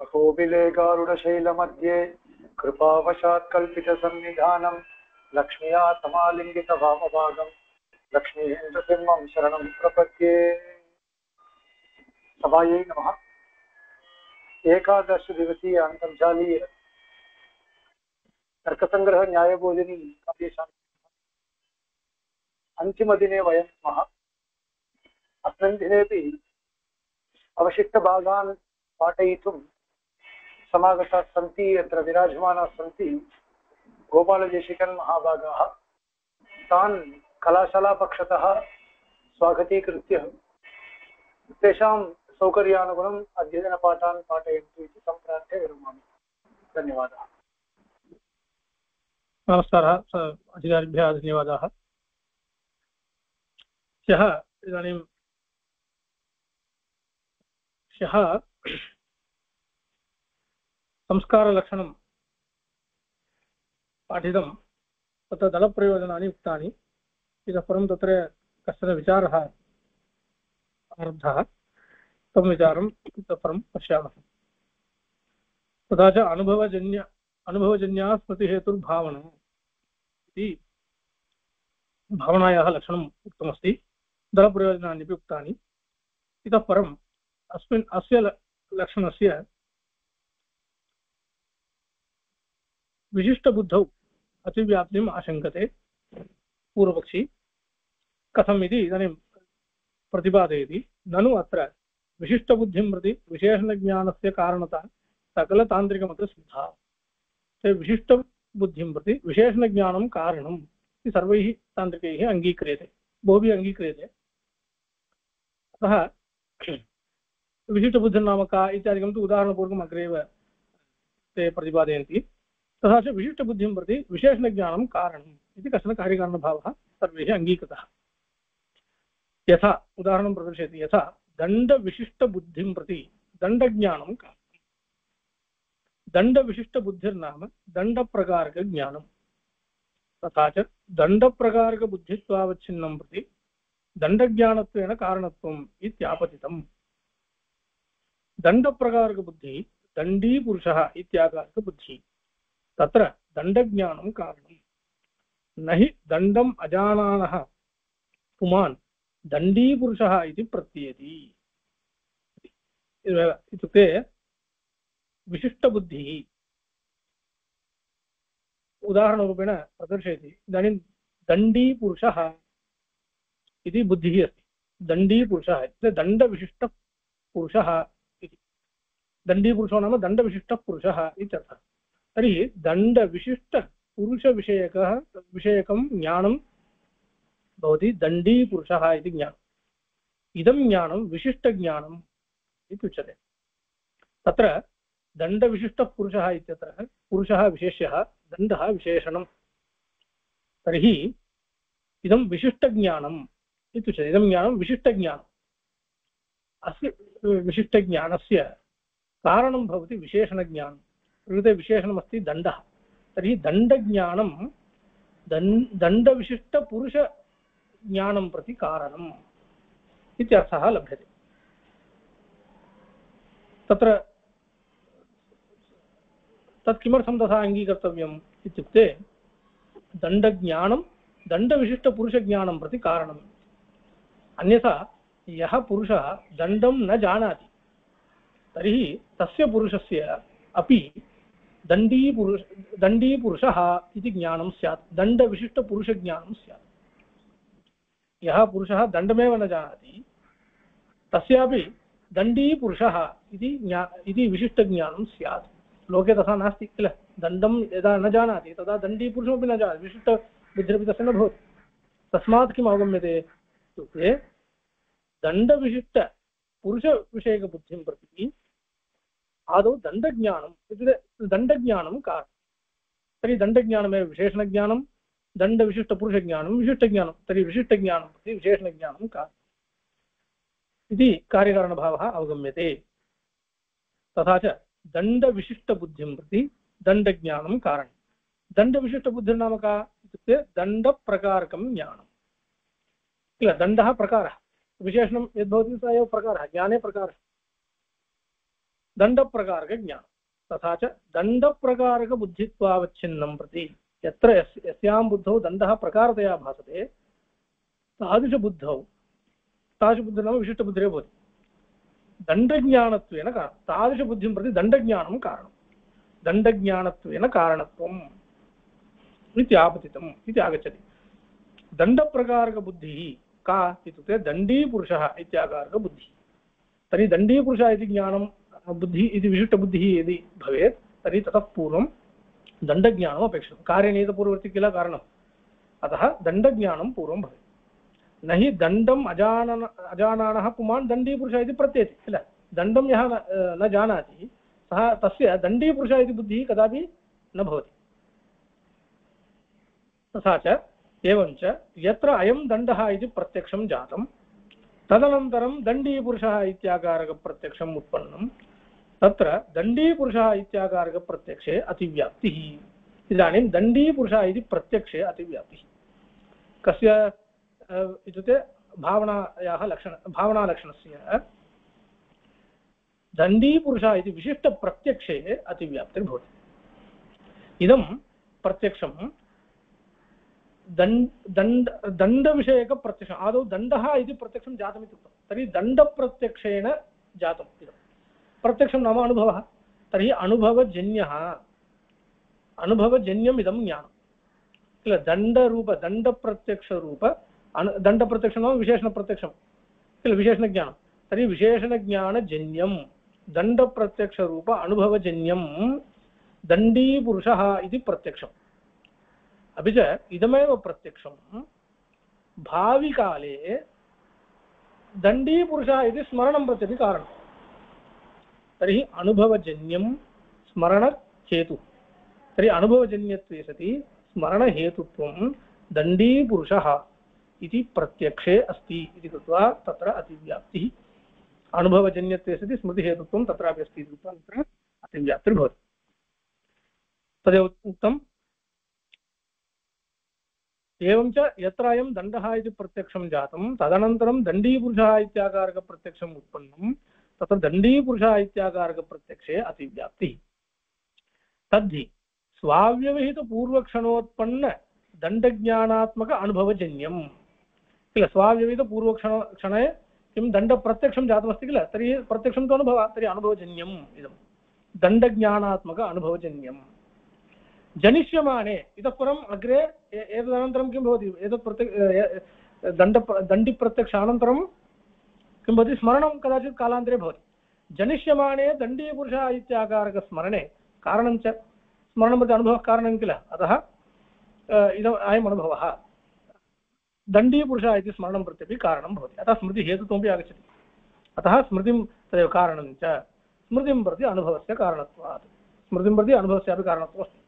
अहोबिलेगारुडशैलमध्ये कृपावशात् कल्पितसन्निधानं लक्ष्म्या समालिङ्गितभावभागं लक्ष्मीन्द्रसिंहं शरणं प्रपद्ये। सभायै नमः। एकादश दिवसीय अन्तर्जालीय तर्कसङ्ग्रह न्यायबोधिनी अन्तिमदिने वयं स्मः। अस्मिन् दिनेपि अवशिष्टभागान् पाठयितुं समागताः सन्ति। यत्र विराजमानाः सन्ति गोपालदेशिकन् महाभागाः। तान् कलाशालापक्षतः स्वागतीकृत्य तेषां सौकर्यानुगुणम् अध्ययनपाठान् पाठयन्तु इति सम्प्रार्थ्य विरमामि। धन्यवादः। नमस्कारः अधिकारिभ्यः धन्यवादाः। ह्यः संस्कारलक्षणं पाठितं, तत्र दलप्रयोजनानि उक्तानि। इतः परं तत्र कश्चन विचारः आरब्धः, तं विचारम् इतः परं पश्यामः। तथा च अनुभवजन्या स्मृतिहेतुर्भावना इति भावनायाः लक्षणम् उक्तमस्ति। दलप्रयोजनान्यपि उक्तानि। इतः परम् अस्य लक्षणस्य विशिष्टबुद्धौ अतिव्याप्तिम् आशङ्कते पूर्वपक्षी। कथम् इति इदानीं प्रतिपादयति। ननु अत्र विशिष्टबुद्धिं प्रति विशेषणज्ञानस्य कारणता सकलतान्त्रिकमतसिद्धा। विशिष्टबुद्धिं प्रति विशेषणज्ञानं कारणम् इति सर्वैः तान्त्रिकैः अङ्गीक्रियते, बहुभिः अङ्गीक्रियते। अतः विशिष्टबुद्धिर्नाम का इत्यादिकं तु उदाहरणपूर्वकम् अग्रेव ते प्रतिपादयन्ति। तथा च विशिष्टबुद्धिं प्रति विशेषणज्ञानं कारणम् इति कश्चन कार्यकारणभावः सर्वैः अङ्गीकृतः। यथा उदाहरणं प्रदर्शयति। यथा दण्डविशिष्टबुद्धिं प्रति दण्डज्ञानं कारणम्। दण्डविशिष्टबुद्धिर्नाम दण्डप्रकारकज्ञानं। तथा च दण्डप्रकारकबुद्धित्वावच्छिन्नं प्रति दण्डज्ञानत्वेन कारणत्वम् इत्यापतितम्। दण्डप्रकारकबुद्धिः दण्डीपुरुषः इत्याकारकबुद्धिः। तत्र दण्डज्ञानं कारणम्। न हि दण्डम् अजानानः पुमान् दण्डीपुरुषः इति प्रतीयते। इत्युक्ते विशिष्टबुद्धिः उदाहरणरूपेण प्रदर्शयति। इदानीं दण्डीपुरुषः इति बुद्धिः अस्ति। दण्डीपुरुषः इत्युक्ते दण्डविशिष्टपुरुषः इति। दण्डीपुरुषो नाम दण्डविशिष्टपुरुषः इत्यर्थः। तर्हि दण्डविशिष्टपुरुषविषयकं ज्ञानं भवति दण्डीपुरुषः इति ज्ञानम्। इदं ज्ञानं विशिष्टज्ञानम् इति उच्यते। तत्र दण्डविशिष्टपुरुषः इत्यत्र पुरुषः विशेष्यः, दण्डः विशेषणं। तर्हि इदं विशिष्टज्ञानम् इत्युच्यते। इदं ज्ञानं विशिष्टज्ञानम्। अस्य विशिष्टज्ञानस्य कारणं भवति विशेषणज्ञानं। प्रकृते विशेषणमस्ति दण्डः। तर्हि दण्डज्ञानं दण्डविशिष्टपुरुषज्ञानं प्रति कारणम् इत्यर्थः लभ्यते। तत्र तत् किमर्थं तथा अङ्गीकर्तव्यम् इत्युक्ते दण्डज्ञानं दण्डविशिष्टपुरुषज्ञानं प्रति कारणम्। अन्यथा यः पुरुषः दण्डं न जानाति तर्हि तस्य पुरुषस्य अपि दण्डीपुरुषः इति ज्ञानं स्यात्, दण्डविशिष्टपुरुषज्ञानं स्यात्। यः पुरुषः दण्डमेव न जानाति तस्यापि दण्डीपुरुषः इति विशिष्टज्ञानं स्यात्। लोके तथा नास्ति किल। दण्डं यदा न जानाति तदा दण्डीपुरुषमपि न जानाति, विशिष्टबुद्धिरपि तस्य न भवति। तस्मात् किम् अवगम्यते इत्युक्ते दण्डविशिष्टपुरुषविषयकबुद्धिं प्रति आदौ दण्डज्ञानम् इत्युक्ते दण्डज्ञानं कारणं। तर्हि दण्डज्ञानमेव विशेषणज्ञानं, दण्डविशिष्टपुरुषज्ञानं विशिष्टज्ञानं। तर्हि विशिष्टज्ञानं प्रति विशेषणज्ञानं कारणम् इति कार्यकारणभावः अवगम्यते। तथा च दण्डविशिष्टबुद्धिं प्रति दण्डज्ञानं कारणं। दण्डविशिष्टबुद्धिर्नाम का इत्युक्ते दण्डप्रकारकं ज्ञानं किल। दण्डः प्रकारः, विशेषणं यद्भवति स एव प्रकारः, ज्ञाने प्रकारः। दण्डप्रकारकज्ञानं तथा च दण्डप्रकारकबुद्धित्वावच्छिन्नं प्रति यत्र यस्यां बुद्धौ दण्डः प्रकारतया भासते तादृशबुद्धौ तादृशबुद्धिः नाम विशिष्टबुद्धिरेव भवति दण्डज्ञानत्वेन कारणं तादृशबुद्धिं प्रति दण्डज्ञानं कारणं दण्डज्ञानत्वेन कारणत्वम् इति आपतितम् इति आगच्छति दण्डप्रकारकबुद्धिः का इत्युक्ते दण्डीपुरुषः इत्याकारकबुद्धिः तर्हि दण्डीपुरुषः इति ज्ञानं बुद्धिः इति विशिष्टबुद्धिः यदि भवेत् तर्हि ततः पूर्वं दण्डज्ञानम् अपेक्षितं कार्यनियतपूर्ववर्ति किल कारणम् अतः दण्डज्ञानं पूर्वं भवेत् न हि दण्डम् अजानानः पुमान् दण्डीपुरुषः इति प्रत्येति किल दण्डं यः न जानाति सः तस्य दण्डीपुरुषः इति बुद्धिः कदापि न भवति तथा च एवञ्च यत्र अयं दण्डः इति प्रत्यक्षं जातं तदनन्तरं दण्डीपुरुषः इत्याकारकप्रत्यक्षम् उत्पन्नं तत्र दण्डीपुरुषः इत्याकारकप्रत्यक्षे अतिव्याप्तिः इदानीं दण्डीपुरुषः इति प्रत्यक्षे अतिव्याप्तिः कस्य इत्युक्ते भावनालक्षणस्य दण्डीपुरुषः इति विशिष्टप्रत्यक्षे अतिव्याप्तिर्भवति इदं प्रत्यक्षं दण्डविषयकप्रत्यक्षम् आदौ दण्डः इति प्रत्यक्षं जातमिति उक्तं तर्हि दण्डप्रत्यक्षेण जातम् इदं प्रत्यक्षं नाम अनुभवः तर्हि अनुभवजन्यम् इदं ज्ञानं किल दण्डप्रत्यक्षरूप दण्डप्रत्यक्षं नाम विशेषणप्रत्यक्षं किल विशेषणज्ञानं तर्हि विशेषणज्ञानजन्यं दण्डप्रत्यक्षरूप अनुभवजन्यं दण्डीपुरुषः इति प्रत्यक्षम् अपि च इदमेव प्रत्यक्षं भाविकाले दण्डीपुरुषः इति स्मरणं प्रत्यपि कारणं तर्हि अनुभवजन्यं स्मरणहेतुः तर्हि अनुभवजन्यत्वे सति स्मरणहेतुत्वं दण्डीपुरुषः इति प्रत्यक्षे अस्ति इति कृत्वा तत्र अतिव्याप्तिः अनुभवजन्यत्वे सति स्मृतिहेतुत्वं तत्रापि अस्ति इति कृत्वा तत्र अतिव्याप्तिर्भवति तदेव उक्तम् एवञ्च यत्र अयं दण्डः इति प्रत्यक्षं जातं तदनन्तरं दण्डीपुरुषः इत्याकारकप्रत्यक्षम् उत्पन्नं तत्र दण्डीपुरुषः इत्याकारकप्रत्यक्षे अतिव्याप्तिः तद्धि स्वाव्यवहितपूर्वक्षणोत्पन्न दण्डज्ञानात्मक अनुभवजन्यं किल स्वाव्यवहितपूर्वक्षणे किं दण्डप्रत्यक्षं जातमस्ति किल तर्हि प्रत्यक्षं तु अनुभवः तर्हि अनुभवजन्यम् इदं दण्डज्ञानात्मक अनुभवजन्यं जनिष्यमाने इतः परम् अग्रे एतदनन्तरं किं भवति एतत् दण्डिप्रत्यक्षानन्तरं किं भवति स्मरणं कदाचित् कालान्तरे भवति जनिष्यमाने दण्डीपुरुषः इत्याकारकस्मरणे कारणं च स्मरणं प्रति अनुभवः कारणं किल अतः इदम् अयम् अनुभवः दण्डीपुरुषः इति स्मरणं प्रत्यपि कारणं भवति अतः स्मृतिहेतुत्वमपि आगच्छति अतः स्मृतिं तदेव कारणं च स्मृतिं प्रति अनुभवस्य कारणत्वात् स्मृतिं प्रति अनुभवस्यापि कारणत्वमस्ति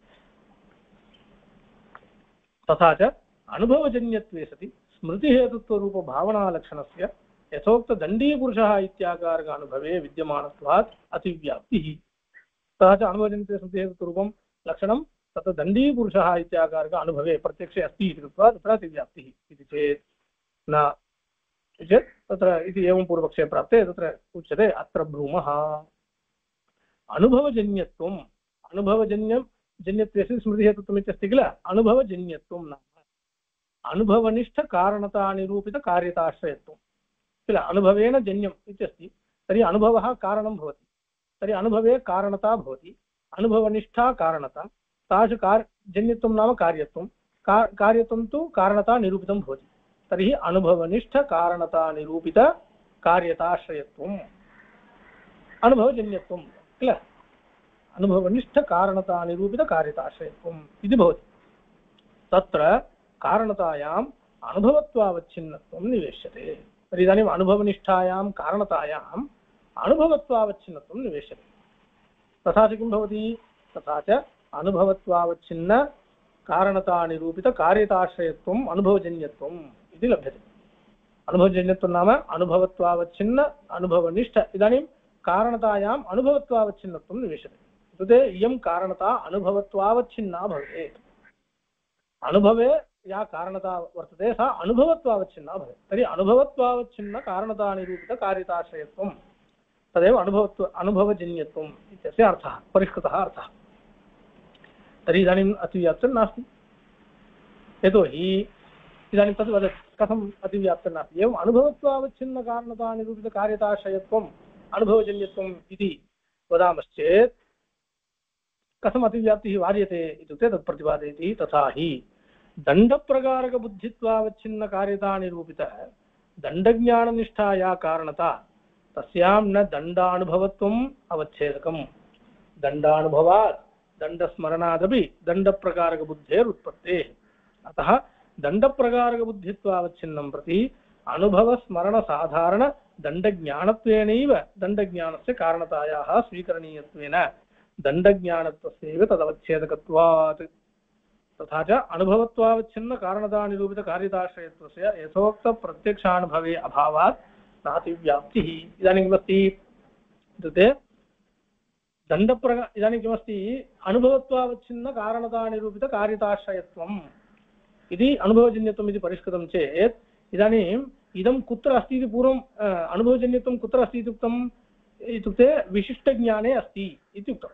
तथा च अनुभवजन्यत्वे सति स्मृतिहेतुत्वरूपभावनालक्षणस्य यथोक्तदण्डीपुरुषः इत्याकारक अनुभवे विद्यमानत्वात् अतिव्याप्तिः तथा च अनुभवजन्यत्वे स्मृतिहेतुत्वरूपं लक्षणं तत्र दण्डीपुरुषः इत्याकारक अनुभवे प्रत्यक्षे अस्ति इति कृत्वा तत्र अतिव्याप्तिः इति चेत् न चेत् तत्र इति एवं पूर्वपक्षे प्राप्ते तत्र उच्यते अत्र ब्रूमः अनुभवजन्यत्वम् अनुभवजन्यत्वस्य स्मृतिहेतुत्वम् इत्यस्ति किल अनुभवजन्यत्वं नाम अनुभवनिष्ठकारणतानिरूपितकार्यताश्रयत्वं किल अनुभवेन जन्यम् इत्यस्ति तर्हि अनुभवः कारणं भवति तर्हि अनुभवे कारणता भवति अनुभवनिष्ठा कारणता तादृशजन्यत्वं नाम कार्यत्वं कार्यत्वं तु कारणता निरूपितं भवति तर्हि अनुभवनिष्ठकारणतानिरूपितकार्यताश्रयत्वम् अनुभवजन्यत्वं किल अनुभवनिष्ठकारणतानिरूपितकार्यताश्रयत्वम् इति भवति तत्र कारणतायाम् अनुभवत्वावच्छिन्नत्वं निवेश्यते तर्हि इदानीम् अनुभवनिष्ठायां कारणतायाम् अनुभवत्वावच्छिन्नत्वं निवेश्यते तथा च किं भवति तथा च अनुभवत्वावच्छिन्न कारणतानिरूपितकार्यताश्रयत्वम् अनुभवजन्यत्वम् इति लभ्यते अनुभवजन्यत्वं नाम अनुभवत्वावच्छिन्न अनुभवनिष्ठ इदानीं कारणतायाम् अनुभवत्वावच्छिन्नत्वं निवेश्यते इत्युक्ते इयं कारणता अनुभवत्वावच्छिन्ना भवेत् अनुभवे या कारणता वर्तते सा अनुभवत्वावच्छिन्ना भवेत् तर्हि अनुभवत्वावच्छिन्न कारणतानिरूपितकार्यताश्रयत्वं तदेव अनुभवजन्यत्वम् इत्यस्य अर्थः, परिष्कृतः अर्थः। तर्हि इदानीम् अतिव्याप्तिर्नास्ति, यतोहि इदानीं तद् वदति कथम् अतिव्याप्तिर्नास्ति। एवम् अनुभवत्वावच्छिन्नकारणतानिरूपितकार्यताश्रयत्वम् अनुभवजन्यत्वम् इति वदामश्चेत् कथम् अतिव्याप्तिः वार्यते इत्युक्ते तत् प्रतिपादयति। तथा हि दण्डप्रकारकबुद्धित्वावच्छिन्नकार्यतानिरूपित दण्डज्ञाननिष्ठाया कारणता तस्यां न दण्डानुभवत्वम् अवच्छेदकम्। दण्डानुभवात् दण्डस्मरणादपि दण्डप्रकारकबुद्धेरुत्पत्तेः। अतः दण्डप्रकारकबुद्धित्वावच्छिन्नं प्रति अनुभवस्मरणसाधारणदण्डज्ञानत्वेनैव दण्डज्ञानस्य कारणतायाः स्वीकरणीयत्वेन दण्डज्ञानत्वस्यैव तदवच्छेदकत्वात्। तथा च अनुभवत्वावच्छिन्नकारणतानिरूपितकार्यताश्रयत्वस्य यथोक्तप्रत्यक्षानुभवे अभावात् नातिव्याप्तिः। इदानीं किमस्ति इत्युक्ते इदानीं किमस्ति, अनुभवत्वावच्छिन्नकारणतानिरूपितकार्यताश्रयत्वम् इति अनुभवजन्यत्वम् इति परिष्कृतं चेत् इदानीम् इदं कुत्र अस्ति इति पूर्वम् अनुभवजन्यत्वं कुत्र अस्ति इत्युक्तम् इत्युक्ते विशिष्टज्ञाने अस्ति इत्युक्तम्।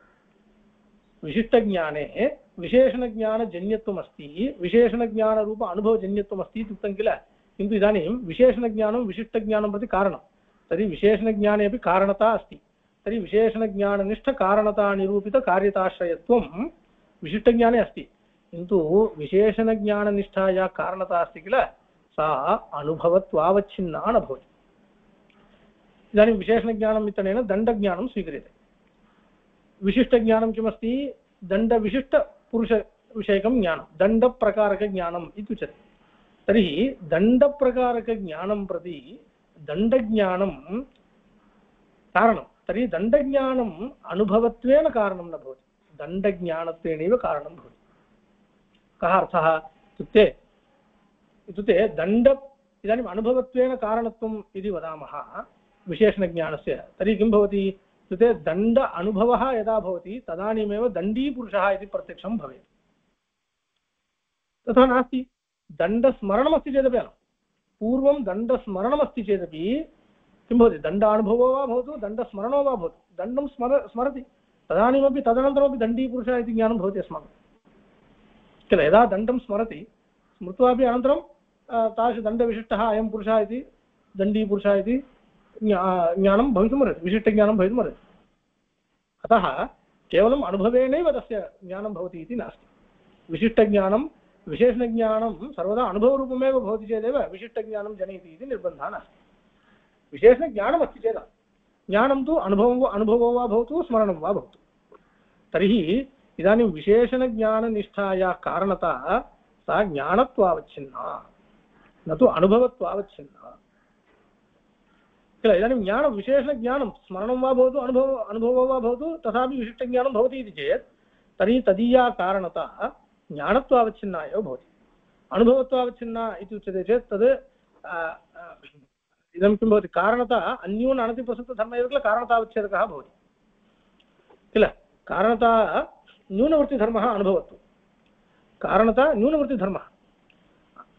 विशिष्टज्ञाने विशेषणज्ञानजन्यत्वम् अस्ति, विशेषणज्ञानरूप अनुभवजन्यत्वम् अस्ति इत्युक्तं किल। किन्तु इदानीं विशेषणज्ञानं विशिष्टज्ञानं प्रति कारणं, तर्हि विशेषणज्ञाने अपि कारणता अस्ति। तर्हि विशेषणज्ञाननिष्ठकारणतानिरूपितकार्यताश्रयत्वं विशिष्टज्ञाने अस्ति, किन्तु विशेषणज्ञाननिष्ठाया कारणता अस्ति किल, सा अनुभवत्वावच्छिन्ना न भवति। इदानीं विशेषणज्ञानम् इत्यनेन दण्डज्ञानं स्वीक्रियते। विशिष्टज्ञानं किमस्ति, दण्डविशिष्टपुरुषविषयकं ज्ञानं, दण्डप्रकारकज्ञानम् इत्युच्यते। तर्हि दण्डप्रकारकज्ञानं प्रति दण्डज्ञानं कारणं, तर्हि दण्डज्ञानम् अनुभवत्वेन कारणं न भवति, दण्डज्ञानत्वेनैव कारणं भवति। कः अर्थः इत्युक्ते दण्ड इदानीम् अनुभवत्वेन कारणत्वम् इति वदामः विशेषणज्ञानस्य, तर्हि किं भवति इत्युक्ते दण्ड अनुभवः यदा भवति तदानीमेव दण्डीपुरुषः इति प्रत्यक्षं भवेत्। तथा नास्ति, दण्डस्मरणमस्ति चेदपि अलं, पूर्वं दण्डस्मरणमस्ति चेदपि किं भवति, दण्डानुभवो वा भवतु दण्डस्मरणो वा भवतु, दण्डं स्मरति तदानीमपि तदनन्तरमपि दण्डीपुरुषः इति ज्ञानं भवति अस्माकं किल। यदा दण्डं स्मरति स्मृत्वापि अनन्तरं तादृशदण्डविशिष्टः अयं पुरुषः इति दण्डीपुरुषः इति ज्ञानं भवितुमर्हति, विशिष्टज्ञानं भवितुमर्हति। अतः केवलम् अनुभवेनैव तस्य ज्ञानं भवति इति नास्ति। विशिष्टज्ञानं विशेषणज्ञानं सर्वदा अनुभवरूपमेव भवति चेदेव विशिष्टज्ञानं जनयति इति निर्बन्धः नास्ति। विशेषणज्ञानमस्ति चेत् ज्ञानं तु अनुभवो वा भवतु स्मरणं वा भवतु। तर्हि इदानीं विशेषणज्ञाननिष्ठाया कारणता सा ज्ञानत्वावच्छिन्ना न तु अनुभवत्वावच्छिन्ना किल। इदानीं ज्ञानं विशेषज्ञानं स्मरणं वा भवतु अनुभवो वा भवतु तथापि विशिष्टज्ञानं भवति इति चेत् तर्हि तदीया कारणता ज्ञानत्वावच्छिन्ना एव भवति। अनुभवत्वावच्छिन्ना इति उच्यते चेत् तद् इदं किं भवति, कारणता अन्यून अनतिप्रसक्तधर्मः एव किल कारणतावच्छेदकः भवति किल। कारणता न्यूनवृत्तिधर्मः अनुभवत्वं, कारणता न्यूनवृत्तिधर्मः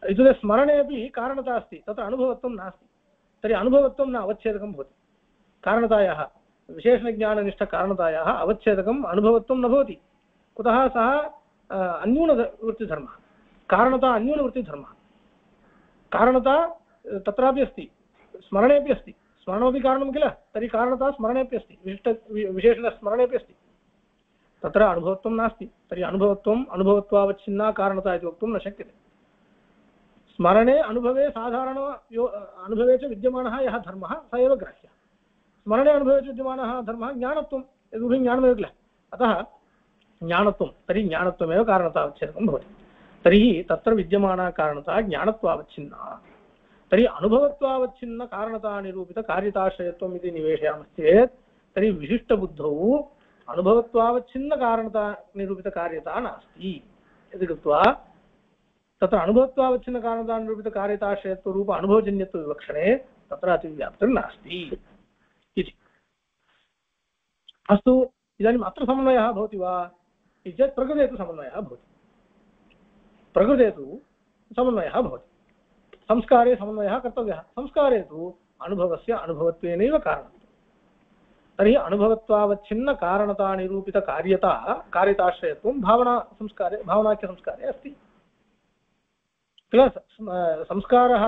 इत्युक्ते स्मरणे अपि कारणता अस्ति, तत्र अनुभवत्वं नास्ति। तर्हि अनुभवत्वं न अवच्छेदकं भवति। कारणतायाः विशेषणज्ञाननिष्ठकारणतायाः अवच्छेदकम् अनुभवत्वं न भवति। कुतः, सः अन्यूनवृत्तिधर्मः, कारणता अन्यूनवृत्तिधर्मः। कारणता तत्रापि अस्ति, स्मरणेपि अस्ति, स्मरणमपि कारणं किल, तर्हि कारणता स्मरणेपि अस्ति, विशेषणस्मरणेपि अस्ति, तत्र अनुभवत्वं नास्ति। तर्हि अनुभवत्वावच्छिन्ना कारणता इति वक्तुं न शक्यते। स्मरणे अनुभवे साधारण अनुभवे च विद्यमानः यः धर्मः स एव ग्राह्यः। स्मरणे अनुभवे च विद्यमानः धर्मः ज्ञानत्वं, यदुभयं ज्ञानमेव किल। अतः ज्ञानत्वं, तर्हि ज्ञानत्वमेव कारणतावच्छेदकं भवति। तर्हि तत्र विद्यमाना कारणता ज्ञानत्वावच्छिन्ना। तर्हि अनुभवत्वावच्छिन्न कारणतानिरूपितकार्यताश्रयत्वम् इति निवेशयामश्चेत् तर्हि विशिष्टबुद्धौ अनुभवत्वावच्छिन्नकारणतानिरूपितकार्यता नास्ति इति कृत्वा तत्र अनुभवत्वावच्छिन्नकारणतानिरूपितकार्यताश्रयत्वरूप अनुभवजन्यत्वविवक्षणे तत्र अतिव्याप्तिर्नास्ति इति। अस्तु, इदानीम् अत्र समन्वयः भवति वा इति चेत् प्रकृते तु समन्वयः भवति। प्रकृते तु समन्वयः भवति। संस्कारे समन्वयः कर्तव्यः। संस्कारे तु अनुभवस्य अनुभवत्वेनैव कारणत्वम्। तर्हि अनुभवत्वावच्छिन्नकारणतानिरूपितकार्यता कार्यताश्रयत्वं भावनाख्यसंस्कारे अस्ति किल। संस्कारः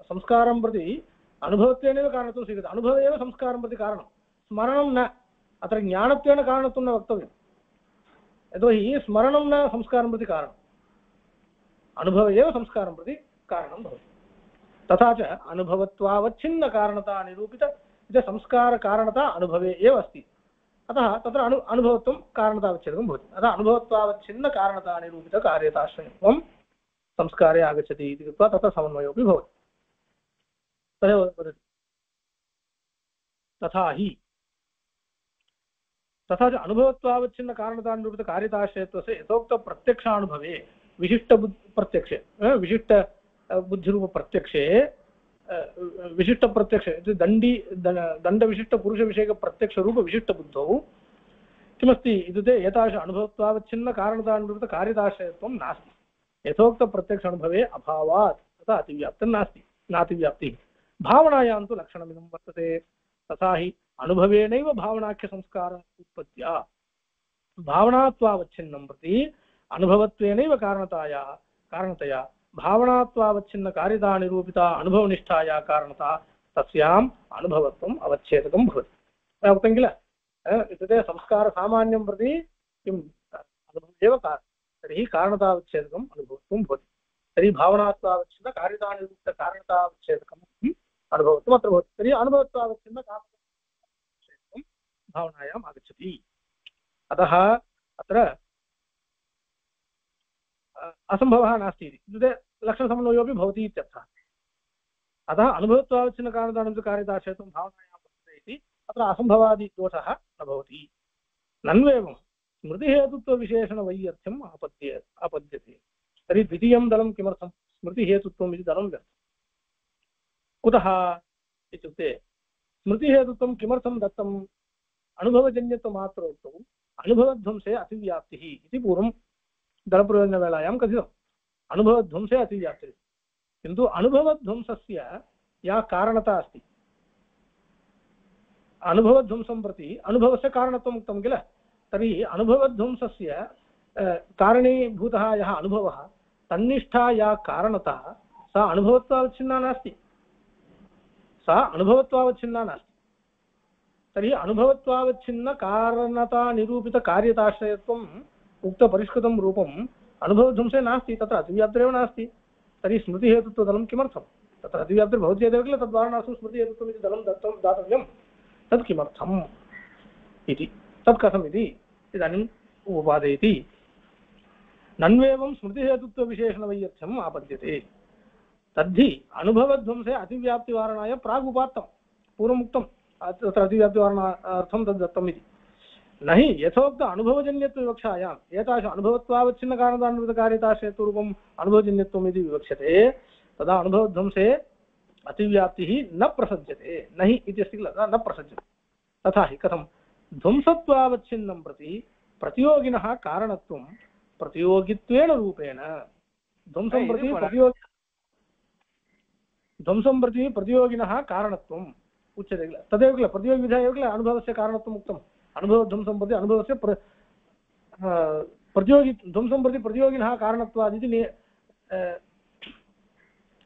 संस्कारं प्रति अनुभवत्वेनैव कारणत्वं स्वीक्रियते। अनुभवे एव संस्कारं प्रति कारणं, स्मरणं न। अत्र ज्ञानत्वेन कारणत्वं न वक्तव्यं, यतोहि स्मरणं न संस्कारं प्रति कारणम्, अनुभवे एव संस्कारं प्रति कारणं भवति। तथा च अनुभवत्वावच्छिन्नकारणता निरूपित इति संस्कारकारणता अनुभवे एव अस्ति, अतः तत्र अनुभवत्वं कारणतावच्छेदकं भवति। अतः अनुभवत्वावच्छिन्नकारणता निरूपितकार्यताश्रयत्वं संस्कारे आगच्छति इति कृत्वा तत्र समन्वयोऽपि भवति। तदेव वदति तथा च अनुभवत्वावच्छिन्नकारणतानिरूपितकार्यताश्रयत्वस्य यथोक्तप्रत्यक्षानुभवे विशिष्टप्रत्यक्षे विशिष्टबुद्धिरूपप्रत्यक्षे विशिष्टप्रत्यक्षे दण्डविशिष्टपुरुषविषयकप्रत्यक्षरूपविशिष्टबुद्धौ किमस्ति इत्युक्ते एतादृश अनुभवत्वावच्छिन्नकारणतानिरूपितकार्यताश्रयत्वं नास्ति। यथोक्तप्रत्यक्ष अनुभवे अभावात् तथा अतिव्याप्तं नास्ति, नातिव्याप्तिः। भावनायां तु लक्षणमिदं वर्तते। तथा हि अनुभवेनैव भावनाख्यसंस्कार उत्पत्त्या भावनात्वावच्छिन्नं प्रति अनुभवत्वेनैव कारणतया भावनात्वावच्छिन्नकार्यतानिरूपिता अनुभवनिष्ठाया कारणता तस्याम् अनुभवत्वम् अवच्छेदकं भवति। उक्तं किल, इत्युक्ते संस्कारसामान्यं प्रति किम् अनुभवः एव तर्हि कारणतावच्छेदकम् अनुभवत्वं भवति। तर्हि भावनात्वावच्छिन्नकार्यतानिरूपितकारणतावच्छेदकम् अनुभवत्वम् अत्र भवति। तर्हि अनुभवत्वावच्छिन्नकारणतावच्छेदकं भावनायाम् आगच्छति। अतः अत्र असम्भवः नास्ति इत्युक्ते लक्षणसमन्वयोऽपि भवति इत्यर्थः। अतः अनुभवत्वावच्छिन्नकारणतानिरूपितकार्यताश्रयत्वं भावनायां वर्तते इति अत्र असम्भवादिदोषः न भवति। नन्वेवं स्मृतिहेतुत्वविशेषणवैयर्थ्यम् आपद्यते। तर्हि द्वितीयं दलं किमर्थं स्मृतिहेतुत्वम् इति दलं व्यर्थम्। कुतः इत्युक्ते स्मृतिहेतुत्वं किमर्थं दत्तम्? अनुभवजन्यत्वमात्रोक्तौ अनुभवध्वंसे अतिव्याप्तिः इति पूर्वं दलप्रयोजनवेलायां कथितम्। अनुभवध्वंसे अतिव्याप्तिः, किन्तु अनुभवध्वंसस्य या कारणता अस्ति, अनुभवध्वंसं प्रति अनुभवस्य कारणत्वम् उक्तं किल। तर्हि अनुभवध्वंसस्य कारणीभूतः यः अनुभवः, तन्निष्ठा या कारणता सा अनुभवत्वावच्छिन्ना नास्ति, सा अनुभवत्वावच्छिन्ना नास्ति। तर्हि अनुभवत्वावच्छिन्नकारणतानिरूपितकार्यताश्रयत्वम् उक्तपरिष्कृतं रूपम् अनुभवध्वंसे नास्ति, तत्र अतिव्याप्तिरेव नास्ति। तर्हि स्मृतिहेतुत्वदलं किमर्थं? तत्र अतिव्याप्तिर्भवति चेदेव किल तद्वारणार्थं स्मृतिहेतुत्वम् इति दलं दातव्यं। तत् किमर्थम् इति, तत् कथमिति इदानीम् उपादयति। नन्वेवं स्मृतिहेतुत्वविशेषणवैयर्थ्यम् आपद्यते। तद्धि अनुभवध्वंसे अतिव्याप्तिवारणाय प्रागुपात्तं, पूर्वमुक्तं तत्र अतिव्याप्तिवारणार्थं तद् दत्तम् इति। न हि यथोक्त अनुभवजन्यत्वविवक्षायाम् एतादृश अनुभवत्वावच्छिन्नकारणतानिरूपितकार्यताश्रयत्वरूपम् अनुभवजन्यत्वम् इति विवक्ष्यते, तदा अनुभवध्वंसे अतिव्याप्तिः न प्रसज्यते। न हि इति अस्ति किल, न प्रसज्यते। तथा हि कथं? ध्वंसत्वावच्छिन्नं प्रति प्रतियोगिनः कारणत्वं प्रतियोगित्वेन रूपेण ध्वंसं प्रति प्रतियोगिनः कारणत्वम् उच्यते किल। तदेव किल प्रतियोगिविधा एव किल अनुभवस्य कारणत्वम् उक्तम्। अनुभवध्वंसं प्रति अनुभवस्य ध्वंसं प्रति प्रतियोगिनः कारणत्वादिति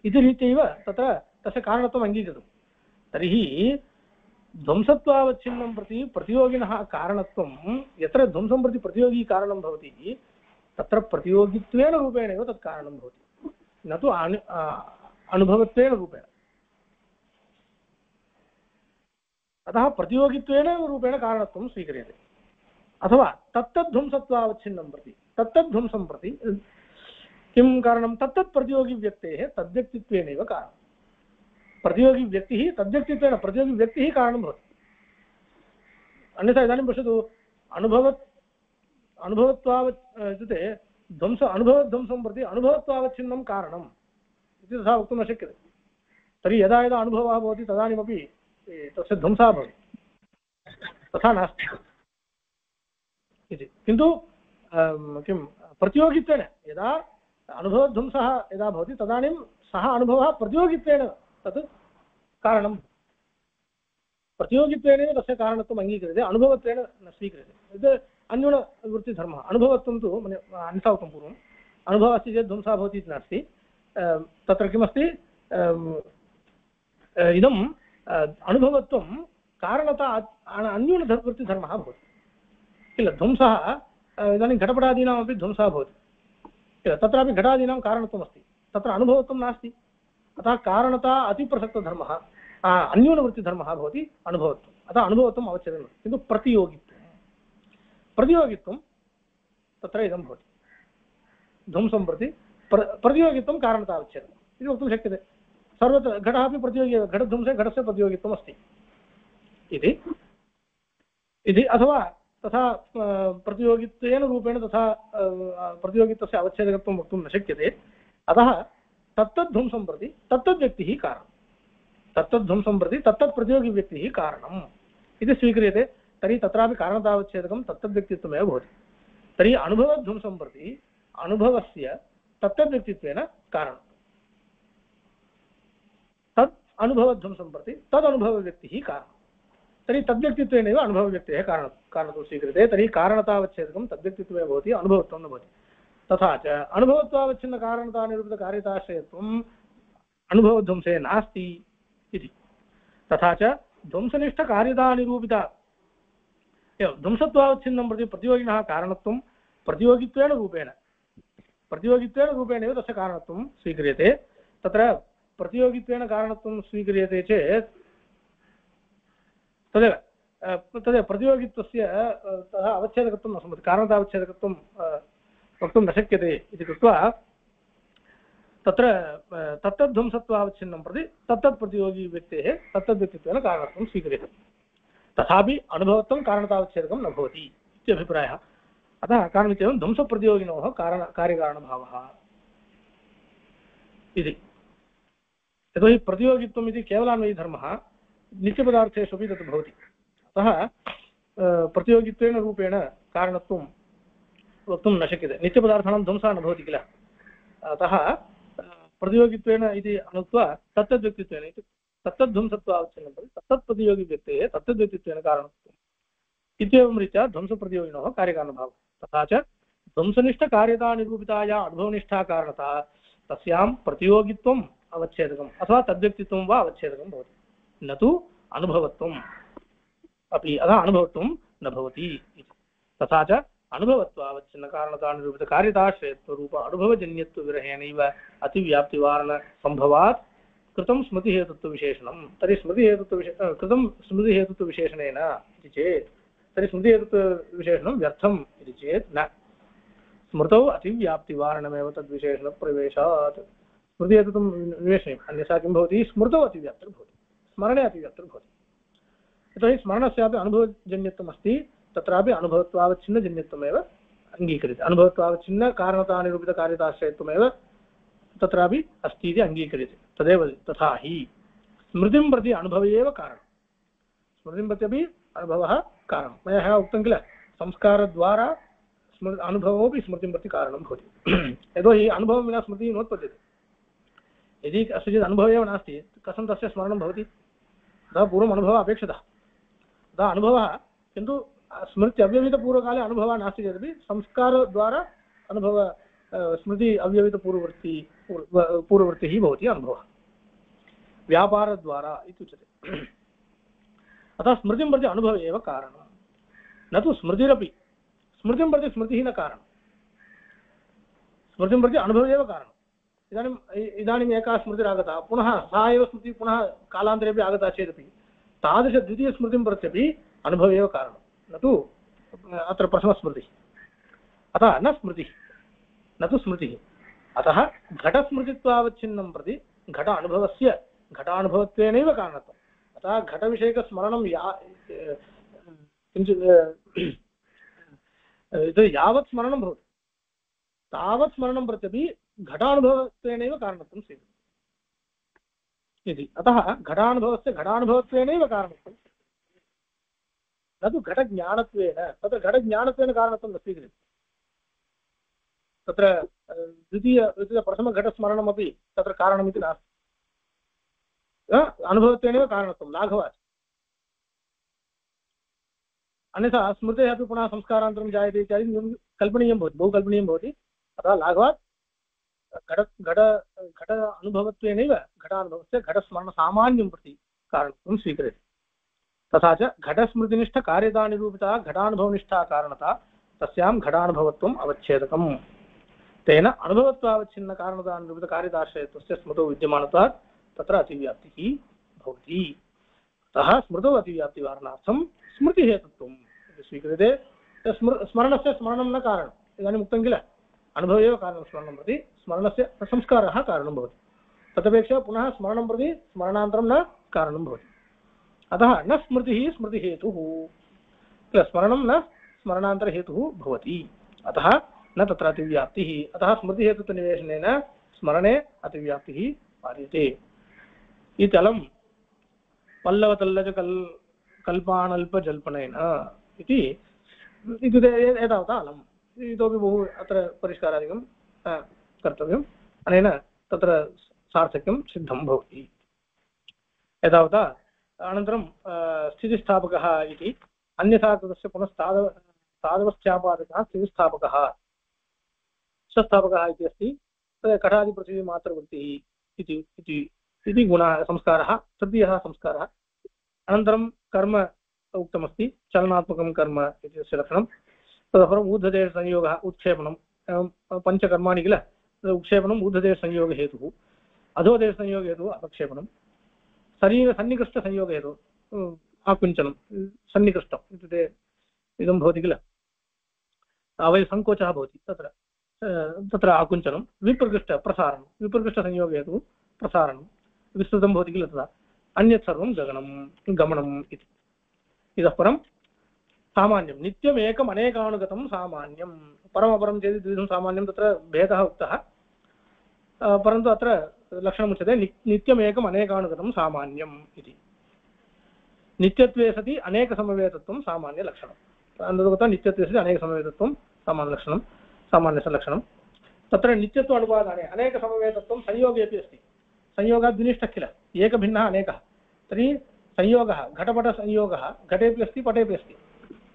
इति रीत्यैव तत्र तस्य कारणत्वम् अङ्गीकृतं। तर्हि ध्वंसत्वावच्छिन्नं प्रति प्रतियोगिनः कारणत्वं यत्र ध्वंसं प्रति प्रतियोगी कारणं भवति तत्र प्रतियोगित्वेन रूपेणैव तत् कारणं भवति, न तु अनुभवत्वेन रूपेण। अतः प्रतियोगित्वेन रूपेण कारणत्वं स्वीक्रियते। अथवा तत्तद्ध्वंसत्वावच्छिन्नं प्रति तत्तद्ध्वंसं प्रति किं कारणं? तत्तत् प्रतियोगिव्यक्तेः तद्व्यक्तित्वेनैव कारणं। प्रतियोगिव्यक्तिः तद्व्यक्तित्वेन प्रतियोगिव्यक्तिः कारणं भवति। अन्यथा इदानीं पश्यतु, इत्युक्ते अनुभवध्वंसं प्रति अनुभवत्वावच्छिन्नं कारणम् इति तथा वक्तुं न शक्यते। तर्हि यदा यदा अनुभवः भवति तदानीमपि तस्य ध्वंसः भवति, तथा नास्ति इति। किन्तु किं प्रतियोगित्वेन यदा अनुभवध्वंसः यदा भवति तदानीं सः अनुभवः प्रतियोगित्वेन तत् कारणं। प्रतियोगित्वेनैव तस्य कारणत्वम् अङ्गीक्रियते अनुभवत्वेन न स्वीक्रियते यत् अन्यूनवृत्तिधर्मः अनुभवत्वं तु अन्यथा उक्तं पूर्वम् अनुभवः अस्ति चेत् ध्वंसः भवति इति नास्ति तत्र किमस्ति इदम् अनुभवत्वं कारणता अन्यूनवृत्तिधर्मः भवति किल ध्वंसः इदानीं घटपटादीनामपि ध्वंसः भवति किल तत्रापि घटादीनां कारणत्वमस्ति तत्र अनुभवत्वं नास्ति अतः कारणता अतिप्रसक्तधर्मः अन्यूनवृत्तिधर्मः भवति अनुभवत्वम् अतः अनुभवत्वम् अवच्छेदनं किन्तु प्रतियोगित्वं तत्र इदं भवति ध्वंसं प्रति प्रतियोगित्वं कारणतावच्छेदनम् इति वक्तुं शक्यते सर्वत्र घटः अपि प्रतियोगी घटध्वंसे घटस्य प्रतियोगित्वम् अस्ति इति अथवा तथा प्रतियोगित्वेन रूपेण तथा प्रतियोगित्वस्य अवच्छेदकत्वं वक्तुं न शक्यते अतः तत्तद्ध्वंसं प्रति तत्तद्व्यक्तिः कारणं तत्तद्ध्वंसं प्रति तत्तत्प्रतियोगिव्यक्तिः कारणम् इति स्वीक्रियते तर्हि तत्रापि कारणतावच्छेदकं तत्तद्व्यक्तित्वमेव भवति तर्हि अनुभवध्वंसं प्रति अनुभवस्य तत्तद्व्यक्तित्वेन कारणं तत् अनुभवध्वंसं प्रति तदनुभवव्यक्तिः कारणं तर्हि तद्व्यक्तित्वेनैव अनुभवव्यक्तेः कारणत्वं स्वीक्रियते तर्हि कारणतावच्छेदकं तद्व्यक्तित्वमेव भवति अनुभवत्वं न भवति तथा च अनुभवत्वावच्छिन्नकारणतानिरूपितकार्यताश्रयत्वम् अनुभवध्वंसे नास्ति इति तथा च ध्वंसनिष्ठकार्यतानिरूपिता एवं ध्वंसत्वावच्छिन्नं प्रति प्रतियोगिनः कारणत्वं प्रतियोगित्वेन रूपेणैव तस्य कारणत्वं स्वीक्रियते तत्र प्रतियोगित्वेन कारणत्वं स्वीक्रियते चेत् तदेव प्रतियोगित्वस्य तथा अवच्छेदकत्वं न सम्भवति कारणतावच्छेदकत्वं वक्तुं न शक्यते इति कृत्वा तत्र तत्तद्ध्वंसत्वावच्छिन्नं प्रति तत्तत्प्रतियोगिव्यक्तेः तत्तद्व्यक्तित्वेन कारणत्वं स्वीक्रियते तथापि अनुभवत्वं कारणतावच्छेदकं न भवति इति अभिप्रायः अतः कारणमित्येवं ध्वंसप्रतियोगिनोः कार्यकारणभावः इति यतोहि प्रतियोगित्वम् इति केवलान्वयीधर्मः नित्यपदार्थेषु अपि तत् भवति अतः प्रतियोगित्वेन रूपेण कारणत्वं वक्तुं न शक्यते नित्यपदार्थानां ध्वंसः न भवति किल अतः प्रतियोगित्वेन इति अनुक्त्वा तत्तद्व्यक्तित्वेन इति तत्तद्ध्वंसत्वावच्छिन्नं प्रति तत्तत्प्रतियोगिव्यक्तेः तत्तद्व्यक्तित्वेन कारणत्वम् इत्येवं रीत्या ध्वंसप्रतियोगिनोः कार्यकारणभावः तथा च ध्वंसनिष्ठकार्यतानिरूपिताया अनुभवनिष्ठा कारणता तस्यां प्रतियोगित्वम् अवच्छेदकम् अथवा तद्व्यक्तित्वं वा अवच्छेदकं भवति न तु अनुभवत्वम् अपि अतः अनुभवत्वं न भवति तथा च अनुभवत्वावच्छिन्नकारणतानिरूपितकार्यताश्रयत्वरूप अनुभवजन्यत्वविरहेणैव अतिव्याप्तिवारणसम्भवात् कृतं स्मृतिहेतुत्वविशेषणं तर्हि कृतं स्मृतिहेतुत्वविशेषणेन इति चेत् तर्हि स्मृतिहेतुत्वविशेषणं व्यर्थम् इति चेत् न स्मृतौ अतिव्याप्तिवारणमेव तद्विशेषणप्रवेशात् स्मृतिहेतुत्वं निवेशनीयम् अन्यथा किं भवति स्मृतौ अतिव्याप्तिर्भवति स्मरणे अतिव्याप्तिर्भवति यतोहि स्मरणस्यापि अनुभवजन्यत्वम् अस्ति तत्रापि अनुभवत्वावच्छिन्नजन्यत्वमेव अङ्गीक्रियते अनुभवत्वावच्छिन्नकारणतानिरूपितकार्यताश्रयत्वमेव तत्रापि अस्ति इति अङ्गीक्रियते तदेव तथा हि स्मृतिं प्रति अनुभव एव कारणं स्मृतिं प्रति अपि अनुभवः कारणं मया ह्यः उक्तं किल संस्कारद्वारा अनुभवोऽपि स्मृतिं प्रति कारणं भवति यतोहि अनुभवं विना स्मृतिः नोत्पद्यते यदि कस्यचित् अनुभवः एव नास्ति कथं तस्य स्मरणं भवति अतः पूर्वम् अनुभवः अपेक्षितः अतः अनुभवः किन्तु स्मृति अव्यवहितपूर्वकाले अनुभवः नास्ति चेदपि संस्कारद्वारा अनुभव स्मृति अव्यवहितपूर्ववृत्तिः भवति अनुभवः व्यापारद्वारा इत्युच्यते अतः स्मृतिं प्रति अनुभव एव कारणं न तु स्मृतिरपि स्मृतिं प्रति स्मृतिः न कारणं स्मृतिं प्रति अनुभव एव कारणम् इदानीम् एका स्मृतिरागता पुनः सा एव स्मृतिः पुनः कालान्तरेपि आगता चेदपि तादृशद्वितीयस्मृतिं प्रत्यपि अनुभव एव कारणं न तु अत्र प्रथमस्मृतिः अतः न स्मृतिः न तु स्मृतिः अतः घटस्मृतित्वावच्छिन्नं प्रति घटानुभवत्वेनैव कारणत्वम् अतः घटविषयकस्मरणं किञ्चित् यावत् स्मरणं भवति तावत् स्मरणं प्रत्यपि घटानुभवत्वेनैव कारणत्वं स्वीक्रियते इति अतः घटानुभवत्वेनैव कारणत्वं न तु घटज्ञानत्वेन तत्र घटज्ञानत्वेन कारणत्वं न स्वीक्रियते तत्र प्रथमघटस्मरणमपि तत्र कारणमिति नास्ति अनुभवत्वेनैव कारणत्वं लाघवात् अन्यथा स्मृतेः अपि पुनः संस्कारान्तरं जायते इत्यादि कल्पनीयं भवति, बहु कल्पनीयं भवति। अतः लाघवात् घट घट घट अनुभवत्वेनैव घटानुभवस्य घटस्मरणसामान्यं प्रति कारणत्वं स्वीक्रियते। तथा च घटस्मृतिनिष्ठकार्यतानिरूपिता घटानुभवनिष्ठा कारणता तस्यां घटानुभवत्वम् अवच्छेदकम्। तेन अनुभवत्वावच्छिन्नकारणतानिरूपितकार्यताश्रयत्वस्य स्मृतौ विद्यमानत्वात् तत्र अतिव्याप्तिः भवति। अतः स्मृतौ अतिव्याप्तिवारणार्थं स्मृतिहेतुत्वं स्वीक्रियते। स्मरणस्य स्मरणं न कारणम्, इदानीम् उक्तं किल, अनुभवे एव कारणं स्मरणं प्रति, स्मरणस्य संस्कारः कारणं भवति। तदपेक्षया पुनः स्मरणं प्रति स्मरणान्तरं न कारणं भवति। अतः न स्मृतिः स्मृतिहेतुः किल, स्मरणं न स्मरणान्तरहेतुः भवति। अतः न तत्र अतिव्याप्तिः। अतः स्मृतिहेतुत्वनिवेशनेन स्मरणे अतिव्याप्तिः पार्यते। इत्यलं पल्लवतल्लज कल्पानल्पजल्पनेन इति एतावता अलम्। इतोपि बहु अत्र परिष्कारादिकं कर्तव्यम्। अनेन तत्र सार्थक्यं सिद्धं भवति। एतावता अनन्तरं स्थितिस्थापकः इति अन्यथा कृतस्य पुनः साधवस्थ्यापादकः स्थितिस्थापकः संस्थापकः इति अस्ति। घटादिपृथिवीमात्रवृत्तिः इति गुणः संस्कारः तृतीयः संस्कारः। अनन्तरं कर्म उक्तमस्ति, चलनात्मकं कर्म इत्यस्य लक्षणं। तदनन्तरम् ऊर्ध्वदेशसंयोगः उत्क्षेपणं, पञ्चकर्माणि किल, उत्क्षेपणम् ऊर्ध्वदेशसंयोगहेतुः, अधोदेशसंयोगहेतुः अपक्षेपणं, शरीरसन्निकृष्टसंयोगहेतुः आकुञ्चनं, सन्निकृष्टम् इत्युक्ते इदं भवति किल, अवयसङ्कोचः भवति तत्र आकुञ्चनं, विप्रकृष्टप्रसारणं, विप्रकृष्टसंयोगहेतुः प्रसारणं, विस्तृतं भवति किल तदा, अन्यत् सर्वं गमनम् इति। इतः परं सामान्यं नित्यमेकम् अनेकानुगतं सामान्यं, परमपरं चेत् द्विविधं सामान्यं, तत्र भेदः उक्तः, परन्तु अत्र लक्षणमुच्यते नित्यमेकम् अनेकानुगतं सामान्यम् इति। नित्यत्वे सति अनेकसमवेतत्वं सामान्यलक्षणम्। तदुक्तं नित्यत्वे सति अनेकसमवेतत्वं सामान्यलक्षणं, सामान्यस्य लक्षणं। तत्र नित्यत्व अनुपादाने अनेकसमवेतत्वं संयोगे अपि अस्ति। संयोगात् विनिष्टः किल, एकभिन्नः अनेकः, तर्हि संयोगः घटपटसंयोगः घटेपि अस्ति पटेपि अस्ति,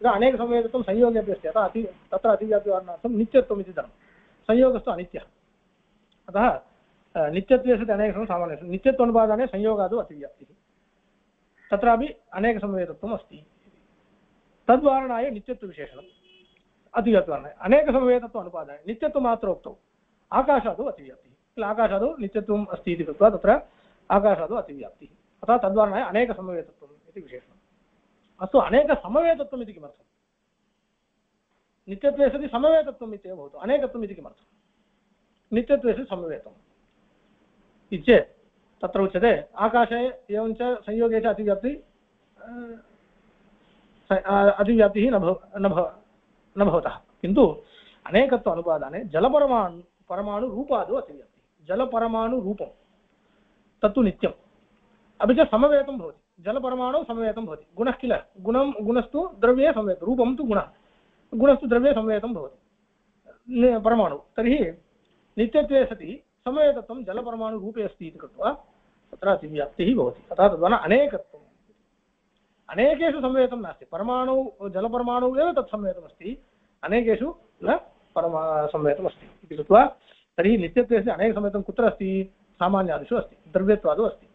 अनेकसमवेतत्वं संयोगे अपि अस्ति। अतः तत्र अतिव्याप्तिवारणार्थं नित्यत्वम् इति धर्मः। संयोगस्तु अनित्यः, अतः नित्यत्वे सति अनेकसमं सामान्यं, नित्यत्वानुपादाने संयोगादौ अतिव्याप्तिः, तत्रापि अनेकसमवेतत्वम् अस्ति। तद्वारणाय नित्यत्वविशेषणम् अतिव्याप्तिवारणाय, अनेकसमवेतत्व अनुपादाने नित्यत्वमात्रोक्तौ आकाशादौ अतिव्याप्तिः किल, आकाशादौ नित्यत्वम् अस्ति इति कृत्वा तत्र आकाशादौ अतिव्याप्तिः, अतः तद्वारणाय अनेकसमवेतत्वम् इति विशेषणम्। अस्तु, अनेकसमवेतत्वम् इति किमर्थम्? नित्यत्वे सति समवेतत्वम् इत्येव भवतु, अनेकत्वम् इति किमर्थम्? नित्यत्वे सति समवेतम् इति चेत् तत्र उच्यते आकाशे एवञ्च संयोगे च अतिव्याप्तिः न भवतः, किन्तु अनेकत्व अनुपादाने परमाणुरूपादौ अतिव्याप्तिः, जलपरमाणुरूपं तत्तु नित्यम्, अपि च समवेतं भवति, जलपरमाणु समवेतं भवति, गुणः किल, गुणस्तु द्रव्ये समवेतं, रूपं तु गुणः, गुणस्तु द्रव्ये समवेतं भवति परमाणु। तर्हि नित्यत्वे सति समवेतत्वं जलपरमाणुरूपे अस्ति इति कृत्वा तत्र अतिव्याप्तिः भवति। अतः तद्वारा अनेकत्वम्, अनेकेषु समवेतं नास्ति, परमाणु जलपरमाणु एव तत् समवेतमस्ति, अनेकेषु न समवेतमस्ति इति कृत्वा तर्हि नित्यत्वस्य अनेकसमवेतं कुत्र अस्ति? सामान्यादिषु अस्ति, द्रव्यत्वादौ अस्ति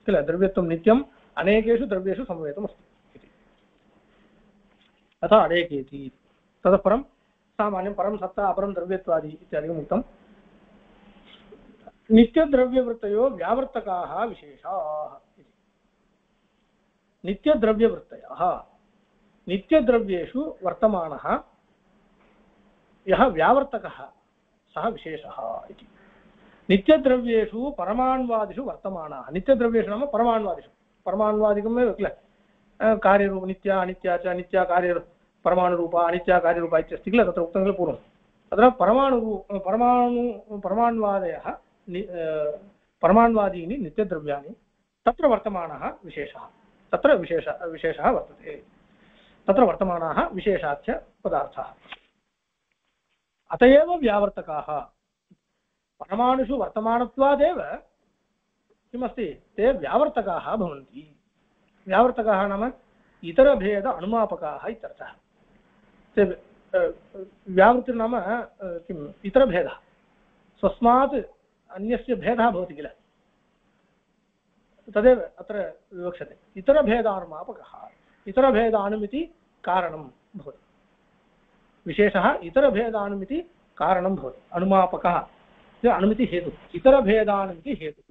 किल, द्रव्यत्वं नित्यम् अनेकेषु द्रव्येषु समवेतमस्ति इति, अतः अनेकेति। ततः परं सामान्यं परं सत्ता अपरं द्रव्यत्वादि इत्यादिकम् उक्तं। नित्यद्रव्यवृत्तयो व्यावर्तकाः विशेषाः इति। नित्यद्रव्यवृत्तयः, नित्यद्रव्येषु वर्तमानः यः व्यावर्तकः सः विशेषः इति। नित्यद्रव्येषु परमाण्वादिषु वर्तमानाः, नित्यद्रव्येषु नाम परमाण्वादिषु, परमाण्वादिकमेव किल, कार्यरूप नित्या अनित्या च, नित्या कार्य परमाणुरूपा अनित्या कार्यरूपा इत्यस्ति किल, तत्र उक्तं किल पूर्वं। तत्र परमाण्वादयः परमाण्वादीनि नित्यद्रव्याणि तत्र वर्तमानः विशेषः, तत्र विशेषः वर्तते, तत्र वर्तमानाः विशेषाख्य पदार्थाः। अत एव व्यावर्तकाः, परमाणुषु वर्तमानत्वादेव किमस्ति, ते व्यावर्तकाः भवन्ति। व्यावर्तकाः नाम इतरभेद अनुमापकाः इत्यर्थः। व्यावृत्तिर्नाम किम् इतरभेदः, स्वस्मात् अन्यस्य भेदः भवति किल, तदेव अत्र विवक्षते। इतरभेदानुमापकः, इतरभेदानुमिति कारणं भवति, विशेषः इतरभेदानुमिति कारणं भवति, अनुमापकः अनुमिति हेतु, इतरभेदानुमिति हेतु।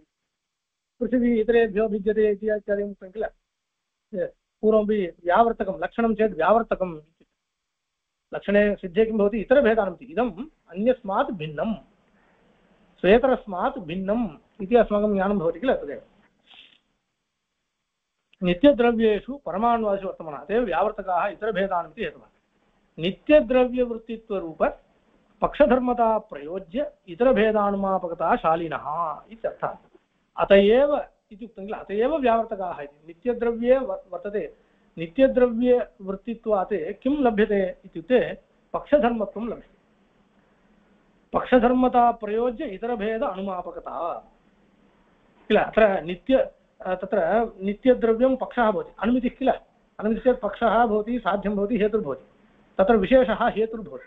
पृथिवी इतरेभ्यो भिद्यते इत्यादिकं उक्तं किल, पूर्वमपि व्यावर्तकं लक्षणं चेत् व्यावर्तकं, लक्षणे सिद्धे किं भवति, इतरभेदानुमिति, इदम् अन्यस्मात् भिन्नं, स्वेतरस्मात् भिन्नम् इति अस्माकं ज्ञानं भवति किल, तदेव। नित्यद्रव्येषु परमाणुवादिषु वर्तमानः, तदेव व्यावर्तकाः इतरभेदानुमिति हेतवः। नित्यद्रव्यवृत्तित्वरूप पक्षधर्मता प्रयोज्य इतरभेदानुमापकता शालिनः इत्यर्थः। अत एव इति उक्तं किल, अत एव व्यावर्तकाः इति। नित्यद्रव्ये वर्तते, नित्यद्रव्यवृत्तित्वात् किं लभ्यते इत्युक्ते पक्षधर्मत्वं लभ्यते। पक्षधर्मता प्रयोज्य इतरभेद अनुमापकता किल, अत्र तत्र नित्यद्रव्यं पक्षः भवति, अनुमितिः किल, अनुमितिः चेत् पक्षः भवति, साध्यं भवति, हेतुर्भवति, तत्र विशेषः हेतुर्भवति,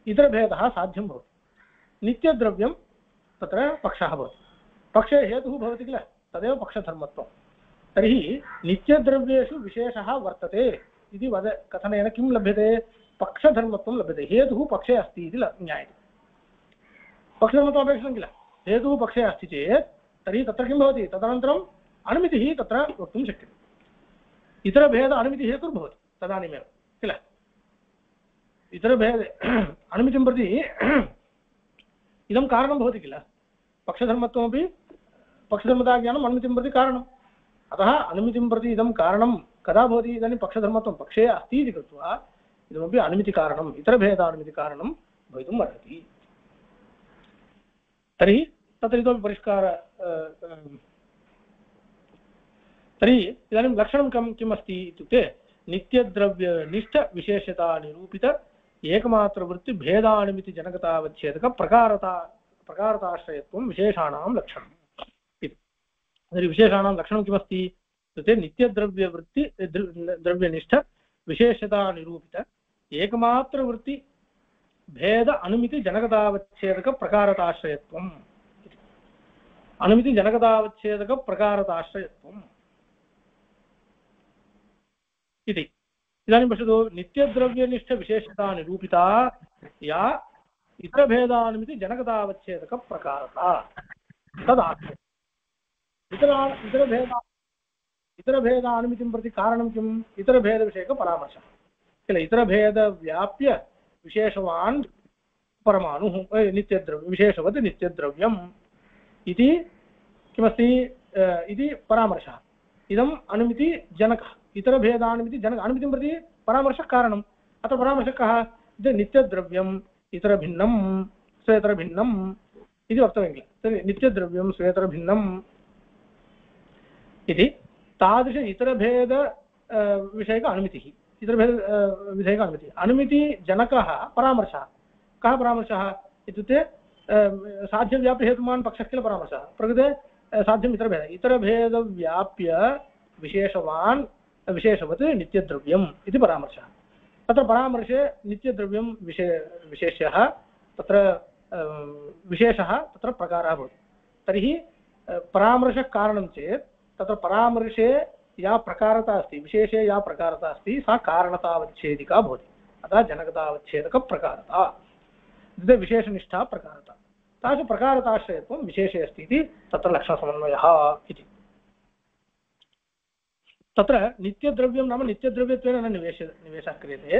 इतरभेदः साध्यं भवति। नित्यद्रव्यं तत्र पक्षः भवति, पक्षे हेतुः भवति किल, तदेव पक्षधर्मत्वं। तर्हि नित्यद्रव्येषु विशेषः वर्तते इति कथनेन किं लभ्यते, पक्षधर्मत्वं लभ्यते। हेतुः पक्षे अस्ति इति ज्ञायते, पक्षधर्मत्वमपेक्षितं किल, हेतुः पक्षे अस्ति चेत् तर्हि तत्र किं भवति, तदनन्तरम् अनुमितिः तत्र वक्तुं शक्यते। इतरभेद अनुमितिः हेतुर्भवति तदानीमेव किल, इतरभेद अनुमितिं प्रति इदं कारणं भवति किल, पक्षधर्मत्वमपि पक्षधर्मताज्ञानम् अनुमितिं प्रति कारणम्। अतः अनुमितिं प्रति इदं कारणं कदा भवति, इदानीं पक्षधर्मत्वं पक्षे अस्ति इति कृत्वा इदमपि अनुमितिकारणम्, इतरभेदानुमितिकारणं भवितुम् अर्हति। तर्हि तत्र इतोपि परिष्कार, तर्हि इदानीं लक्षणं किम् अस्ति इत्युक्ते नित्यद्रव्यनिष्ठविशेषतानिरूपित एकमात्रवृत्तिभेदानुमितिजनकतावच्छेदक प्रकारताश्रयत्वं विशेषाणां लक्षणम् इति। तर्हि विशेषाणां लक्षणं किमस्ति इत्युक्ते नित्यद्रव्यवृत्ति द्रव्यनिष्ठविशेषतानिरूपित एकमात्रवृत्ति भेद अनुमिति जनकतावच्छेदक प्रकारताश्रयत्वम्, अनुमिति जनकतावच्छेदक प्रकारताश्रयत्वम् इति। इदानीं पश्यतु, नित्यद्रव्यनिष्ठविशेषता या इतरभेदानुमिति जनकतावच्छेदक प्रकारता तदाश्रयम्। इतरभेदानुमितिं प्रति कारणं किम्, इतरभेदविषयक परामर्शः किल, इतरभेदव्याप्य विशेषवान् परमाणुः नित्यद्रव्य विशेषवत् नित्यद्रव्यम् इति किमस्ति इति परामर्शः। इदम् अनुमितिजनकः, इतरभेदानुमिति जनक, अनुमितिं प्रति परामर्शः कारणम्। अत्र परामर्शः कः, नित्यद्रव्यम् इतरभिन्नं स्वेतरभिन्नम् इति वक्तव्यं किल, तर्हि नित्यद्रव्यं स्वेतरभिन्नम् इति तादृश इतरभेद विषयक अनुमितिः, इतरभेद विषयक अनुमितिः, अनुमितिजनकः परामर्शः। कः परामर्शः इत्युक्ते साध्यव्याप्यहेतुमान् पक्षः किल परामर्शः, प्रकृते साध्यम् इतरभेद, इतरभेदव्याप्य विशेषवान् विशेषवत् नित्यद्रव्यम् इति परामर्शः। तत्र परामर्शे नित्यद्रव्यं विशेष्यः, तत्र विशेषः तत्र प्रकारः भवति। तर्हि परामर्शः कारणं चेत् तत्र परामर्शे या प्रकारता अस्ति, विशेषे या प्रकारता अस्ति सा कारणतावच्छेदिका भवति। अतः जनकतावच्छेदकप्रकारता, द्वितीय विशेषनिष्ठा प्रकारता, तादृश प्रकारताश्रयत्वं विशेषे अस्ति इति तत्र लक्षणसमन्वयः इति। तत्र नित्यद्रव्यं नाम नित्यद्रव्यत्वेन न निवेशः क्रियते,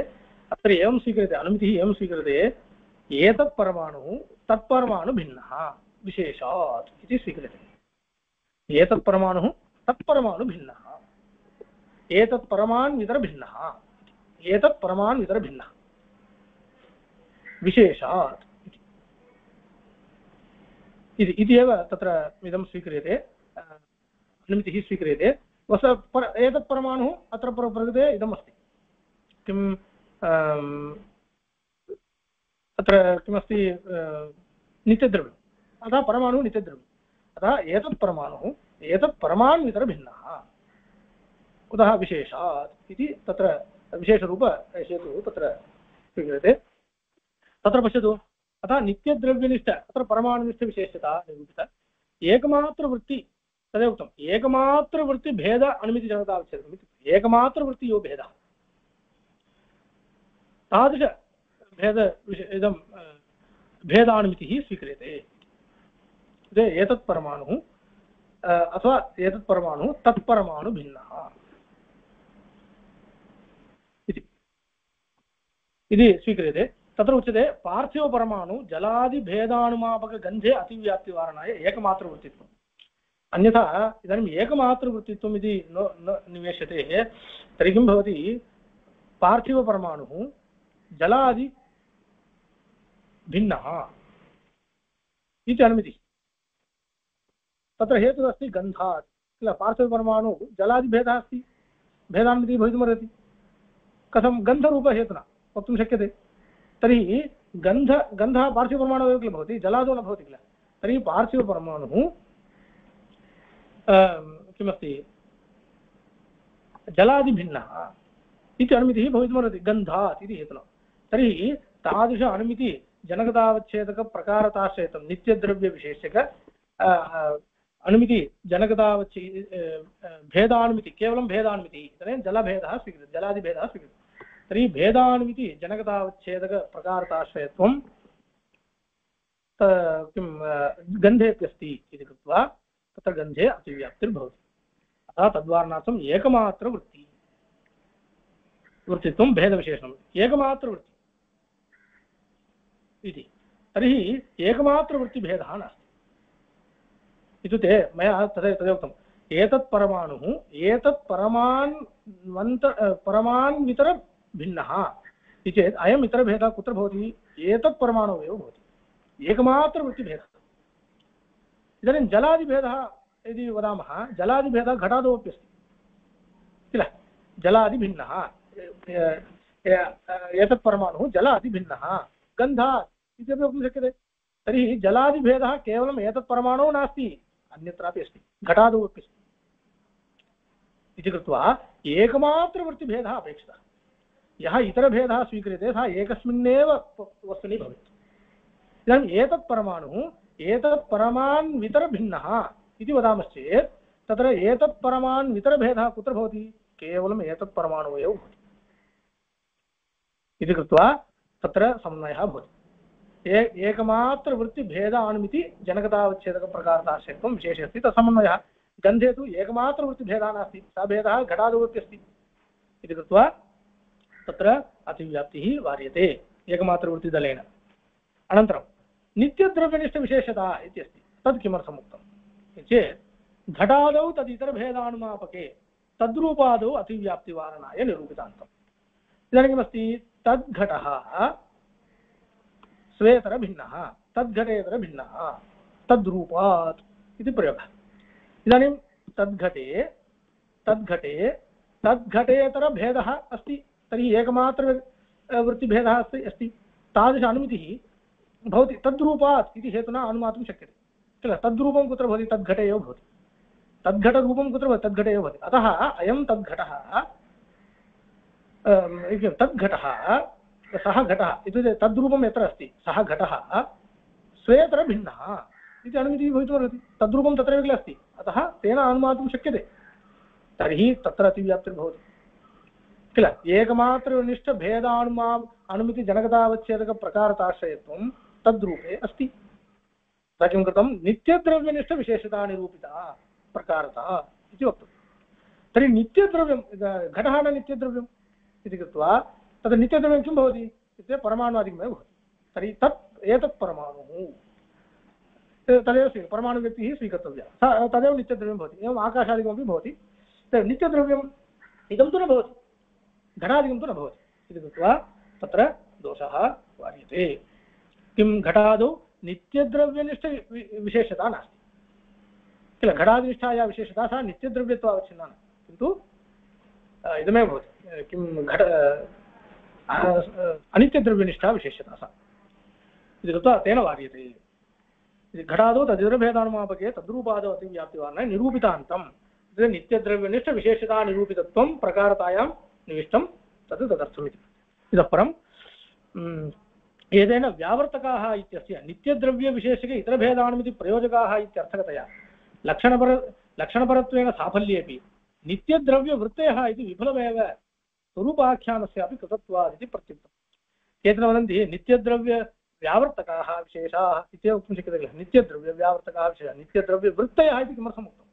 अत्र एवं स्वीक्रियते, अनुमितिः एवं स्वीक्रियते, एतत् परमाणुः तत्परमाणु भिन्नः विशेषात् इति स्वीक्रियते। एतत् परमाणुः तत्परमाणु भिन्नः, एतत् परमाणु इतर भिन्नः, एतत् परमाणु इतर भिन्नः विशेषात् इति एव तत्र इदं स्वीक्रियते, अनुमितिः स्वीक्रियते। एतत् परमाणुः अत्र प्रकृते इदमस्ति, किम् अत्र किमस्ति, नित्यद्रव्यम्, अतः परमाणुः नित्यद्रव्यम्, अतः एतत् परमाणुः एतत् परमाणु इतर भिन्नः कुतः विशेषात् इति तत्र विशेषरूपहेतुः तत्र स्वीक्रियते। तत्र पश्यतु, अतः नित्यद्रव्यनिष्ठ अत्र परमाणुनिष्ठविशेषता निरूपिता। एकमात्रवृत्ति तदेव उक्तम्, एकमात्रवृत्तिभेद अनुमितिजनतावच्छेदकम् इति। एकमात्रवृत्ति यो भेदः तादृशभेद इदं भेदानुमितिः स्वीक्रियते। एतत् परमाणुः अथवा एतत् परमाणुः तत्परमाणु भिन्नः इति स्वीक्रियते। तत्र उच्यते पार्थिवपरमाणु जलादिभेदानुमापकगन्धे अतिव्याप्तिवारणाय एकमात्रवृत्तित्वम्। अन्यथा इदानीम् एकमात्रवृत्तित्वम् इति न निवेश्यते तर्हि किं भवति, पार्थिवपरमाणुः जलादि भिन्नः इति अनुमितिः। तत्र हेतुः अस्ति गन्धात् किल, पार्थिवपरमाणु जलादिभेदः अस्ति, भेदानुमितिः भवितुमर्हति। कथं गन्धरूपहेतुना वक्तुं शक्यते। तर्हि गन्धः पार्थिवपरमाणुः एव किल भवति, जलादौ न भवति किल। तर्हि पार्थिवपरमाणुः किमस्ति, जलादिभिन्नः इति अनुमितिः भवितुमर्हति गन्धात् इति हेतुना। तर्हि तादृश अनुमितिजनकतावच्छेदकप्रकारताश्रयितं नित्यद्रव्यविशेषक अनुमिति जनकतावच्छे भेदानुमिति केवलं भेदानुमितिः इदानीं जलभेदः स्वीक्रियते, जलादिभेदः स्वीक्रियते। तर्हि भेदानुमिति जनकतावच्छेदकप्रकारताश्रयत्वं किं गन्धेऽप्यस्ति इति कृत्वा तत्र गन्धे अतिव्याप्तिर्भवति। अतः तद्वारणार्थम् एकमात्रवृत्तित्वं भेदविशेषणम्, एकमात्रवृत्ति इति। तर्हि एकमात्रवृत्तिभेदः नास्ति इत्युक्ते मया तदेवोक्तम्, एतत् परमाणुः एतत् परमान्वितर भिन्नः इति चेत् अयम् इतरभेदः कुत्र भवति, एतत् परमाणुः एव भवति, एकमात्रवृत्तिभेदः। इदानीं जलादिभेदः यदि वदामः, जलादिभेदः घटादोपि अस्ति किल, जलादिभिन्नः, एतत् परमाणुः जलादिभिन्नः गन्धात् इत्यपि वक्तुं शक्यते। तर्हि जलादिभेदः केवलम् एतत् परमाणुः नास्ति, अन्यत्रापि अस्ति, घटादौ अपि अस्ति इति कृत्वा एकमात्रवृत्तिभेदः अपेक्षितः। यः इतरभेदः स्वीक्रियते सः एकस्मिन्नेव वस्तुनि भवेत्। इदानीम् एतत् परमाणुः एतत् परमान्वितरभिन्नः इति वदामश्चेत् तत्र एतत् परमान्वितरभेदः कुत्र भवति, केवलम् एतत् परमाणुः एव भवति इति कृत्वा तत्र समन्वयः भवति। एकमात्रवृत्तिभेदानुमिति जनकतावच्छेदकप्रकारताश्रयत्वं विशेषे अस्ति। तत्समन्वयः गन्धे तु एकमात्रवृत्तिभेदः नास्ति, सः भेदः घटादौपि अस्ति इति कृत्वा तत्र अतिव्याप्तिः वार्यते एकमात्रवृत्तिदलेन। अनन्तरं नित्यद्रव्यनिष्ठविशेषता इति अस्ति। तद् किमर्थम् उक्तं चेत् घटादौ तदितरभेदानुमापके तद्रूपादौ अतिव्याप्तिवारणाय निरूपितान्तम्। इदानीं किमस्ति, तद्घटः स्वेतरभिन्नः तद्घटेतरभिन्नः तद्रूपात् इति प्रयोगः। इदानीं तद्घटेतरभेदः अस्ति, तर्हि एकमात्रवृत्तिभेदः अस्ति, तादृश अनुमितिः भवति तद्रूपात् इति हेतुना अनुमातुं शक्यते किल। तद्रूपं कुत्र भवति, तद्घटे एव भवति, तद्घटरूपं कुत्र भवति, तद्घटे एव भवति। अतः अयं तद्घटः सः घटः इत्युक्ते तद्रूपं यत्र अस्ति सः घटः स्वेतरभिन्नः इति अनुमितिः भवितुमर्हति। तद्रूपं तत्रैव किल अस्ति, अतः तेन अनुमातुं शक्यते। तर्हि तत्र अतिव्याप्तिर्भवति किल। एकमात्रनिष्ठभेदानुमा अनुमितिजनकतावच्छेदकप्रकारताश्रयत्वं तद्रूपे अस्ति। तथा किं कृतं, नित्यद्रव्यनिष्ठविशेषता निरूपिता प्रकारता इति वक्तुं। तर्हि नित्यद्रव्यं घटः न नित्यद्रव्यम् इति कृत्वा तद् नित्यद्रव्यं किं भवति इत्युक्ते परमाणुवादिकमेव भवति। तर्हि एतत् परमाणुः तदेव परमाणुव्यक्तिः स्वीकर्तव्या, तदेव नित्यद्रव्यं भवति। एवम् आकाशादिकमपि भवति, नित्यद्रव्यम् इदं तु न भवति, घटादिकं तु न भवति इति कृत्वा तत्र दोषः वार्यते। किं, घटादौ नित्यद्रव्यनिष्ठविशेषता नास्ति किल, घटादिनिष्ठा या विशेषता सा नित्यद्रव्यत्वावच्छिन्ना न, किन्तु इदमेव भवति किं घट अनित्यद्रव्यनिष्ठा विशेषता सा इति कृत्वा तेन वार्यते। घटादौ तदितरभेदानुमापके तद्रूपादौ अतिव्याप्तिवारणाय निरूपितान्तं नित्यद्रव्यनिष्ठविशेषतानिरूपितत्वं प्रकारतायां निविष्टं तत् तदर्थम् इति। इतः परं एतेन व्यावर्तकाः इत्यस्य नित्यद्रव्यविशेषके इतरभेदानमिति प्रयोजकाः इत्यर्थकतया लक्षणपरत्वेन साफल्येपि नित्यद्रव्यवृत्तयः इति विफलमेव स्वरूपाख्यानस्यापि कृतत्वात् इति प्रत्युक्तम्। केचन वदन्ति नित्यद्रव्यव्यावर्तकाः विशेषाः इत्येव वक्तुं शक्यते किल। नित्यद्रव्यव्यावर्तकाः विशेषाः नित्यद्रव्यवृत्तयः इति किमर्थम् उक्तम्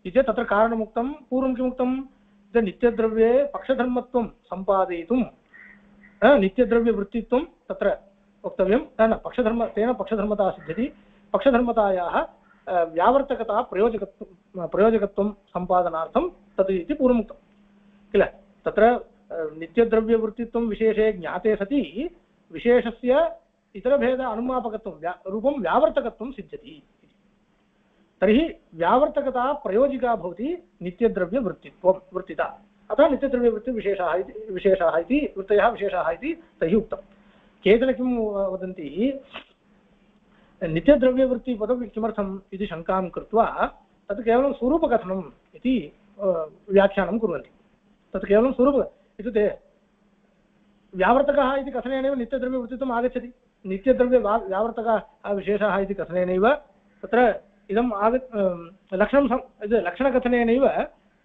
इति तत्र कारणमुक्तं। पूर्वं किमुक्तं नित्यद्रव्ये पक्षधर्मत्वं सम्पादयितुं नित्यद्रव्यवृत्तित्वं तत्र वक्तव्यं न पक्षधर्म तेन पक्षधर्मता सिद्ध्यति। पक्षधर्मतायाः व्यावर्तकता प्रयोजकत्वं सम्पादनार्थं तत् इति पूर्वमुक्तं किल। तत्र नित्यद्रव्यवृत्तित्वं विशेषे ज्ञाते सति विशेषस्य इतरभेद अनुमापकत्वं रूपं व्यावर्तकत्वं सिद्ध्यति। तर्हि व्यावर्तकता प्रयोजिका भवति वृत्तिता। अतः नित्यद्रव्यवृत्तिविशेषाः इति वृत्तयः विशेषाः इति तैः उक्तं। केचन किं वदन्ति नित्यद्रव्यवृत्तिपदं किमर्थम् इति शङ्कां कृत्वा तत् केवलं स्वरूपकथनम् इति व्याख्यानं कुर्वन्ति। तत् केवलं स्वरूप इत्युक्ते व्यावर्तकः इति कथनेनैव नित्यद्रव्यवृत्तित्वम् आगच्छति। व्यावर्तकः विशेषाः इति कथनेनैव तत्र इदम् लक्षणकथनेनैव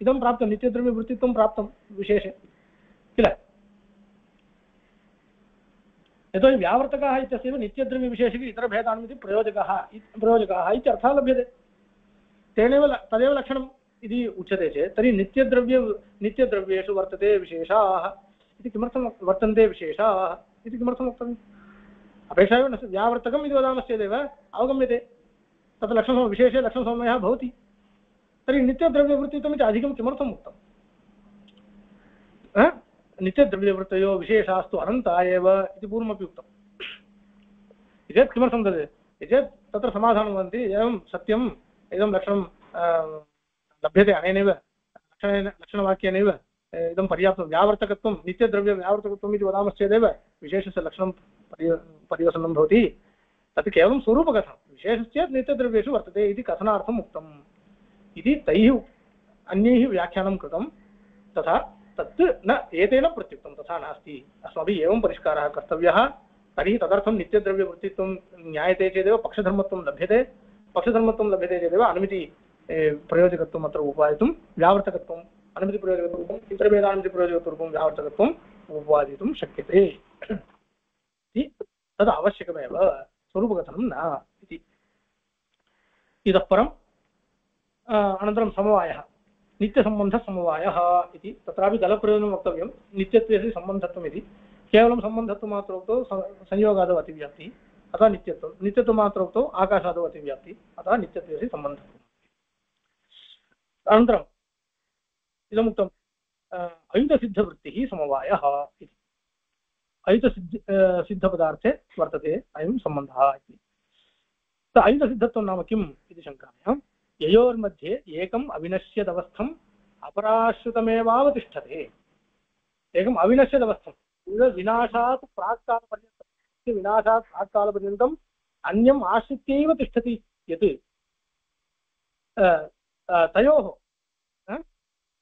इदं प्राप्तं नित्यद्रव्यवृत्तित्वं प्राप्तं विशेषे किल। यतोहि व्यावर्तकाः इत्यस्यैव नित्यद्रव्यविशेषके इतरभेदान्विति प्रयोजकाः इत्यर्थः लभ्यते। तेनैव तदेव लक्षणम् इति उच्यते चेत् तर्हि नित्यद्रव्येषु वर्तते विशेषाः इति किमर्थं वर्तन्ते विशेषाः इति किमर्थं वक्तव्यम्। अपेक्षा एव न व्यावर्तकम् इति वदामश्चेदेव अवगम्यते तत् विशेषे लक्षणसमयः भवति। तर्हि नित्यद्रव्यवृत्तित्वम् इति अधिकं किमर्थम् उक्तम्। नित्यद्रव्यवृत्तयो विशेषास्तु अनन्ता एव इति पूर्वमपि उक्तम्। चेत् किमर्थं तद् चेत् तत्र समाधानं वदन्ति एवं सत्यम् इदं लक्षणं लभ्यते अनेनैव लक्षणवाक्येनैव इदं पर्याप्तं। व्यावर्तकत्वं नित्यद्रव्यव्यावर्तकत्वम् इति वदामश्चेदेव विशेषस्य लक्षणं पर्यवसनं भवति। तत् केवलं स्वरूपकथनं। विशेषश्चेत् नित्यद्रव्येषु वर्तते इति कथनार्थम् उक्तम् इति तैः अन्यैः व्याख्यानं कृतं। तथा तत् न एतेन प्रत्युक्तं तथा नास्ति। अस्माभिः एवं परिष्कारः कर्तव्यः। तर्हि तदर्थं नित्यद्रव्यवृत्तित्वं ज्ञायते चेदेव पक्षधर्मत्वं लभ्यते। पक्षधर्मत्वं लभ्यते चेदेव अनुमिति प्रयोजकत्वम् अत्र उपादितुं व्यावर्तकत्वम् अनुमितिप्रयोजकत्वरूपम् इतरभेदानुमितिप्रयोजकत्वरूपं व्यावर्तकत्वम् उपादितुं शक्यते इति तद् आवश्यकमेव स्वरूपकथनं न इति। इतः परम् अनन्तरं समवायः नित्यसम्बन्धसमवायः इति तत्रापि दलप्रयोजनं वक्तव्यं। नित्यत्वेषु सम्बन्धत्वम् इति केवलं सम्बन्धत्वमात्रोक्तौ संयोगादौ अतिव्याप्तिः अतः नित्यत्वं। नित्यत्वमात्रोक्तौ आकाशादौ अतिव्याप्तिः अतः नित्यत्वेषु सम्बन्धत्वम्। अनन्तरम् इदमुक्तम् अयुतसिद्धवृत्तिः समवायः इति। अयुतसिद्धपदार्थे वर्तते अयं सम्बन्धः इति। अयुतसिद्धत्वं नाम किम् इति शङ्कायां ययोर्मध्ये एकम् अविनश्यदवस्थम् अपराश्रितमेवावतिष्ठते। एकम् अविनश्यदवस्थं विनाशात् प्राक्कालपर्यन्तम् अन्यम् आश्रित्यैव तिष्ठति यत् तयोः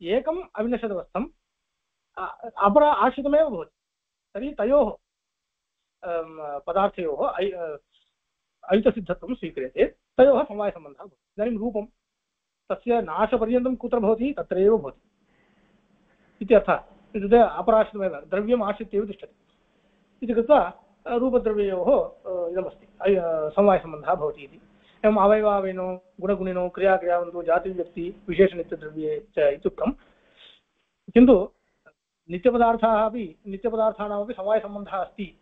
एकम् अविनश्यदवस्थम् अपरा आश्रितमेव भवति। तर्हि तयोः पदार्थयोः अयुतसिद्धत्वं स्वीक्रियते। तयोः समवायसम्बन्धः भवति। इदानीं रूपं तस्य नाशपर्यन्तं कुत्र भवति तत्रैव भवति इति अर्थः। इत्युक्ते अपराश्रितमेव द्रव्यम् आश्रित्यैव तिष्ठति इति कृत्वा रूपद्रव्ययोः इदमस्ति समवायसम्बन्धः भवति इति। एवम् अवयवावयिनो गुणगुणिनो क्रियाक्रियावन्तो जातिव्यक्ति विशेषनित्यद्रव्ये च इत्युक्तं। किन्तु नित्यपदार्थानामपि समवायसम्बन्धः अस्ति।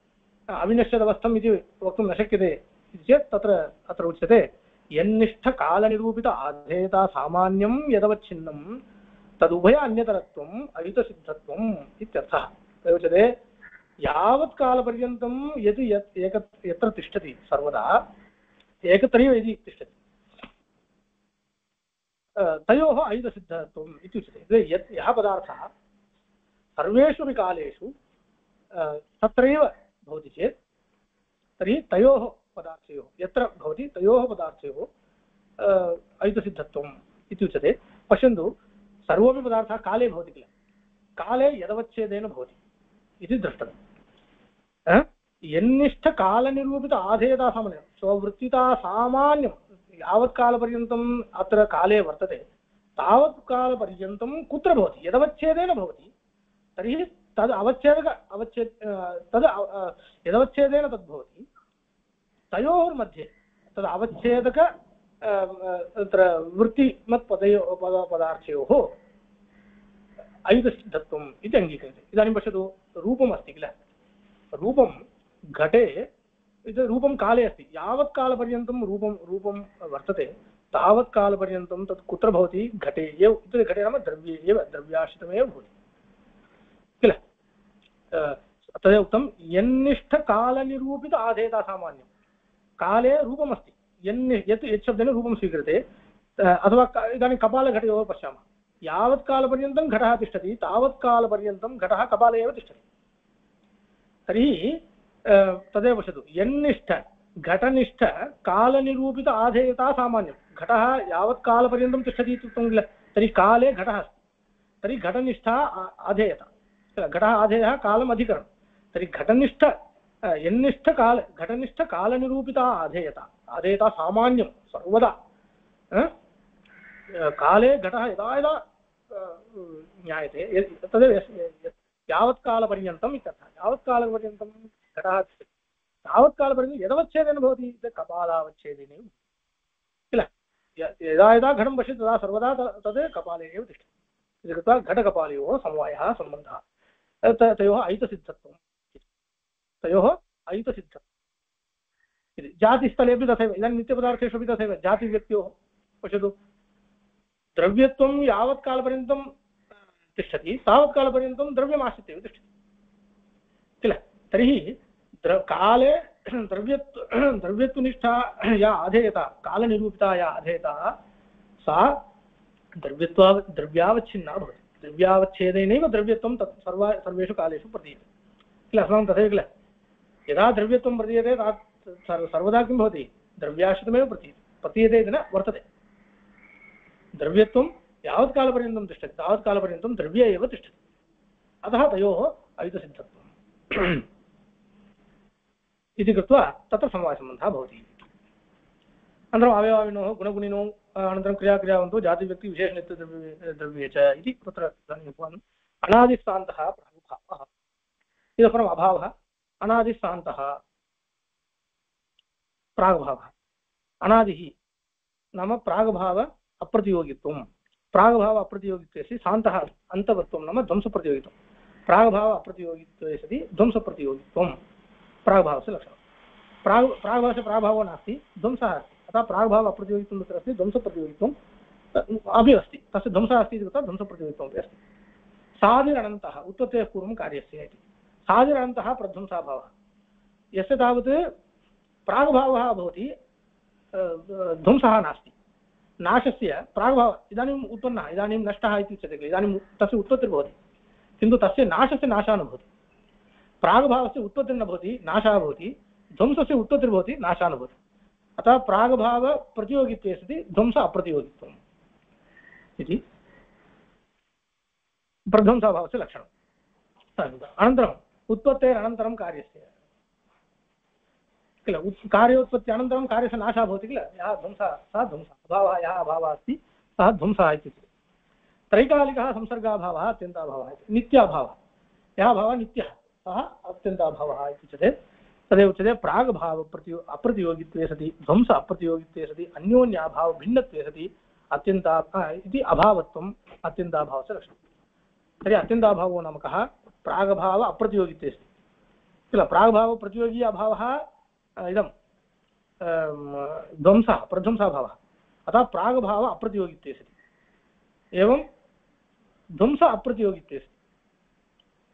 अविनश्यदवस्थम् इति वक्तुं न शक्यते इति चेत् अत्र उच्यते यन्निष्ठकालनिरूपित आधेयता सामान्यं यदवच्छिन्नं तदुभय अन्यतरत्वम् अयुतसिद्धत्वम् इत्यर्थः। उच्यते यावत् कालपर्यन्तं यत् यत्र तिष्ठति सर्वदा एकत्रैव यदि तिष्ठति तयोः अयुतसिद्धत्वम् इत्युच्यते। यः पदार्थः सर्वेषु अपि कालेषु तत्रैव भवति चेत् तर्हि तयोः पदार्थयोः यत्र भवति तयोः पदार्थयोः अयुतसिद्धत्वम् इत्युच्यते। पश्यन्तु, सर्वोऽपि पदार्थः काले भवति किल, काले यदवच्छेदेन भवति इति दृष्टम्। यन्निष्ठकालनिरूपित आधेयता सामान्यं स्ववृत्तिता सामान्यं यावत् कालपर्यन्तम् अत्र काले वर्तते तावत् कालपर्यन्तं कुत्र भवति, यदवच्छेदेन भवति तर्हि तद् यदवच्छेदेन तद्भवति तयोर्मध्ये तद् अवच्छेदक तत्र वृत्तिमत्पदार्थयोः अयुतसिद्धत्वम् इति अङ्गीक्रियते। इदानीं पश्यतु, रूपम् अस्ति किल, रूपं घटे रूपं काले अस्ति, यावत् कालपर्यन्तं रूपं वर्तते तावत् कालपर्यन्तं तत् कुत्र भवति, घटे एव। इत्युक्ते घटे नाम द्रव्ये एव, द्रव्याश्रितमेव भवति किल। तदेव उक्तं यन्निष्ठकालनिरूपित आधेयता सामान्यं। काले रूपमस्ति, यत् शब्देन रूपं स्वीक्रियते, अथवा इदानीं कपालघटयोः पश्यामः, यावत् कालपर्यन्तं घटः तिष्ठति तावत् कालपर्यन्तं घटः कपाले एव तिष्ठति। तर्हि तदेव पश्यतु, यन्निष्ठ घटनिष्ठ कालनिरूपित आधेयता सामान्यं। घटः यावत् कालपर्यन्तं तिष्ठति इत्युक्तं किल, तर्हि काले घटः अस्ति, तर्हि घटनिष्ठा आधेयता किल, घटः आधेयः कालम् अधिकरणं। तर्हि घटनिष्ठ घटनिष्ठकालनिरूपिता आधेयता सामान्यं सर्वदा। काले घटः यदा यदा ज्ञायते तदेव यावत् कालपर्यन्तम् इत्यर्थः। यावत् कालपर्यन्तं घटः तावत् कालपर्यन्तं यदवच्छेदेन भवति कपालावच्छेदेनैव किल। यदा यदा घटं पश्यति तदा सर्वदा तद् कपाले एव तिष्ठति इति कृत्वा घटकपालयोः समवायः सम्बन्धः, तयोः अयुतसिद्धत्वं, तयोः अयुतसिद्धत्वम् इति। जातिस्थलेपि तथैव, इदानीं नित्यपदार्थेषु अपि तथैव जातिव्यक्त्योः पश्यतु, द्रव्यत्वं यावत् कालपर्यन्तं तिष्ठति तावत् कालपर्यन्तं द्रव्यमाश्रित्य एव तिष्ठति किल। तर्हि काले द्रव्यत्वनिष्ठा या आधेयता, कालनिरूपिता या आधेयता, सा द्रव्यावच्छिन्ना भवति। द्रव्यावच्छेदेनैव द्रव्यत्वं तत् सर्वेषु कालेषु प्रतीयते किल। अस्माकं तथैव किल, यदा द्रव्यत्वं प्रतीयते सर्वदा किं भवति, द्रव्याश्रितमेव प्रतीयते इति न वर्तते। द्रव्यत्वं यावत् कालपर्यन्तं तिष्ठति तावत् कालपर्यन्तं द्रव्ये एव तिष्ठति, अतः तयोः अयुतसिद्धत्वम् इति कृत्वा तत्र समवायसम्बन्धः भवति। अनन्तरम् अवयवाविनोः गुणगुणिनौ अनन्तरं क्रियाक्रियावन्तौ जातिव्यक्तिविशेषनित्यद्रव्ये च इति तत्र इदानीम् अनादिस्सान्तः प्रागुभावः, इतः परम् अभावः, अनादिस्सान्तः प्रागभावः। अनादिः नाम प्रागभाव अप्रतियोगित्वं, प्रागभाव अप्रतियोगित्वे सति सान्तः अन्तवत्वं नाम ध्वंसप्रतियोगित्वं, प्रागभाव अप्रतियोगित्वे सति ध्वंसप्रतियोगित्वं प्रागभावस्य लक्षणं। प्रागभावस्य प्रागभावो नास्ति, ध्वंसः अस्ति, अतः प्रागभाव अप्रतियोगित्वं तत्र अस्ति, ध्वंसप्रतियोगित्वम् अपि अस्ति, तस्य ध्वंसः अस्ति इति कृत्वा ध्वंसप्रतियोगित्वमपि अस्ति। सादिरनन्तः उत्पत्तेः पूर्वं कार्यस्य इति, सादिरनन्तः प्रध्वंसाभावः, यस्य तावत् प्रागभावः भवति ध्वंसः नास्ति, नाशस्य प्रागभावः इदानीम् उत्पन्नः, इदानीं नष्टः इति उच्यते किल, इदानीं तस्य उत्पत्तिर्भवति किन्तु तस्य नाशस्य नाशः न भवति। प्रागभावस्य उत्पत्तिर्न भवति, नाशः भवति, ध्वंसस्य उत्पत्तिर्भवति, नाशः न भवति। अतः प्रागभावप्रतियोगित्वे सति ध्वंस अप्रतियोगित्वम् इति प्रध्वंसाभावस्य लक्षणम्। अनन्तरम् उत्पत्तेरनन्तरं कार्यस्य किल, कार्योत्पत्ति अनन्तरं कार्यस्य नाशः भवति किल, यः ध्वंसः सः ध्वंसः, अभावः यः अभावः अस्ति सः ध्वंसः इत्युच्यते। त्रैकालिकः संसर्गाभावः अत्यन्ताभावः इति, नित्याभावः यः भावः नित्यः सः अत्यन्ताभावः इत्युच्यते। तदेव उच्यते प्रागभाव अप्रतियोगित्वे सति ध्वंस अप्रतियोगित्वे सति अन्योन्याभाव भिन्नत्वे सति अत्यन्ता इति अभावत्वम् अत्यन्ताभावस्य लक्षणं। तर्हि अत्यन्ताभावो नाम कः, प्रागभाव अप्रतियोगित्वे सति किल, प्रागभाव प्रतियोगी अभावः इदं ध्वंसः प्रध्वंसाभावः, अतः प्रागभाव अप्रतियोगित्वे सति, एवं ध्वंस अप्रतियोगित्वे सति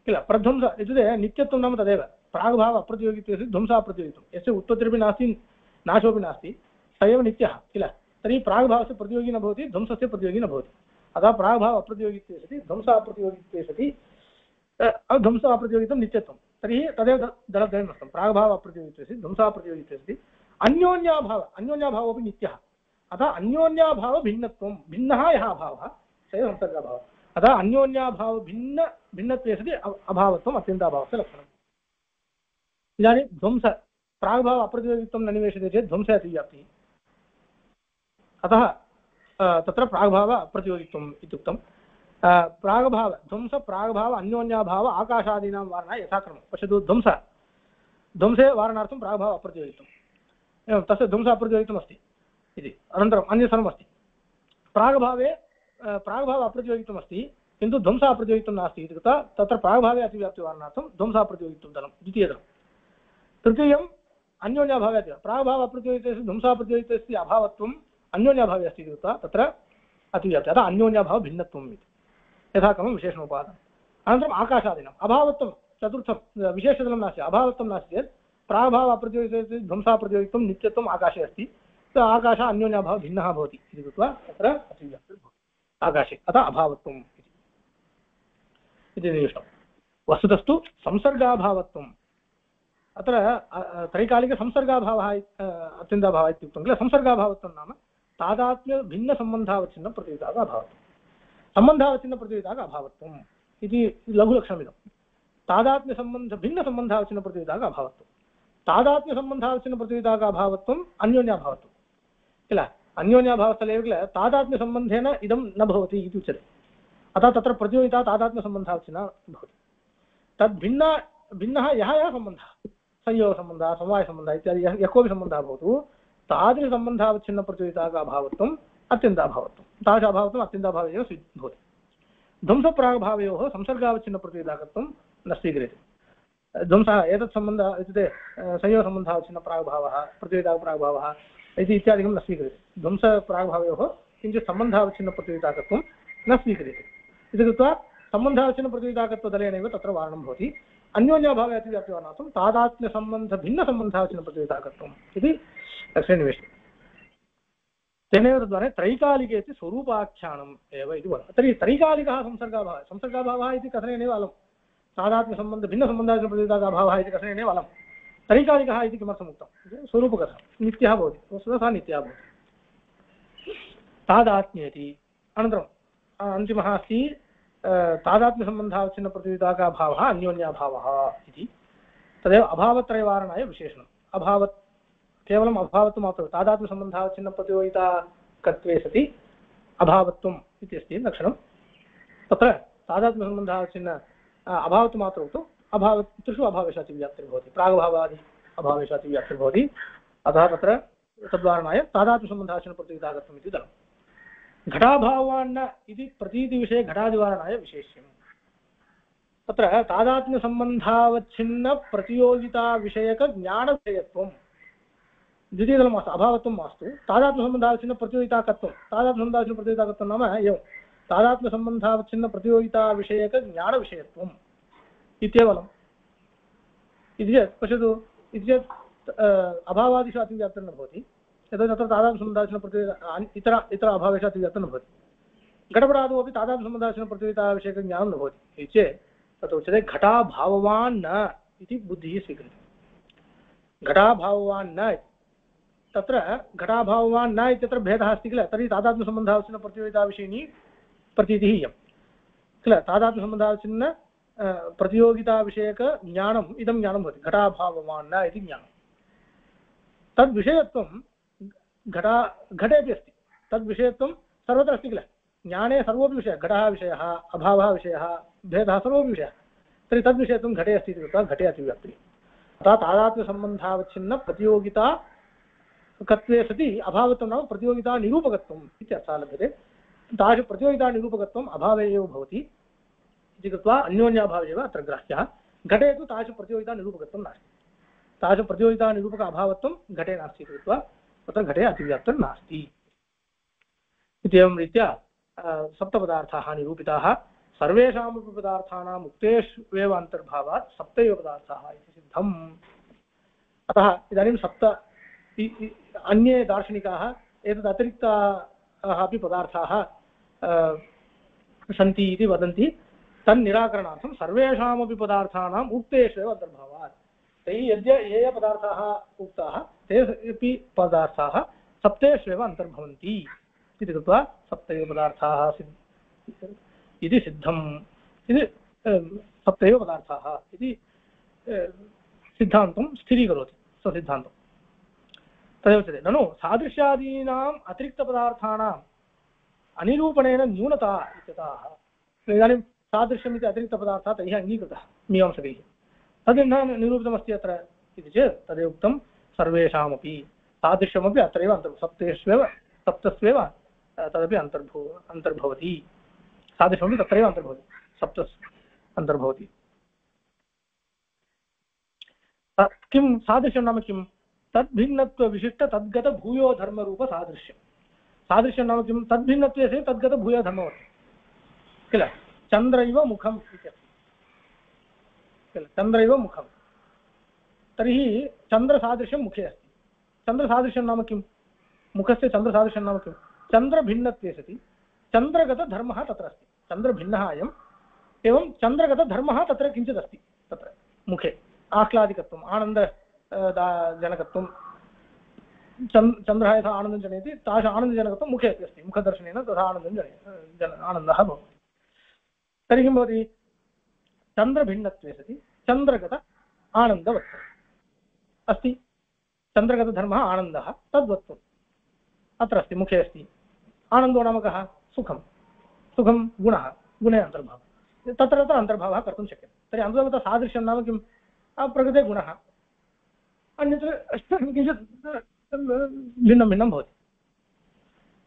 किल। प्रध्वंस इत्युक्ते नित्यत्वं नाम तदेव, प्रागभाव अप्रतियोगित्वे सति ध्वंस अप्रतियोगित्वं, यस्य उत्पत्तिरपि नास्ति नाशोपि नास्ति स एव नित्यः किल। तर्हि प्रागभावस्य प्रतियोगी न भवति, ध्वंसस्य प्रतियोगी न भवति, अतः प्रागभाव अप्रतियोगित्वे सति ध्वंस अप्रतियोगित्वे सति ध्वंस अप्रतियोगित्वं नित्यत्वं। तर्हि तदेव दलद्वयमस्तं, प्रागभाव अप्रतियोगित्वे सति ध्वंस अप्रतियोगित्वे सति अन्योन्याभावः अपि नित्यः, अतः अन्योन्याभाव भिन्नत्वं भिन्नः यः अभावः स एव संसर्गाभावः अतः अन्योन्याभाव भिन्नत्वे सति अभावत्वम् अत्यन्ताभावस्य लक्षणम् इदानीं ध्वंस प्राग्भाव अप्रतियोगित्वं न निवेश्यते चेत् ध्वंसे अतिव्याप्तिः अतः तत्र प्राग्भाव अप्रतियोगित्वम् इत्युक्तं प्रागभाव ध्वंस प्रागभाव अन्योन्याभाव आकाशादीनां वारणाय यथाक्रमं पश्यतु ध्वंसे वारणार्थं प्रागभाव अप्रतियोगित्वम् एवं तस्य ध्वंस अप्रतियोगित्वम् अस्ति इति अनन्तरम् अन्य सर्वमस्ति प्रागभावे प्रागभाव अप्रतियोगित्वम् अस्ति किन्तु ध्वंस अप्रतियोगित्वं नास्ति इति कृत्वा तत्र प्रागभावे अतिव्याप्तिवारणार्थं ध्वंस अप्रतियोगित्वं दलं द्वितीयदलं तृतीयम् अन्योन्याभावे अति प्रागभाव अप्रतियोगितस्य ध्वंसाप्रतियोगितस्य अभावत्वम् अन्योन्याभावे अस्ति इति कृत्वा तत्र अतिव्याप्ति अतः अन्योन्याभाव भिन्नत्वम् इति यथाक्रमं विशेषणोपादानम् अनन्तरम् आकाशादीनाम् अभावत्वं चतुर्थं विशेषदलं नास्ति अभावत्वं नास्ति चेत् प्रागभाव अप्रतियोगितस्य ध्वंसाप्रतियोगित्वं नित्यत्वम् आकाशे अस्ति आकाश अन्योन्याभावः भिन्नः भवति इति कृत्वा तत्र अतिव्याप्तिर्भवति आकाशे अतः अभावत्वम् इति निष्टं वस्तुतस्तु संसर्गाभावत्वम् अत्र त्रैकालिकसंसर्गाभावः अत्यन्ताभावः इत्युक्तं किल संसर्गाभावत्वं नाम तादात्म्यभिन्नसम्बन्धावच्छिन्नं प्रतियोगिताः अभावत्वं सम्बन्धावच्छिन्नप्रतियोगिताः अभावत्वम् इति लघुलक्षणमिदं तादात्म्यसम्बन्धभिन्नसम्बन्धावच्छिन्नप्रतियोगिताः अभावत्वं तादात्म्यसम्बन्धावच्छिन्नप्रतियोगिताः अभावत्वम् अन्योन्याभावत्वम् किल अन्योन्याभावस्थले किल तादात्म्यसम्बन्धेन इदं न भवति इति उच्यते अतः तत्र प्रतियोगिता तादात्म्यसम्बन्धावच्छिन्ना भवति भिन्नः यः सम्बन्धः संयोगसम्बन्धः समवायसम्बन्धः इत्यादि यः कोऽपि सम्बन्धः भवतु तादृशसम्बन्धावच्छिन्नप्रतियोगिताः अभावत्वम् अत्यन्ताभावत्वं तादृश अभावत्वम् अत्यन्ताभावे एव भवति ध्वंसप्रागभावयोः संसर्गावच्छिन्नप्रतियोगिताकत्वं न स्वीक्रियते ध्वंसः एतत् सम्बन्धः इत्युक्ते संयोगसम्बन्धावच्छिन्नप्रागभावः प्रतियोगिताप्रागभावः इति इत्यादिकं न स्वीक्रियते ध्वंसप्रागभावयोः किञ्चित् सम्बन्धावच्छिन्नप्रतियोगिताकत्वं न स्वीक्रियते इति कृत्वा सम्बन्धावच्छिन्नप्रतियोगिताकत्वदलेनैव तत्र वारणं भवति अन्योन्याभावे अतिव्याप्तिवारणार्थं तादात्म्यसम्बन्धभिन्नसम्बन्धावच्छिन्नप्रतियोगिताकत्वम् इति लक्ष्ये निवेश्यते तेनैव तद्वारा त्रैकालिके इति स्वरूपाख्यानम् एव इति वदति तर्हि त्रैकालिकः संसर्गाभावः इति कथनेनैव अलं तादात्म्यसम्बन्धभिन्नसम्बन्धावच्छिन्नप्रतियोगिताभावः इति कथनेनैव अलं त्रैकालिकः इति किमर्थम् उक्तं स्वरूपकथनं नित्यः भवति वस्तुतः सा नित्यः भवति तादात्म्येति अनन्तरम् अन्तिमः अस्ति तादात्म्यसम्बन्धावच्छिन्नप्रतियोगिताभावः अन्योन्याभावः इति तदेव अभावत्रयवारणाय विशेषणम् अभावत् केवलम् अभावत्वमात्रं तादात्म्यसम्बन्धावच्छिन्नप्रतियोगिताकत्वे सति अभावत्वम् इति अस्ति लक्षणं तत्र तादात्म्यसम्बन्धावच्छिन्न अभावत्वमात्रं तु त्रिषु अभावेषु अतिव्याप्तिर्भवति प्रागभावादि अभावेषु अतिव्याप्तिर्भवति अतः तत्र तद्वारणाय तादात्म्यसम्बन्धावच्छिन्नप्रतियोगिताकत्वम् इति दलम् घटाभावान्न इति प्रतीतिविषये घटादिवारणाय विशेष्यम् तत्र तादात्म्यसम्बन्धावच्छिन्नप्रतियोगिताविषयकज्ञानविषयत्वं द्वितीयदलं मास्तु अभावत्वं मास्तु तादात्म्यसम्बन्धावच्छिन्नप्रतियोगिताकत्वं नाम एवं तादात्म्यसम्बन्धावच्छिन्नप्रतियोगिताविषयकज्ञानविषयत्वम् इत्येवलम् इति चेत् पश्यतु इति चेत् अभावादिषु अतिव्याप्तिर्न भवति यतोहि तत्र तादात्म्यसम्बन्धावच्छिन्नप्रतियोगिता इतर अभावेषु अतिव्याप्तिर्न भवति घटपटादौ अपि तादात्म्यसम्बन्धावच्छिन्नप्रतियोगिताविषयकज्ञानं न भवति इति चेत् तत्र उच्यते घटाभाववान् न इति बुद्धिः स्वीक्रियते घटाभाववान् न तत्र घटाभाववान् न इत्यत्र भेदः अस्ति किल तर्हि तादात्म्यसम्बन्धावच्छिन्नप्रतियोगिताविषयिणी प्रतीतिः इयं किल तादात्म्यसम्बन्धावच्छिन्न प्रतियोगिताविषयकज्ञानम् इदं ज्ञानं भवति घटाभाववान् न इति ज्ञानं तद्विषयत्वं घटेपि अस्ति तद्विषयत्वं सर्वत्र अस्ति किल ज्ञाने सर्वोपि विषयः घटः विषयः अभावः विषयः भेदः सर्वोपि विषयः तर्हि तद्विषयत्वं घटे अस्ति इति कृत्वा घटे अतिव्याप्तिः अतः तादात्म्यसम्बन्धावच्छिन्न प्रतियोगिता कत्वे सति अभावत्वं नाम प्रतियोगिता निरूपकत्वम् इत्यर्थः लभ्यते तादृश प्रतियोगिता निरूपकत्वम् अभावे एव भवति इति कृत्वा अन्योन्याभावे एव अत्र ग्राह्यः घटे तु तादृश प्रतियोगिता निरूपकत्वं नास्ति तादृश प्रतियोगिता निरूपक अभावत्वं घटे नास्ति इति कृत्वा तत्र घटे अतिव्याप्तिर् नास्ति इत्येवं रीत्या सप्तपदार्थाः निरूपिताः सर्वेषामपि पदार्थानाम् उक्तेष्वेव अन्तर्भावात् सप्तैव पदार्थाः इति सिद्धम् अतः इदानीं सप्त अन्ये दार्शनिकाः एतद् अतिरिक्ताः अपि पदार्थाः सन्ति इति वदन्ति तन्निराकरणार्थं सर्वेषामपि पदार्थानाम् उक्तेष्वेव अन्तर्भावात् तैः ये पदार्थाः उक्ताः ते अपि पदार्थाः सप्तेष्वेव अन्तर्भवन्ति इति कृत्वा सप्तैव पदार्थाः इति सिद्धम् इति सप्तैव पदार्थाः इति सिद्धान्तं स्थिरीकरोति स्वसिद्धान्तं। तदेव उच्यते ननु सादृश्यादीनाम् अतिरिक्तपदार्थानाम् अनिरूपणेन न्यूनता इत्यतः। इदानीं सादृश्यम् इति अतिरिक्तपदार्थः तैः अङ्गीकृतः मीमांसकैः, तद् न निरूपितमस्ति अत्र इति चेत् तदेव उक्तं सर्वेषामपि सादृश्यमपि अत्रैव सप्तस्वेव तदपि अन्तर्भवति, सादृश्यमपि तत्रैव अन्तर्भवति, सप्तस् अन्तर्भवति। किं सादृश्यं नाम किं? तद्भिन्नत्वविशिष्ट तद्गत भूयो धर्मरूप सादृश्यं। सादृश्यं नाम किं? तद्भिन्नत्वे सति तद्गत भूयो धर्मवत् किल। चन्द्रैव मुखम् इत्यस्ति किल, चन्द्रैव मुखं, तर्हि चन्द्रसादृश्यं मुखे अस्ति। चन्द्रसादृश्यं नाम किं? मुखस्य चन्द्रसादृश्यं नाम किं? चन्द्रभिन्नत्वे सति चन्द्रगतधर्मः तत्र अस्ति। चन्द्रभिन्नः अयम्, एवं चन्द्रगतधर्मः तत्र किञ्चित् अस्ति। तत्र मुखे आह्लादिकत्वम्, आनन्दजनकत्वं, चन्द्रः यथा आनन्दं जनयति तादृश आनन्दजनकत्वं मुखे अपि अस्ति। मुखदर्शनेन तथा आनन्दः भवति। तर्हि किं भवति? चन्द्रभिन्नत्वे सति चन्द्रगत आनन्दवत् अस्ति। चन्द्रगतधर्मः आनन्दः, तद्वत्वम् अत्र अस्ति, मुखे अस्ति। आनन्दो नाम कः? सुखं। सुखं गुणः, गुणे अन्तर्भावः, तत्र तत्र अन्तर्भावः कर्तुं शक्यते। तर्हि अन्तर्गत सादृश्यं नाम किं? प्रकृते गुणः, अन्यत्र किञ्चित् भिन्नं भिन्नं भवति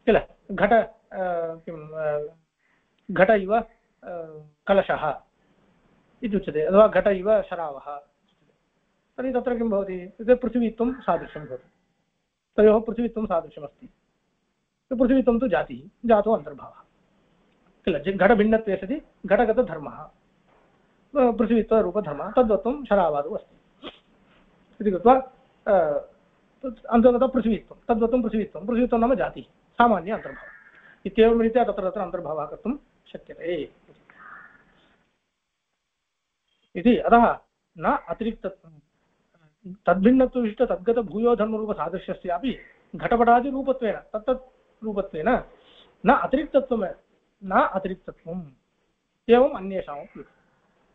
किल। घट इव कलशः इति उच्यते, अथवा घट इव शरावः। तर्हि तत्र किं भवति? इत्युक्ते पृथिवीत्वं सादृश्यं भवति। तयोः पृथिवीत्वं सादृश्यमस्ति। पृथिवीत्वं तु जातिः, जातो अन्तर्भावः किल। घटभिन्नत्वे सति घटगतधर्मः, पृथिवीत्वरूपधर्मः, तद्वत्वं शरावादौ अस्ति इति कृत्वा अन्तर्गत पृथिवीत्वं, तद्वत्वं पृथिवीत्वं, पृथिवीत्वं नाम जातिः, सामान्य अन्तर्भावः। इत्येवं रीत्या तत्र तत्र अन्तर्भावः कर्तुं शक्यते इति। अतः न अतिरिक्तत्वं तद्भिन्नत्वविशिष्ट तद्गत भूयो धर्मरूपसादृश्यस्यापि घटपटादिरूपत्वेन तत्तत् रूपत्वेन न अतिरिक्तत्वम् एवम् अन्येषामपि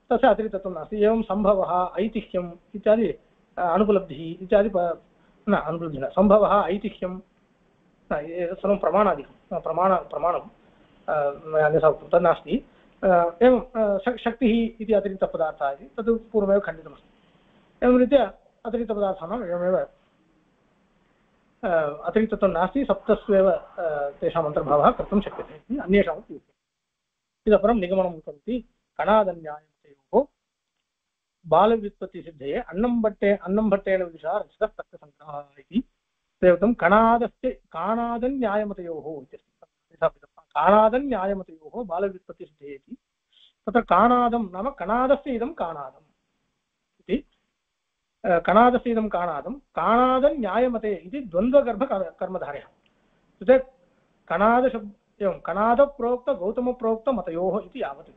तस्य अतिरिक्तत्वं नास्ति। एवं सम्भवः, ऐतिह्यम् इत्यादि, अनुपलब्धिः इत्यादि न अनुपलब्धिः न, सम्भवः, ऐतिह्यं सर्वं प्रमाणादिकं, प्रमाणं मया अन्यथा उक्तं तन्नास्ति। एवं शक्तिः इति अतिरिक्तपदार्थः इति तद् पूर्वमेव खण्डितमस्ति। एवं रीत्या अतिरिक्तपदार्थानाम् एवमेव अतिरिक्तत्वं नास्ति, सप्तस्वेव तेषाम् अन्तर्भावः कर्तुं शक्यते इति अन्येषामपि उच्यते। इतः परं निगमनं करोति कणादन्यायमतयोः बालव्युत्पत्तिसिद्धये अन्नं भट्टेन विदुषा रचितः तर्कसङ्ग्रहः इति प्रयुक्तं काणादन्यायमतयोः इत्यस्ति। काणादन्यायमतयोः बालव्युत्पत्तिसिद्धये इति तत्र काणादं नाम कणादस्य इदं काणादम् इति, कणादस्य इदं काणादं काणादन्यायमते इति द्वन्द्वगर्भकर्मधारयः। इत्युक्ते कणादशब्द एवं कणादप्रोक्त गौतमप्रोक्तमतयोः इति यावत्।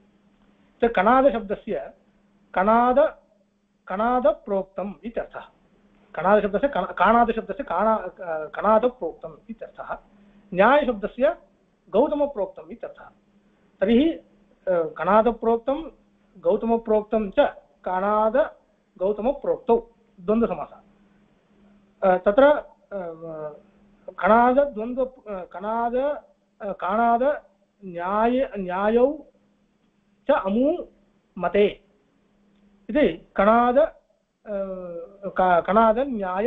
कणादशब्दस्य कणादप्रोक्तम् इत्यर्थः। कणादशब्दस्य काणादशब्दस्य कणादप्रोक्तम् इत्यर्थः। न्यायशब्दस्य गौतमप्रोक्तम् इत्यर्थः। तर्हि कणादप्रोक्तं गौतमप्रोक्तं च कणादगौतमप्रोक्तौ द्वन्द्वसमासः। तत्र काणादन्यायौ च अमू मते इति कणादन्याय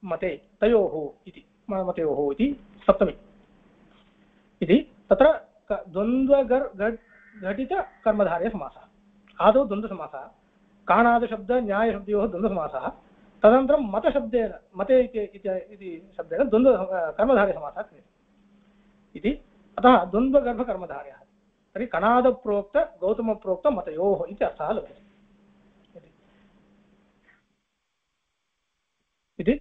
मते तयोः इति मतयोः इति सप्तमी इति तत्र द्वन्द्वघटितकर्मधारयसमासः। आदौ द्वन्द्वसमासः, काणादशब्द न्यायशब्दयोः द्वन्द्वसमासः, तदनन्तरं मतशब्देन मते इति शब्देन कर्मधारयसमासः क्रियते इति। अतः द्वन्द्वगर्भकर्मधारयः। तर्हि कणादप्रोक्त गौतमप्रोक्त मतयोः इति अर्थः लभ्यते इति।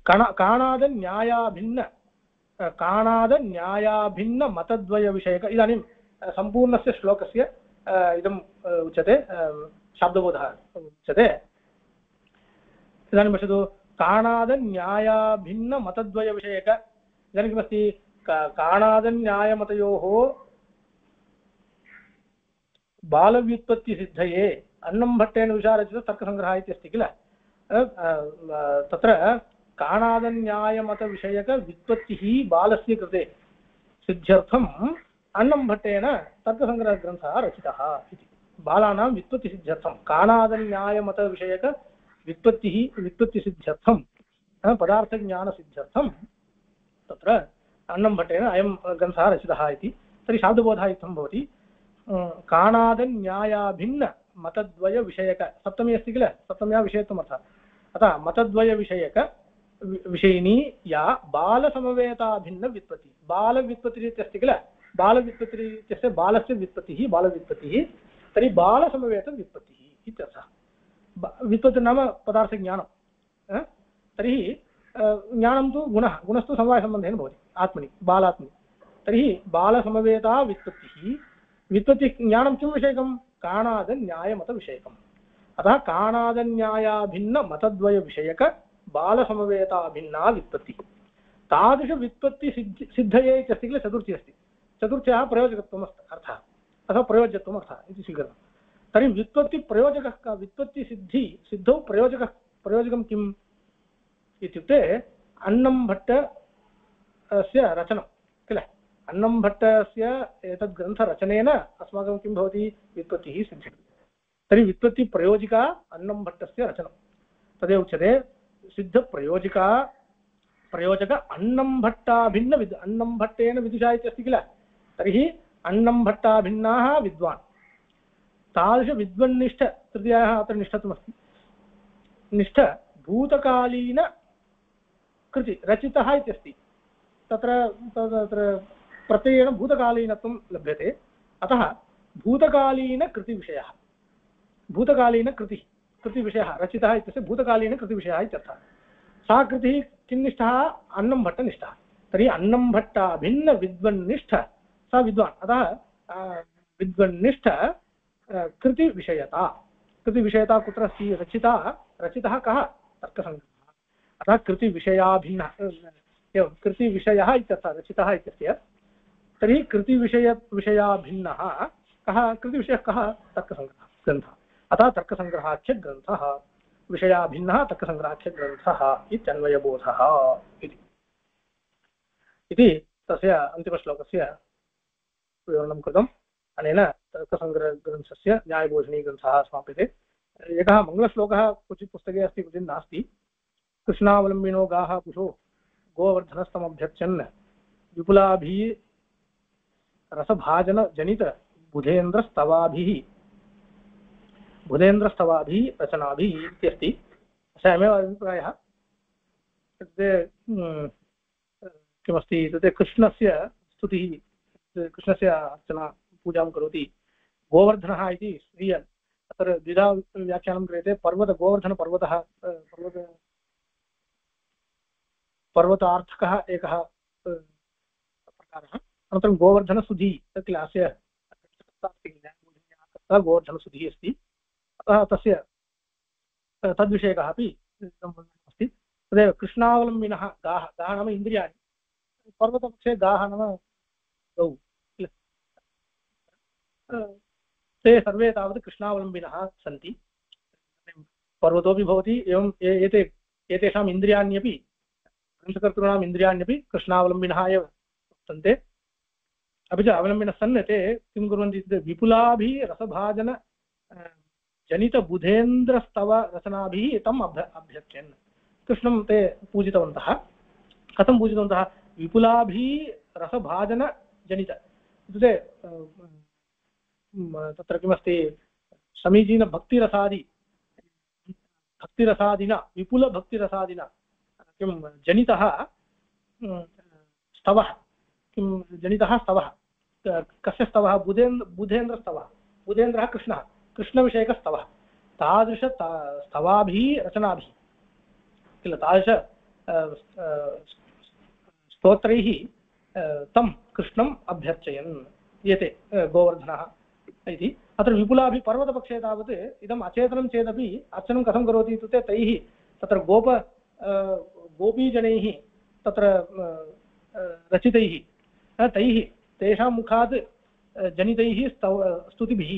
काणादन्यायाभिन्न मतद्वयविषयक इदानीं सम्पूर्णस्य श्लोकस्य इदम् उच्यते, शाब्दबोधः उच्यते। इदानीं पश्यतु, काणादन्यायाभिन्नमतद्वयविषयक इदानीं किमस्ति काणादन्यायमतयोः बालव्युत्पत्तिसिद्धये अन्नं भट्टेन विचारचित तर्कसङ्ग्रहः इति अस्ति किल तत्र काणादन्यायमतविषयकव्युत्पत्तिः बालस्य कृते सिद्ध्यर्थम् अन्नं भट्टेन तर्कसङ्ग्रहग्रन्थः रचितः इति बालानां व्युत्पत्तिसिद्ध्यर्थं व्युत्पत्तिसिद्ध्यर्थं पदार्थज्ञानसिद्ध्यर्थं तत्र अन्नं भट्टेन अयं ग्रन्थः रचितः इति तर्हि शाब्दबोधः इत्थं भवति काणादन्यायाभिन्न मतद्वयविषयक सप्तमी अस्ति किल सप्तम्या विषयत्वमर्थः अतः मतद्वयविषयक विषयिणी या बालसमवेताभिन्न व्युत्पत्ति बालव्युत्पत्तिरित्यस्ति किल बालव्युत्पत्तिरित्यस्य बालस्य व्युत्पत्तिः बालव्युत्पत्तिः तर्हि बालसमवेतव्युत्पत्तिः इत्यर्थः व्युत्पत्ति नाम पदार्थज्ञानं तर्हि ज्ञानं तु गुणः गुणस्तु समवायसम्बन्धेन भवति आत्मनि बालात्मनि तर्हि बालसमवेता व्युत्पत्तिः व्युत्पत्तिज्ञानं किं विषयकं काणादन्यायमतविषयकम् अतः काणादन्यायाभिन्नमतद्वयविषयक बालसमवेताभिन्ना व्युत्पत्तिः तादृशव्युत्पत्तिसिद्धये इत्यस्ति किल चतुर्थी अस्ति चतुर्थ्याः प्रयोजकत्वम् अर्थः अथवा प्रयोज्यत्वम् अर्थः इति स्वीकृतं तर्हि व्युत्पत्तिप्रयोजकः का सिद्धौ प्रयोजकं किम् इत्युक्ते अन्नं भट्टस्य रचनं किल अन्नं भट्टस्य एतद् ग्रन्थरचनेन अस्माकं किं भवति व्युत्पत्तिः सिद्ध्यति तर्हि व्युत्पत्तिप्रयोजिका अन्नं भट्टस्य रचनं तदेव उच्यते सिद्धप्रयोजिका प्रयोजक अन्नं भट्टेन विदुषा इत्यस्ति किल तर्हि अन्नं भट्टाभिन्नाः विद्वान् तादृशविद्वन्निष्ठ तृतीयाः अत्र निष्ठत्वमस्ति निष्ठ भूतकालीन कृति रचितः इत्यस्ति तत्र प्रत्ययेन भूतकालीनत्वं लभ्यते अतः भूतकालीनकृतिविषयः भूतकालीनकृतिविषयः रचितः इत्यस्य भूतकालीनकृतिविषयः इत्यर्थः सा कृतिः किन्निष्ठः अन्नं भट्टनिष्ठः तर्हि अन्नं भट्टाभिन्नविद्वन्निष्ठ सा विद्वान् अतः विद्वन्निष्ठ कृतिविषयता कुत्र अस्ति रचितः कः तर्कसङ्ग्रहः अतः कृतिविषयाभिन्नः एवं कृतिविषयः इत्यर्थः रचितः इत्यस्य तर्हि कृतिविषयाभिन्नः कः कृतिविषयः कः तर्कसङ्ग्रहः ग्रन्थः अतः तर्कसङ्ग्रहाख्यग्रन्थः विषयाभिन्नः तर्कसङ्ग्रहाख्यग्रन्थः इत्यन्वयबोधः इति तस्य अन्तिमश्लोकस्य विवरणं कृतम् अनेन तर्कसङ्ग्रहग्रन्थस्य न्यायबोधिनीग्रन्थः समाप्यते एकः मङ्गलश्लोकः क्वचित् पुस्तके अस्ति क्वचित् नास्ति कृष्णावलम्बिनो गाः पुषो गोवर्धनस्तमभ्यर्चन् विपुलाभिः रसभाजनजनित बुधेन्द्रस्तवाभिः रचनाभिः इत्यस्ति अयमेव अभिप्रायः किमस्ति इत्युक्ते कृष्णस्य स्तुतिः कृष्णस्य अर्चना पूजां करोति गोवर्धनः इति स्त्रिय अत्र द्विधा व्याख्यानं क्रियते गोवर्धनपर्वतः पर्वतार्थकः एकः प्रकारः अनन्तरं गोवर्धनसुधी किल अस्य गोवर्धनसुधिः अस्ति अतः तस्य तद्विषयकः अपि अस्ति तदेव कृष्णावलम्बिनः गाः नाम इन्द्रियाणि पर्वतपक्षे गाः नाम गौ किल ते सर्वे तावत् कृष्णावलम्बिनः सन्ति पर्वतोऽपि भवति एवं एतेषाम् इन्द्रियाण्यपि ग्रन्थकर्तॄणाम् इन्द्रियाण्यपि कृष्णावलम्बिनः एव वर्तन्ते अपि च अवलम्बिनः सन् ते किं कुर्वन्ति इत्युक्ते विपुलाभिः रसभाजन जनितबुधेन्द्रस्तव रचनाभिः तम् अभ्यर्चन् कृष्णं ते पूजितवन्तः कथं पूजितवन्तः विपुलाभिः रसभाजनजनित इत्युक्ते तत्र किमस्ति समीचीनभक्तिरसादिना विपुलभक्तिरसादिना किं जनितः स्तवः कस्य स्तवः बुधेन्द्रस्तवः बुधेन्द्रः कृष्णविषयकस्तवः तादृश स्तवाभिः रचनाभिः किल तादृश स्तोत्रैः तं कृष्णम् अभ्यर्चयन् एते गोवर्धनः इति अत्र विपुलाभिः पर्वतपक्षे तावत् इदम् अचेतनं चेदपि अर्चनं कथं करोति इत्युक्ते तैः तत्र गोपीजनैः तत्र रचितैः तैः तेषां मुखात् जनितैः स्तुतिभिः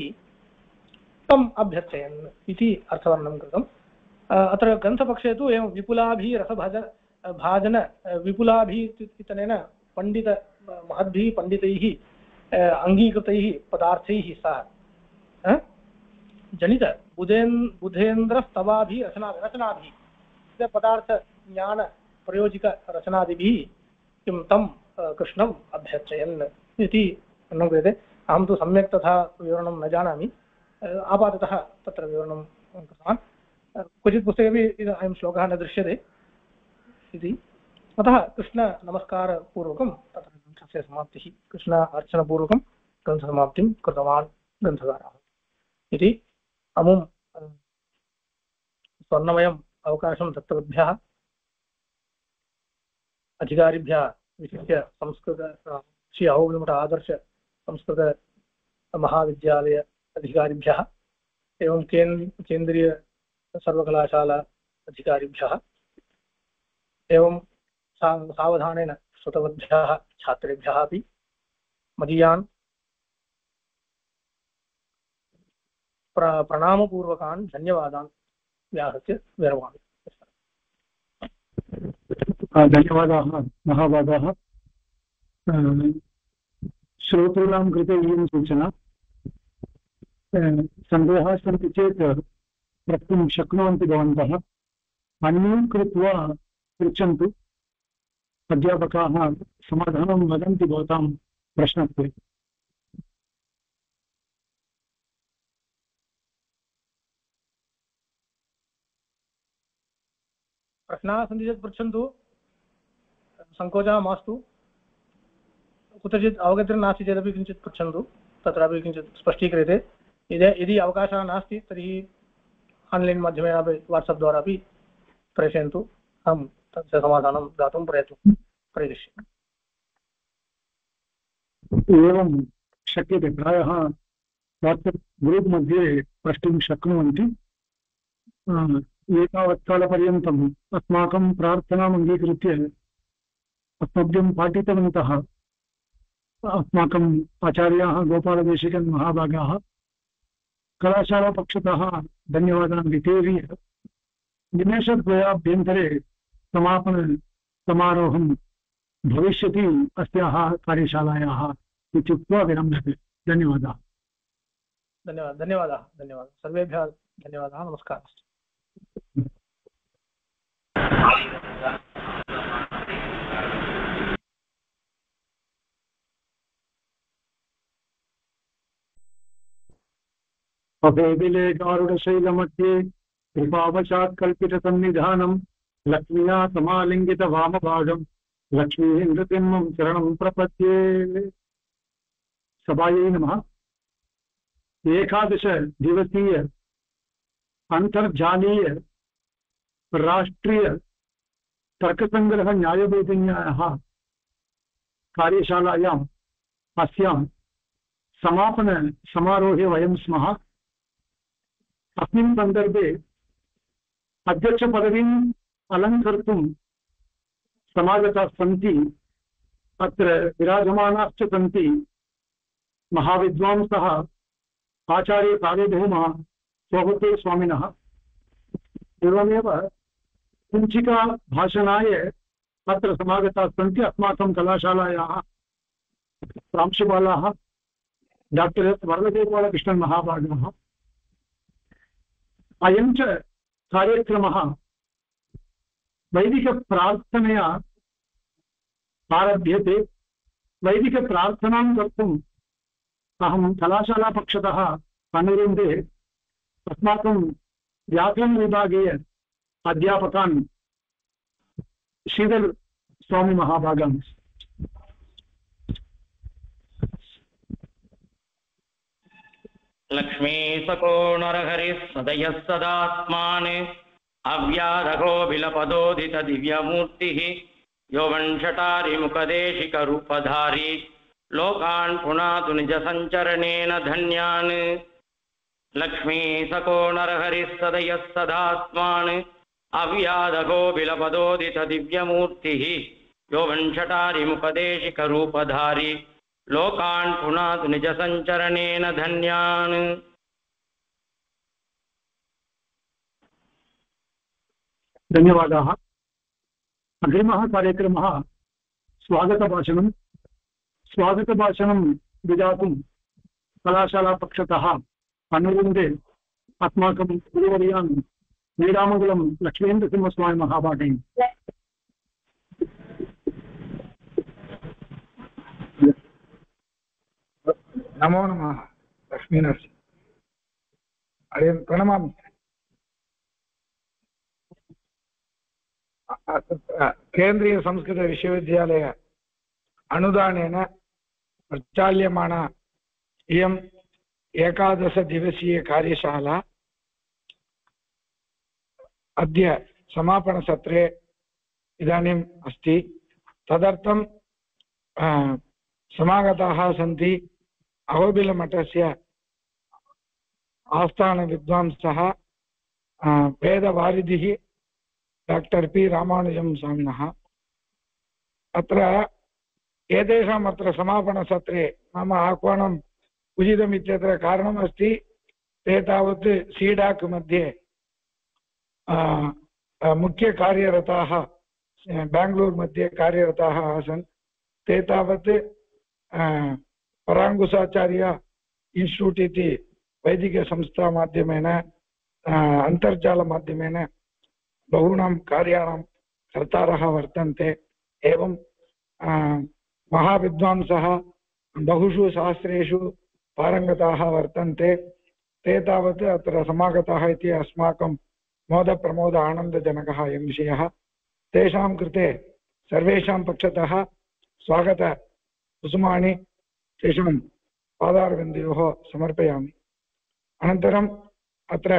तम् अभ्यर्चयन् इति अर्थवर्णनं कृतम्। अत्र ग्रन्थपक्षे तु एवं भाजन विपुलाभिः इत्यनेन पण्डित महद्भिः पण्डितैः अङ्गीकृतैः पदार्थैः सह जनित बुधेन्द्रस्तवाभिः रचनाभिः पदार्थज्ञानप्रयोजिकरचनादिभिः किं तं कृष्णम् अभ्यर्चयन् इति वर्णनं क्रियते। अहं तु सम्यक् तथा विवरणं न जानामि, आपाततः तत्र विवरणं कृतवान्। क्वचित् पुस्तकेपि अयं श्लोकः न दृश्यते इति, अतः कृष्णनमस्कारपूर्वकं तत्र ग्रन्थस्य समाप्तिः, कृष्ण अर्चनपूर्वकं ग्रन्थसमाप्तिं कृतवान् ग्रन्थकारः इति। अमुं स्वर्णमयम् अवकाशं दत्तवद्भ्यः अधिकारिभ्यः, विशिष्य संस्कृत श्री अहोबिलमठ आदर्श संस्कृत महाविद्यालय अधिकारिभ्यः एवं केन्द्रीय सर्वकलाशाला अधिकारिभ्यः एवं सावधानेन श्रुतवद्भ्यः छात्रेभ्यः अपि मदीयान् प्रणामपूर्वकान् धन्यवादान् व्याहृत्य विरमामि। धन्यवादाः महाभागाः। श्रोतॄणां कृते इयं सूचना, सन्देहाः सन्ति चेत् प्रष्टुं शक्नुवन्ति भवन्तः। अन्म्यूट् कृत्वा पृच्छन्तु, अध्यापकाः समाधानं वदन्ति भवतां प्रश्नस्य। प्रश्नाः सन्ति चेत् पृच्छन्तु, सङ्कोचः मास्तु। कुत्रचित् अवगतिर्नास्ति चेदपि किञ्चित् पृच्छन्तु, तत्रापि किञ्चित् स्पष्टीक्रियते। यदि अवकाशः नास्ति तर्हि आन्लैन् माध्यमेन अपि वाट्सप् द्वारा अपि प्रेषयन्तु, अहं तस्य समाधानं दातुं प्रयत्नं करिष्यामि। एवं शक्यते, प्रायः वाट्सप् ग्रूप् मध्ये प्रष्टुं शक्नुवन्ति। एतावत् कालपर्यन्तम् अस्माकं प्रार्थनाम् अङ्गीकृत्य अस्मभ्यं पाठितवन्तः अस्माकम् आचार्याः गोपालदेशिकन् महाभागाः, कलाशालापक्षतः धन्यवादान् वितीर्य निमेषद्वयाभ्यन्तरे समापनसमारोहं भविष्यति अस्याः कार्यशालायाः इत्युक्त्वा विरम्यते। धन्यवादाः। धन्यवादाः सर्वेभ्यः धन्यवादाः। नमस्कारः। अभेदिलेकारुणशैलमध्ये कृपावशात् कल्पितसन्निधानं लक्ष्म्या समालिङ्गितवामभागं लक्ष्मीः नृसिंहं शरणं प्रपद्ये। सभायै नमः। 11 दिवसीय अंतर्जालीय राष्ट्रीय तर्कसंग्रह न्यायबोधिन्यायः कार्यशालायाम् अस्यां समापन समारोहे वयं स्मः। अस्मिन् सन्दर्भे अध्यक्षपदवीम् अलङ्कर्तुं समागताः सन्ति। अत्र विराजमानाश्च सन्ति महाविद्वांसः आचार्य सार्वभौमः स्वभूते स्वामिनः। एवमेव कुञ्चिका भाषणाय अत्र समागताः सन्ति अस्माकं कलाशालायाः प्रांशुपालाः डॉक्टर एस् वरदगोपालकृष्णन् महाभागाः। अयं च कार्यक्रमः वैदिकप्रार्थनया आरभ्यते। वैदिकप्रार्थनां कर्तुम् अहं कलाशालापक्षतः अनुरुन्धे अस्माकं व्याकरणविभागे अध्यापकान् श्रीधर स्वामी महाभागान्। लक्ष्मी सको नरहरिः सदयः सदात्मान् अव्याधको बिलपदोदित दिव्यमूर्तिः यौवंशटारिमुखदेशिकरूपधारी लोकान् पुनातु निजसञ्चरणेन धन्यान्। लक्ष्मी सको नरहरिः सदयः सदात्मान् अव्याधगोबिलपदोदितदिव्यमूर्तिः यो वंशटारिमुपदेशिकरूपधारी लोकान् पुनातु निजसञ्चरणेन धन्यान्। धन्यवादाः। अग्रिमः कार्यक्रमः स्वागतभाषणं विधातुं कलाशालापक्षतः अनुरुन्धे अस्माकं गुरुवर्यान् नीरामङ्गलं लक्ष्मीन्द्रसिंहस्वामी महाभागैः नमो नमः। लक्ष्मीनरसिंह हरिं प्रणमामि। केन्द्रीयसंस्कृतविश्वविद्यालय अनुदानेन प्रचाल्यमाना इयम् 11-दिवसीयकार्यशाला अद्य समापनसत्रे इदानीम् अस्ति। तदर्थं समागताः सन्ति अहोबिलमठस्य आस्थानविद्वांसः वेदवारिधिः डॉक्टर पी रामानुजं स्वामिनः। अत्र एतेषाम् अत्र समापनसत्रे मम आह्वानम् उचितमित्यत्र कारणमस्ति। ते तावत् सीडाक् मध्ये मुख्यकार्यरताः बेङ्गलूर् मध्ये कार्यरताः आसन्। ते तावत् पराङ्गुसाचार्य इन्स्टिट्यूट् इति वैदिकसंस्थामाध्यमेन अन्तर्जालमाध्यमेन बहूनां कार्याणां कर्तारः वर्तन्ते। एवं महाविद्वांसः बहुषु शास्त्रेषु पारङ्गताः वर्तन्ते। ते तावत् अत्र समागताः इति अस्माकं मोदप्रमोद आनन्दजनकः अयं विषयः। तेषां कृते सर्वेषां पक्षतः स्वागतकुसुमानि तेषां पादारविन्दयोः समर्पयामि। अनन्तरम् अत्र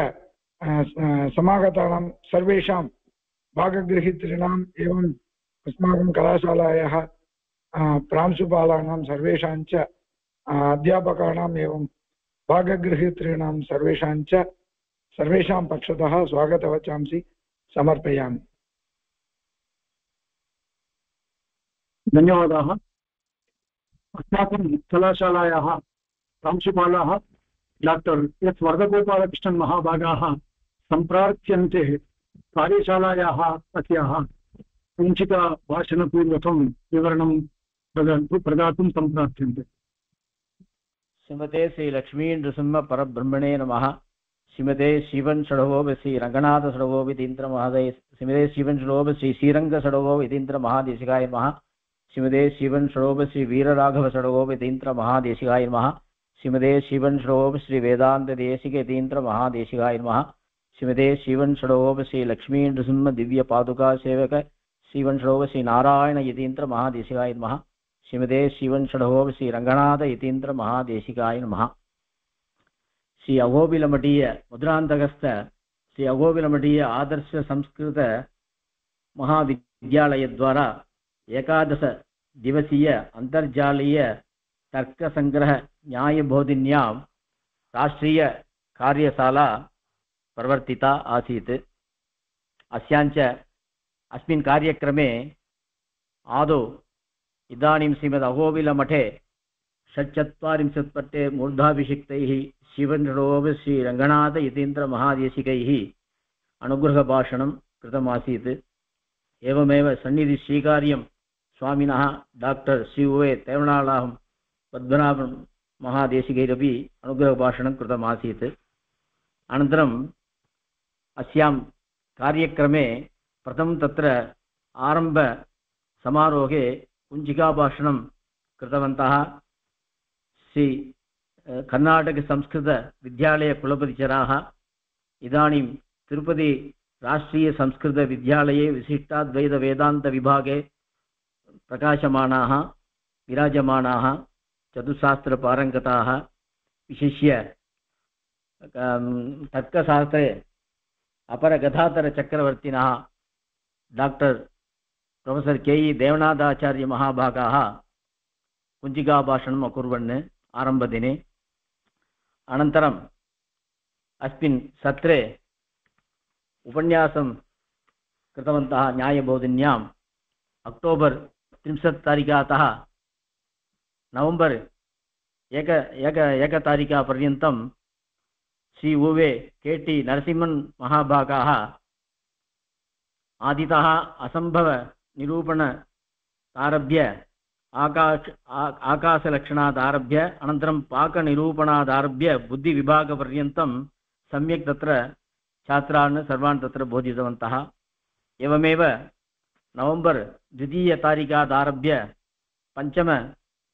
समागतानां सर्वेषां भागगृहीतॄणाम् एवम् अस्माकं कलाशालायाः प्रांशुपालानां सर्वेषां च अध्यापकानाम् एवं भागगृहीतॄणां सर्वेषां पक्षतः स्वागतवचांसि समर्पयामि। धन्यवादाः। अस्माकं कलाशालायाः प्रांशुपालाः डॉक्टर एस् वरदगोपालकृष्णन् महाभागाः सम्प्रार्थ्यन्ते कार्यशालायाः अस्याः कुञ्चिकाभाषणपूर्वकं विवरणं प्रदातुं सम्प्रार्थ्यन्ते। श्रीमते श्री लक्ष्मी नृसिंह परब्रह्मणे नमः। श्रीमते शिवन षडवो श्री रंगनाथ षडवो वितीन्द्र महोदय। श्रीमते शिवन षडवो श्री श्रीरंग षडवो वितीन्द्र महादेशिकाय नमः। श्रीमते शिवन षडवो श्री वीरराघव षडवो वितीन्द्र महादेशिकाय नमः। श्रीमते शिवन षडवो श्री वेदांत देशिक यतीन्द्र महादेशिकाय नमः। श्रीमते शिवन षडवो श्री लक्ष्मी नृसिंह दिव्य पादुका सेवक श्रीवन षडवो श्री नारायण यतीन्द्र महादेशिकाय नमः। श्रीमते शिवन षडवो श्री रंगनाथ यतीन्द्र महादेशिकाय नमः। श्री अहोबिलमठीय मुद्रान्तकस्थ श्री अहोबिलमठीय आदर्श संस्कृत महाविद्यालय द्वारा 11 दिवसीय अंतर्जालीय तर्क संग्रह न्यायबोधिन्यां राष्ट्रीय कार्यशाला प्रवर्तिता आसीत्। अस्याञ्च अस्मिन् कार्यक्रमे आदौ इदानीं श्रीमद् अहोबिलमठे 46 पट्टे मूर्धाभिषिक्तैः शिवनरोव श्री रंगनाथ यतीन्द्र महादेशिकैः अनुग्रहभाषणं कृतमासीत्। एवमेव सन्निधि श्रीकार्यं स्वामिनः डॉक्टर श्री तेवणालाहं पद्मनाभं महादेशिकैरपि अनुग्रहभाषणं कृतमासीत्। अनन्तरम् अस्यां कार्यक्रमे प्रथमं तत्र आरम्भ समारोहे कुञ्चिकाभाषणं कृतवन्तः श्री कर्नाटक संस्कृत विद्यालय कुलपतिचराः। इदानीं तिरुपति राष्ट्रीय संस्कृत विद्यालये विशिष्टाद्वैत वेदांत विभागे प्रकाशमानाः विराजमानाः चतुस्शास्त्र पारंगताः। विशिष्य तर्कशास्त्रे अपर गदाधर चक्रवर्तिनः डॉक्टर प्रोफेसर के.ई. देवनाथाचार्य महाभागाः कुञ्चिकाभाषणम् अकुर्वन् आरम्भदिने। अनन्तरम् अस्मिन् सत्रे उपन्यासं कृतवन्तः न्यायबोधिन्याम् अक्टोबर् 30 नवम्बर् 1 पर्यन्तं श्री उवे के.टी. नरसिंहन् महाभागाः आदितः असम्भवनिरूपणादारभ्य आकाशलक्षणादारभ्य अनन्तरं पाकनिरूपणादारभ्य बुद्धिविभागपर्यन्तं सम्यक् तत्र छात्रान् सर्वान् तत्र बोधितवन्तः। एवमेव नवम्बर् 2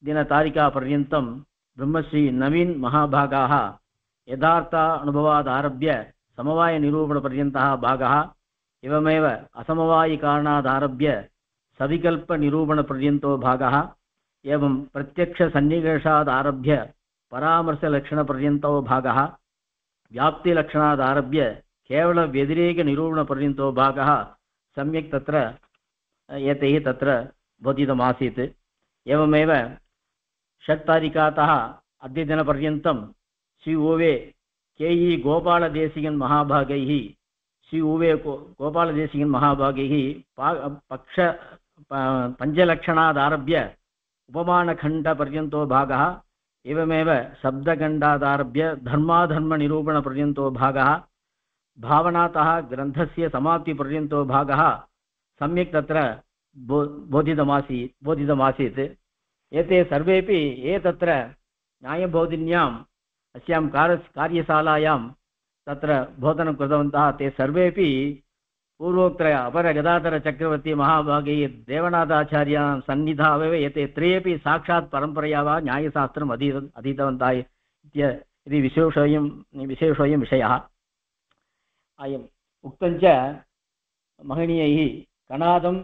5 ब्रह्मश्री नवीन महाभागाः यथार्थ अनुभवादारभ्य समवायनिरूपणपर्यन्तः भागः एवमेव असमवायिकारणादारभ्य सविकल्पनिरूपणपर्यन्तो भागः एवं प्रत्यक्षसन्निकर्षादारभ्य परामर्शलक्षणपर्यन्तो भागः व्याप्तिलक्षणादारभ्य केवलव्यतिरेकनिरूपणपर्यन्तो भागः सम्यक् तत्र एतैः तत्र बोधितमासीत्। एवमेव 6 अद्यदिनपर्यन्तं श्री ओवे के.ई. गोपालदेशिकन् महाभागैः श्री ओवे गोपालदेशिकन् महाभागैः पक्ष पञ्चलक्षणादारभ्य उपमानखण्डपर्यन्तो भागः एवमेव शब्दखण्डादारभ्य धर्माधर्मनिरूपणपर्यन्तो भागः भावनातः ग्रन्थस्य समाप्तिपर्यन्तो भागः सम्यक् तत्र बोधितमासीत्। एते सर्वेपि ये तत्र न्यायबोधिन्याम् अस्यां कार्यशालायां तत्र बोधनं कृतवन्तः ते सर्वेपि पूर्वोक्त अपरगदाधरचक्रवर्ती महाभागे देवनाथाचार्यां सन्निधावेव एते त्रयेपि साक्षात् परम्परया वा न्यायशास्त्रम् अधीतवन्तः इति विशेषोऽयं विषयः। अयम् उक्तञ्च महनीयैः कणादं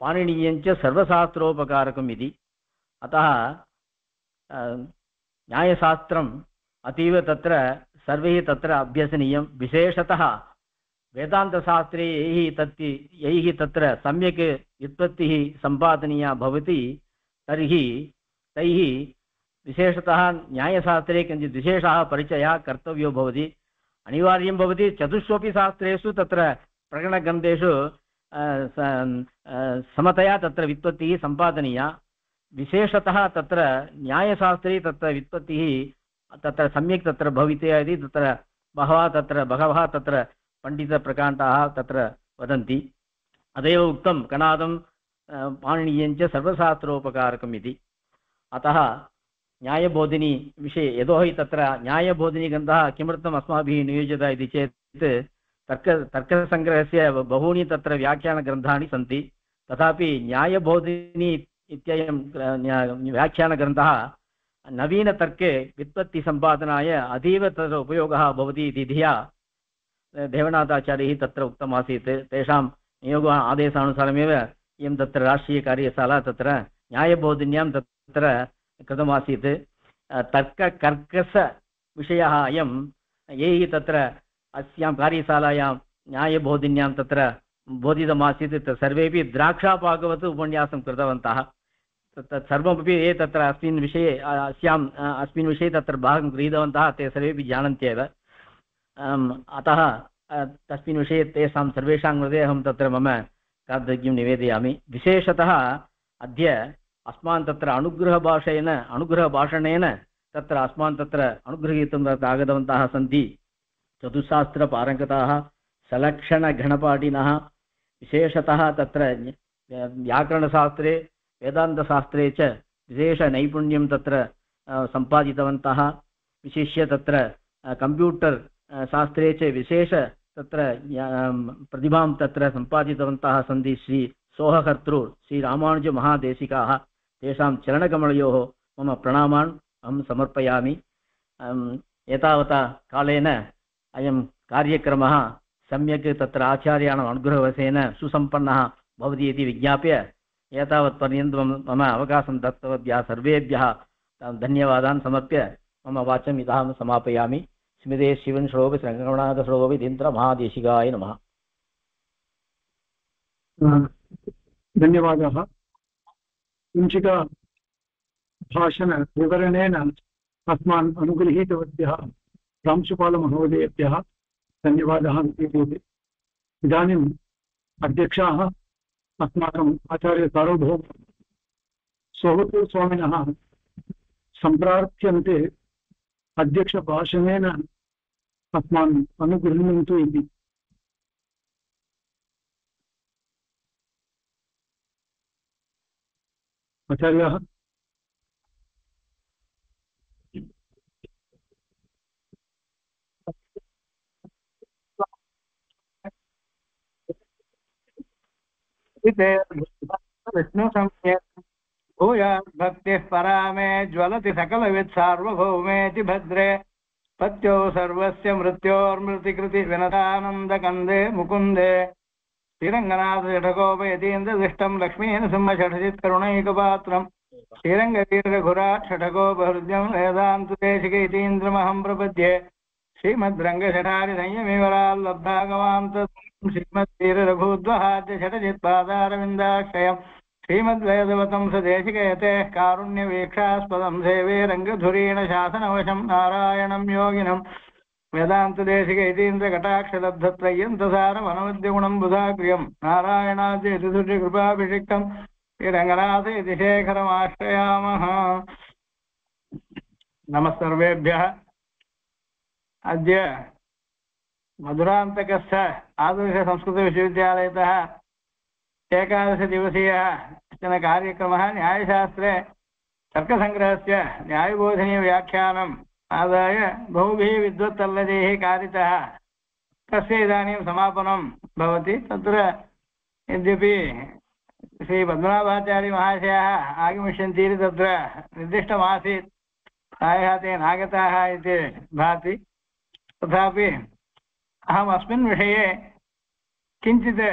पाणिनीयञ्च सर्वशास्त्रोपकारकम् इति। अतः न्यायशास्त्रम् अतीव तत्र सर्वैः तत्र अभ्यसनीयं। विशेषतः वेदान्तशास्त्रे यैः तत्र सम्यक् व्युत्पत्तिः सम्पादनीया भवति तर्हि तैः विशेषतः न्यायशास्त्रे किञ्चित् विशेषः परिचयः कर्तव्यो भवति, अनिवार्यं भवति। चतुष्वपि शास्त्रेषु तत्र प्रकरणग्रन्थेषु समतया तत्र व्युत्पत्तिः सम्पादनीया। विशेषतः तत्र न्यायशास्त्रे तत्र व्युत्पत्तिः तत्र सम्यक् तत्र भवितव्या इति तत्र बहवः तत्र पण्डितप्रकाण्डाः तत्र वदन्ति। अतएव उक्तं कणादं पाणिनीयञ्च सर्वशास्त्रोपकारकम् इति। अतः न्यायबोधिनी विषये यतोहि तत्र न्यायबोधिनीग्रन्थः किमर्थम् अस्माभिः नियोजितः इति चेत् तर्कसङ्ग्रहस्य बहूनि तत्र व्याख्यानग्रन्थानि सन्ति, तथापि न्यायबोधिनी इत्ययं व्याख्यानग्रन्थः नवीनतर्के व्युत्पत्तिसम्पादनाय अतीव तत्र उपयोगः भवति इति धिया देवनाथाचार्यैः तत्र उक्तमासीत्। तेषां नियोग आदेशानुसारमेव इयं तत्र राष्ट्रीयकार्यशाला तत्र न्यायबोधिन्यां तत्र कृतमासीत्। तर्ककर्कशविषयः अयं यैः तत्र अस्यां कार्यशालायां न्यायबोधिन्यां तत्र बोधितमासीत् सर्वेपि द्राक्षापाकवत् उपन्यासं कृतवन्तः। तत्सर्वमपि ये तत्र अस्मिन् विषये तत्र भागं गृहीतवन्तः ते सर्वेपि जानन्त्येव। अतः तस्मिन् विषये तेषां सर्वेषां कृते अहं तत्र मम कार्तज्ञं निवेदयामि। विशेषतः अद्य अस्मान् तत्र अनुग्रहभाषणेन तत्र अस्मान् तत्र अनुगृहीतुं आगतवन्तः सन्ति चतुस्शास्त्रपारङ्गताः सलक्षणघणपाठिनः। विशेषतः तत्र व्याकरणशास्त्रे वेदान्तशास्त्रे च विशेषनैपुण्यं तत्र सम्पादितवन्तः। विशिष्य तत्र कम्प्यूटर् शास्त्रे च विशेष तत्र प्रतिभां तत्र सम्पादितवन्तः सन्ति श्री सोहकर्तृ श्री रामानुजमहादेशिकाः। तेषां चरणकमलयोः मम प्रणामान् अहं समर्पयामि। एतावता कालेन अयं कार्यक्रमः सम्यक् तत्र आचार्याणाम् अनुग्रहवशेन सुसम्पन्नः भवति इति विज्ञाप्य एतावत्पर्यन्तं मम अवकाशं दत्तवद्भ्यः सर्वेभ्यः धन्यवादान् समर्प्य मम वाचम् इदाहं समापयामि। स्मृते शिवन् श्रोभि श्रृङ्गणाथश्रोभि महादेशिकाय नमः। धन्यवादाः। कुञ्चिका भाषणविवरणेन अस्मान् अनुगृहीतवद्भ्यः प्रांशुपालमहोदयेभ्यः धन्यवादः। इदानीं अध्यक्षाः अस्माकम् आचार्यसार्वभौम सोवतूर्स्वामिनः सम्प्रार्थ्यन्ते अध्यक्षभाषणेन अस्मान् अनुगृह्णन्तु इति। आचार्याः विष्णु भूयात् भक्तिः परा मे ज्वलति सकलवित् सार्वभौमेति भद्रे पत्यो सर्वस्य मृत्योर्मृतिकृति विनतानन्दकन्दे मुकुन्दे श्रीरङ्गनाथषठकोपयतीन्द्रदृष्टं लक्ष्मीनसिंहषठजित् करुणैकपात्रं श्रीरङ्गवीरघुरा षठकोपहृद्यं वेदान्तदेशिकैतीन्द्रमहं प्रपद्ये श्रीमद्रङ्गषठारिसंयमिवराल्लब्धागमान्त श्रीमद्वीररघूद्वहाद्य षठजित्पादारविन्दाक्षयम् श्रीमद्वेदवतं सदेशिकयतेः कारुण्यवीक्षास्पदं सेवे रङ्गधुरीण शासनवशं नारायणं योगिनं वेदान्तदेशिकैतीन्द्रकटाक्षलब्धत्रय्यन्तसारमनवद्यगुणं बुधाग्र्यं नारायणाद्यतिसुर्यकृपाभिषिक्तं श्रीरङ्गनाथ इति शेखरमाश्रयामः। नमः सर्वेभ्यः। अद्य मधुरान्तकस्थ आदर्शसंस्कृतविश्वविद्यालयतः एकादशदिवसीयः कश्चन कार्यक्रमः न्यायशास्त्रे तर्कसङ्ग्रहस्य न्यायबोधनीयव्याख्यानम् आदाय बहुभिः विद्वत्तल्लदैः कारितः। तस्य इदानीं समापनं भवति। तत्र यद्यपि श्रीपद्मनाभाचार्यमहाशयाः आगमिष्यन्ति इति तत्र निर्दिष्टमासीत्, प्रायः ते नागताः इति भाति। तथापि अहम् अस्मिन् विषये किञ्चित्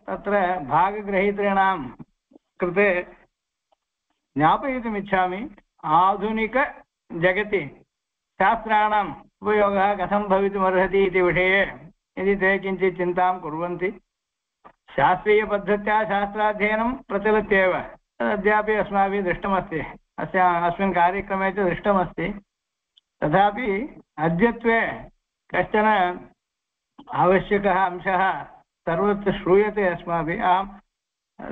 तत्र भागग्रहीतॄणां कृते ज्ञापयितुमिच्छामि। आधुनिकजगति शास्त्राणाम् उपयोगः कथं भवितुमर्हति इति विषये यदि ते किञ्चित् चिन्तां कुर्वन्ति। शास्त्रीयपद्धत्या शास्त्राध्ययनं प्रचलत्येव, तदद्यापि अस्माभिः दृष्टमस्ति, अस्मिन् कार्यक्रमे च दृष्टमस्ति। तथापि अद्यत्वे कश्चन आवश्यकः अंशः सर्वत्र श्रूयते अस्माभिः। अहं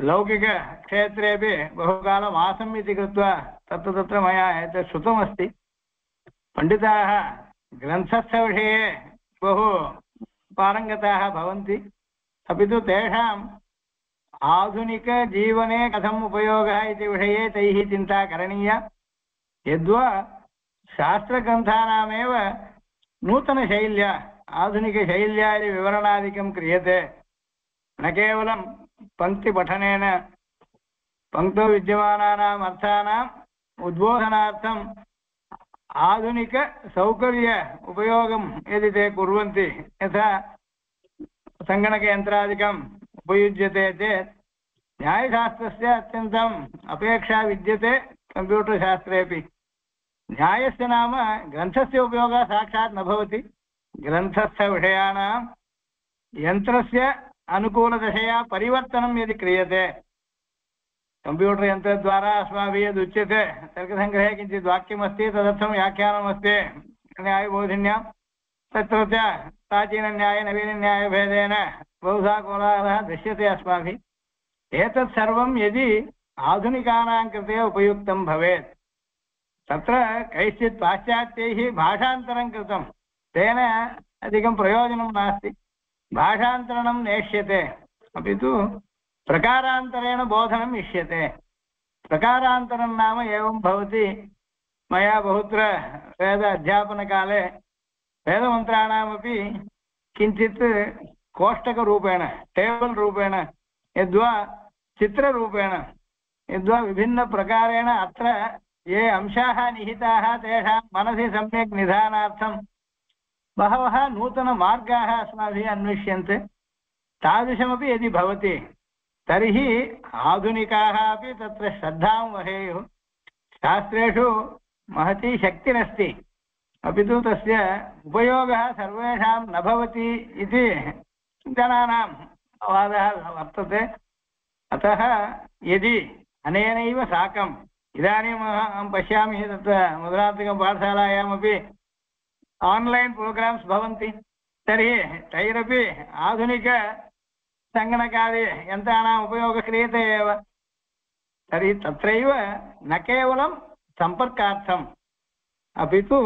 लौकिकक्षेत्रेपि बहुकालम् आसम् इति कृत्वा तत्र मया एतत् श्रुतमस्ति। पण्डिताः ग्रन्थस्थविषये बहु पारङ्गताः भवन्ति, अपि तु तेषाम् आधुनिकजीवने कथम् उपयोगः इति विषये तैः चिन्ता करणीया। यद्वा शास्त्रग्रन्थानामेव नूतनशैल्या आधुनिकशैल्या यदि विवरणादिकं क्रियते, न केवलं पङ्क्तिपठनेन पङ्क्तौ विद्यमानानाम् अर्थानाम् उद्बोधनार्थम् आधुनिकसौकर्य उपयोगं यदि ते कुर्वन्ति, यथा सङ्गणकयन्त्रादिकम् उपयुज्यते चेत् न्यायशास्त्रस्य अत्यन्तम् अपेक्षा विद्यते। कम्प्यूटर् शास्त्रेपि न्यायस्य नाम ग्रन्थस्य उपयोगः साक्षात् न भवति। ग्रन्थस्थविषयाणां यन्त्रस्य अनुकूलदशया परिवर्तनं यदि क्रियते, कम्प्यूटर् यन्त्रद्वारा अस्माभिः यदुच्यते तर्कसङ्ग्रहे किञ्चित् वाक्यमस्ति, तदर्थं व्याख्यानमस्ति न्यायबोधिन्यां, तत्र च प्राचीनन्याय नवीनन्यायभेदेन बहुधा कोलाहलः दृश्यते अस्माभिः। एतत् सर्वं यदि आधुनिकानां कृते उपयुक्तं भवेत्, तत्र कैश्चित् पाश्चात्यैः भाषान्तरं कृतं, तेन अधिकं प्रयोजनं नास्ति। भाषान्तरणं नेष्यते, अपि तु प्रकारान्तरेण बोधनम् इष्यते। प्रकारान्तरं नाम एवं भवति। मया बहुत्र वेद अध्यापनकाले वेदमन्त्राणामपि किञ्चित् कोष्टकरूपेण, टेबल् रूपेण, यद्वा चित्ररूपेण, यद्वा विभिन्नप्रकारेण अत्र ये अंशाः निहिताः तेषां मनसि सम्यक् निधानार्थं बहवः नूतनमार्गाः अस्माभिः अन्विष्यन्ते। तादृशमपि यदि भवति तर्हि आधुनिकाः अपि तत्र श्रद्धां वहेयुः। शास्त्रेषु महती शक्तिरस्ति, अपि तु तस्य उपयोगः सर्वेषां न भवति इति जनानां वादः वर्तते। अतः यदि अनेनैव साकम् इदानीम् अहं पश्यामि तत्र मधुरान्तकपाठशालायामपि आन्लैन् प्रोग्राम्स् भवन्ति, तर्हि तैरपि आधुनिक सङ्गणकादि यन्त्राणाम् उपयोगः क्रियते एव। तर्हि तत्रैव न केवलं सम्पर्कार्थम् अपि तु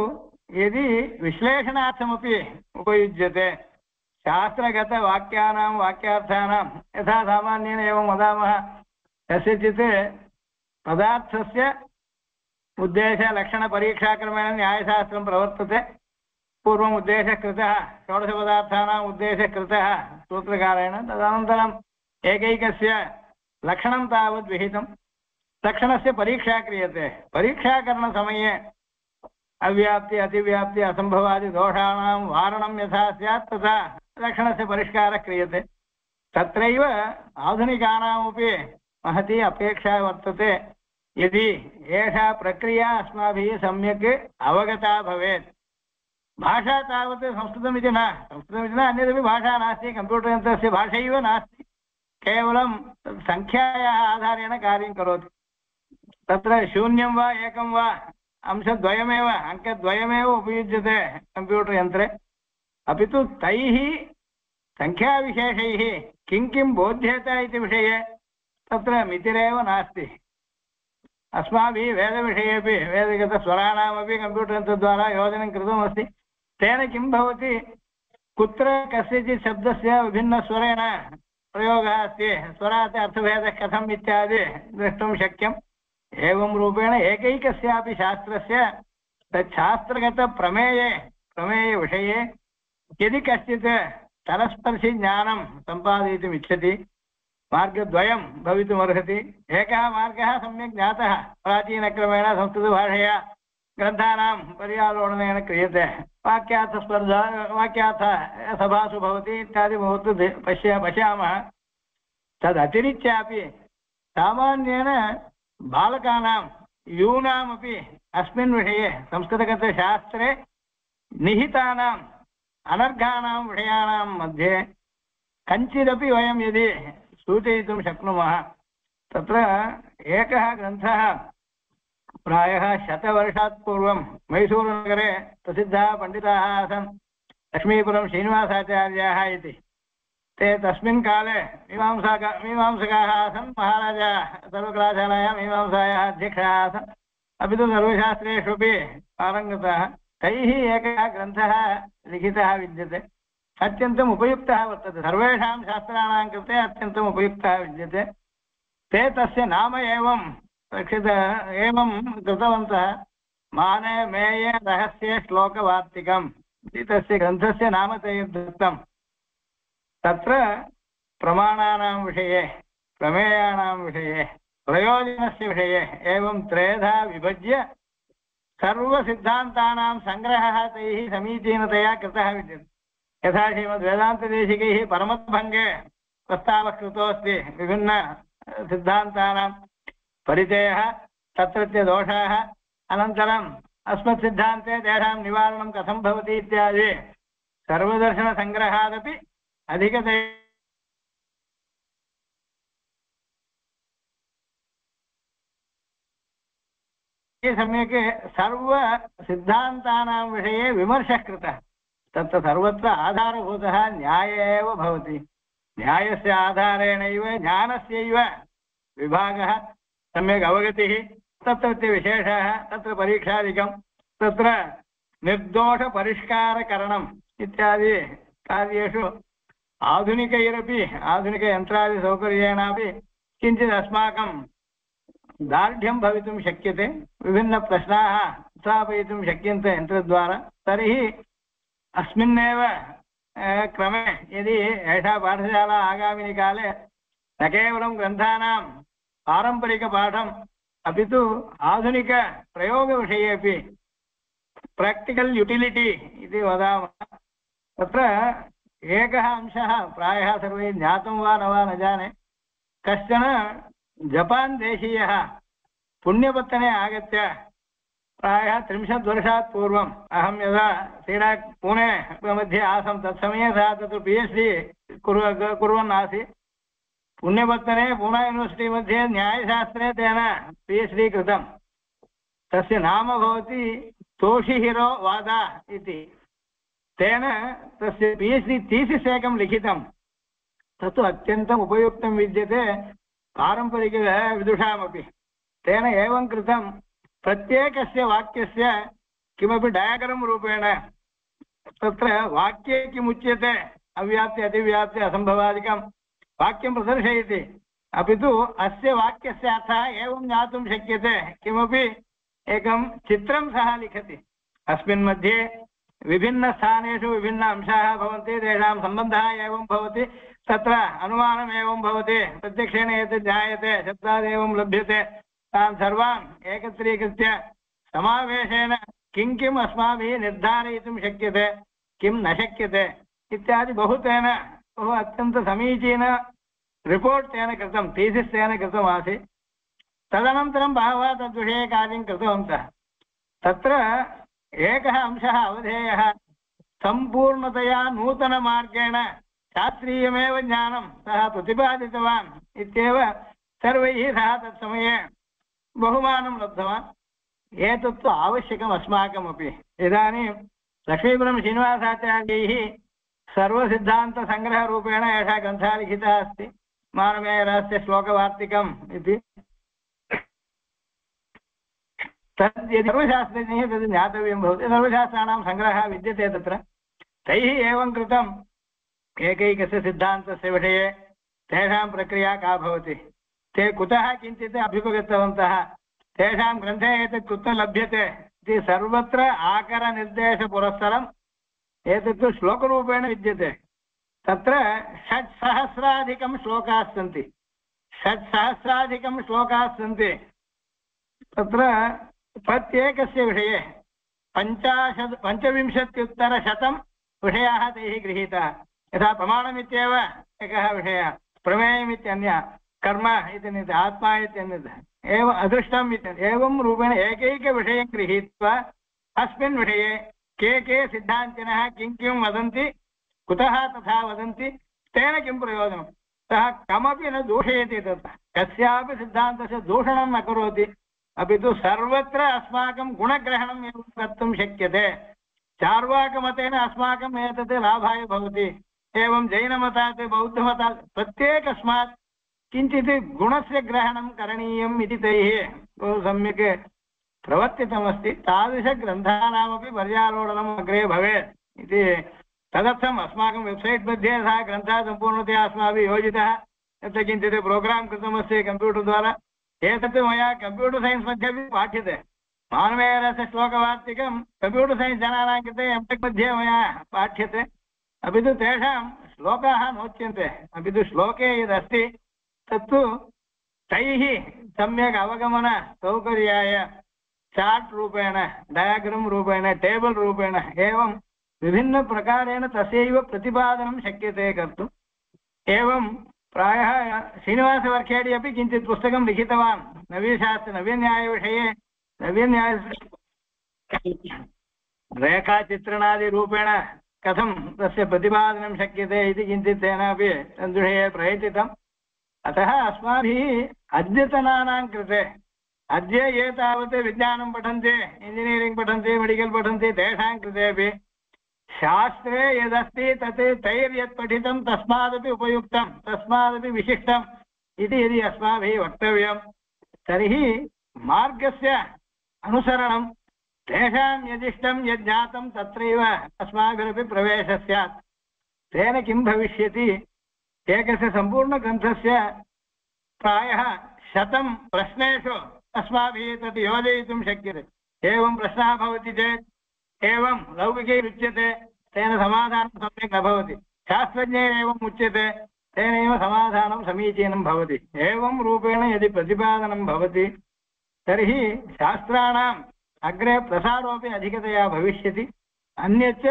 यदि विश्लेषणार्थमपि उपयुज्यते शास्त्रगतवाक्यानां वाक्यार्थानां यथा सामान्येन एवं वदामः कस्यचित् पदार्थस्य उद्देशलक्षणपरीक्षाक्रमेण न्यायशास्त्रं प्रवर्तते। पूर्वम् उद्देशः कृतः, षोडशपदार्थानाम् उद्देशः कृतः सूत्रकारेण, तदनन्तरम् एकैकस्य लक्षणं तावद् विहितं, लक्षणस्य परीक्षा क्रियते। परीक्षाकरणसमये अव्याप्ति अतिव्याप्ति असम्भवादि दोषाणां वारणं यथा स्यात् तथा लक्षणस्य परिष्कारः क्रियते। तत्रैव आधुनिकानामपि महती अपेक्षा वर्तते। यदि एषा प्रक्रिया अस्माभिः सम्यक् अवगता भवेत्, भाषा तावत् संस्कृतमिति न अन्यदपि भाषा नास्ति, कम्प्यूटर् यन्त्रस्य भाषैव नास्ति, केवलं सङ्ख्यायाः आधारेण कार्यं करोति। तत्र शून्यं वा एकं वा अंशद्वयमेव अङ्कद्वयमेव उपयुज्यते कम्प्यूटर् यन्त्रे, अपि तु तैः सङ्ख्याविशेषैः किं किं बोध्येत इति विषये तत्र मितिरेव नास्ति। अस्माभिः वेदविषयेपि वेदगतस्वराणामपि कम्प्यूटर् यन्त्रद्वारा योजनं कृतमस्ति। तेन किं भवति, कुत्र कस्यचित् शब्दस्य विभिन्नस्वरेण प्रयोगः अस्ति, स्वरात् अर्थभेदः कथम् इत्यादि द्रष्टुं शक्यम्। एवं रूपेण एकैकस्यापि शास्त्रस्य तच्छास्त्रगतप्रमेयविषये यदि कश्चित् तलस्पर्शि ज्ञानं सम्पादयितुम् इच्छति, मार्गद्वयं भवितुमर्हति। एकः मार्गः सम्यक् ज्ञातः प्राचीनक्रमेण संस्कृतभाषया ग्रन्थानां पर्यालोडनेन क्रियते, वाक्यार्थस्पर्धा वाक्यार्थसभासु भवति इत्यादि बहुत्र पश्यामः। तदतिरिच्यापि सामान्येन बालकानां यूनामपि अस्मिन् विषये संस्कृतगतशास्त्रे निहितानाम् अनर्घाणां विषयाणां मध्ये कञ्चिदपि वयं यदि सूचयितुं शक्नुमः। तत्र एकः ग्रन्थः प्रायः 100 वर्षात् पूर्वं मैसूरुनगरे प्रसिद्धाः पण्डिताः आसन्, लक्ष्मीपुरं श्रीनिवासाचार्याः इति। ते तस्मिन् काले मीमांसकाः आसन्, महाराजा सर्वकलाशालायां मीमांसायाः अध्यक्षः आसन्, अपि तु सर्वशास्त्रेष्वपि पारङ्गताः। तैः एकः ग्रन्थः लिखितः विद्यते, अत्यन्तम् उपयुक्तः वर्तते, सर्वेषां शास्त्राणां कृते अत्यन्तम् उपयुक्तः विद्यते। ते तस्य नाम एवं कृतवन्तः, माने मेये रहस्ये श्लोकवार्तिकम् इति तस्य ग्रन्थस्य नाम तैः दत्तम्। तत्र प्रमाणानां विषये, प्रमेयाणां विषये, प्रयोजनस्य विषये एवं त्रेधा विभज्य सर्वसिद्धान्तानां सङ्ग्रहः तैः समीचीनतया कृतः विद्यते। यथा श्रीमद्वेदान्तदेशिकैः परमद्भङ्गे प्रस्तावः कृतोऽस्ति, विभिन्नसिद्धान्तानां परिचयः, तत्रत्य दोषाः, अनन्तरम् अस्मत्सिद्धान्ते तेषां निवारणं कथं भवति इत्यादि सर्वदर्शनसङ्ग्रहादपि अधिकतया सम्यक् सर्वसिद्धान्तानां विषये विमर्शः कृतः। तत्र सर्वत्र आधारभूतः न्याय एव भवति। न्यायस्य आधारेणैव ज्ञानस्यैव विभागः, सम्यक् अवगतिः, तत्रत्य विशेषः, तत्र परीक्षादिकं, तत्र निर्दोषपरिष्कारकरणम् इत्यादि कार्येषु आधुनिकैरपि आधुनिकयन्त्रादिसौकर्येणापि किञ्चित् अस्माकं दार्ढ्यं भवितुं शक्यते, विभिन्नप्रश्नाः उत्थापयितुं शक्यन्ते यन्त्रद्वारा। तर्हि अस्मिन्नेव क्रमे यदि एषा पाठशाला आगामिनि काले न केवलं ग्रन्थानां पारम्परिकपाठम् अपि तु आधुनिकप्रयोगविषयेपि प्राक्टिकल् युटिलिटि इति वदामः। तत्र एकः अंशः प्रायः सर्वैः ज्ञातं वा न जाने, कश्चन जपान् देशीयः पुण्यपत्तने आगत्य प्रायः 30 वर्षात् पूर्वम्, अहं यदा सीडाक् पुणे मध्ये आसं तत्समये सः तत्र PhD कुर्वन् आसीत्। पुण्यपत्तने पूना यूनिवर्सिटि मध्ये न्यायशास्त्रे तेन PhD कृतं। तस्य नाम भवति तोशिहिरो वादा इति। तेन तस्य PhD थीसिस् एकं लिखितं। तत्तु अत्यन्तम् उपयुक्तं विद्यते पारम्परिकविदुषामपि। तेन एवं कृतं प्रत्येकस्य वाक्यस्य किमपि डायग्राम् रूपेण तत्र वाक्ये किमुच्यते अव्याप्ति अतिव्याप्ति असम्भवादिकं वाक्यं प्रदर्शयति, अपि तु अस्य वाक्यस्य अर्थः एवं ज्ञातुं शक्यते। किमपि एकं चित्रं सः लिखति, अस्मिन् मध्ये विभिन्नस्थानेषु विभिन्न अंशाः भवन्ति, तेषां सम्बन्धः एवं भवति, तत्र अनुमानम् एवं भवति, प्रत्यक्षेण एतत् ज्ञायते, शब्दादेवं लभ्यते, तान् सर्वान् एकत्रीकृत्य समावेशेन किं किम् अस्माभिः निर्धारयितुं शक्यते, किं न शक्यते इत्यादि बहु तेन बहु अत्यन्तसमीचीन रिपोर्ट् तेन कृतं, थीसिस् तेन कृतमासीत्। तदनन्तरं बहवः तद्विषये कार्यं कृतवन्तः। तत्र एकः अंशः अवधेयः, सम्पूर्णतया नूतनमार्गेण शास्त्रीयमेव ज्ञानं सः प्रतिपादितवान् इत्येव सर्वैः सः तत्समये बहुमानं लब्धवान्। एतत्तु आवश्यकम् अस्माकमपि। इदानीं लक्ष्मीपुरं श्रीनिवासाचार्यैः सर्वसिद्धान्तसङ्ग्रहरूपेण एषः ग्रन्थः लिखितः अस्ति, मानमेयरहस्य श्लोकवार्तिकम् इति। तद् यदि सर्वशास्त्रज्ञैः तद् ज्ञातव्यं भवति, सर्वशास्त्राणां सङ्ग्रहः विद्यते तत्र। तैः एवं कृतम् एकैकस्य सिद्धान्तस्य विषये तेषां प्रक्रिया का भवति, ते कुतः किञ्चित् अभ्युपगतवन्तः, तेषां ग्रन्थे एतत् कुत्र लभ्यते इति सर्वत्र आकरनिर्देशपुरस्सरम् एतत्तु श्लोकरूपेण विद्यते। तत्र 6,000 श्लोकाः सन्ति, 6,000 श्लोकाः सन्ति। तत्र प्रत्येकस्य विषये 25,100 विषयाः तैः गृहीताः। यथा प्रमाणमित्येव एकः विषयः, प्रमेयमित्यन्यः, कर्म इत्यन्यत्, आत्मा इत्यन्यत्, एवम् अदृष्टम् इत्यन्यत्, एवं रूपेण एकैकविषयं गृहीत्वा अस्मिन् विषये के सिद्धान्तिनः किं किं वदन्ति, कुतः तथा वदन्ति, तेन किं प्रयोजनं, सः कमपि न दूषयति, तत् कस्यापि सिद्धान्तस्य दूषणं न करोति, अपि तु सर्वत्र अस्माकं गुणग्रहणम् एवं कर्तुं शक्यते। चार्वाकमतेन अस्माकम् एतत् लाभाय भवति, एवं जैनमतात् बौद्धमतात् प्रत्येकस्मात् किञ्चित् गुणस्य ग्रहणं करणीयम् इति तैः बहु सम्यक् प्रवर्तितमस्ति। तादृशग्रन्थानामपि पर्यालोडनम् अग्रे भवेत् इति, तदर्थम् अस्माकं वेब्सैट् मध्ये सः ग्रन्थः सम्पूर्णतया अस्माभिः योजितः, तत्र किञ्चित् प्रोग्राम् कृतमस्ति कम्प्यूटर् द्वारा। एतत् मया कम्प्यूटर् सैन्स् मध्ये अपि पाठ्यते, मानवेयरस्य श्लोकवार्तिकं कम्प्यूटर् सैन्स् जनानां कृते एम्टेक् मध्ये मया पाठ्यते, अपि तु तेषां श्लोकाः नोच्यन्ते, अपि तु श्लोके यदस्ति तत्तु तैः सम्यक् अवगमनसौकर्याय चार्ट् रूपेण, डयाग्राम् रूपेण, टेबल् रूपेण एवं विभिन्नप्रकारेण तस्यैव प्रतिपादनं शक्यते कर्तुम्। एवं प्रायः श्रीनिवासवर्खेडि अपि किञ्चित् पुस्तकं लिखितवान् नवीन्यायविषये, नवीन्याय रेखाचित्रणादिरूपेण कथं तस्य प्रतिपादनं शक्यते इति किञ्चित् तेनापि तद्विषये प्रयतितम्। अतः अस्माभिः अद्यतनानां कृते, अद्य ये तावत् विज्ञानं पठन्ति, इंजिनियरिङ्ग् पठन्ति, मेडिकल् पठन्ति, तेषां कृतेपि शास्त्रे यदस्ति तत् तैर्यत् पठितं तस्मादपि उपयुक्तं, तस्मादपि विशिष्टम् इति यदि अस्माभिः वक्तव्यं, तर्हि मार्गस्य अनुसरणं, तेषां यदिष्टं यज्ञातं तत्रैव अस्माभिरपि प्रवेशः स्यात्। तेन किं भविष्यति, एकस्य सम्पूर्णग्रन्थस्य प्रायः 100 प्रश्नेषु अस्माभिः तत् योजयितुं शक्यते। एवं प्रश्नः भवति चेत् एवं लौकिकैरुच्यते, तेन समाधानं सम्यक् न भवति, शास्त्रज्ञैरेवम् उच्यते, तेनैव समाधानं समीचीनं भवति। एवं रूपेण यदि प्रतिपादनं भवति तर्हि शास्त्राणाम् अग्रे प्रसारोपि अधिकतया भविष्यति। अन्यच्च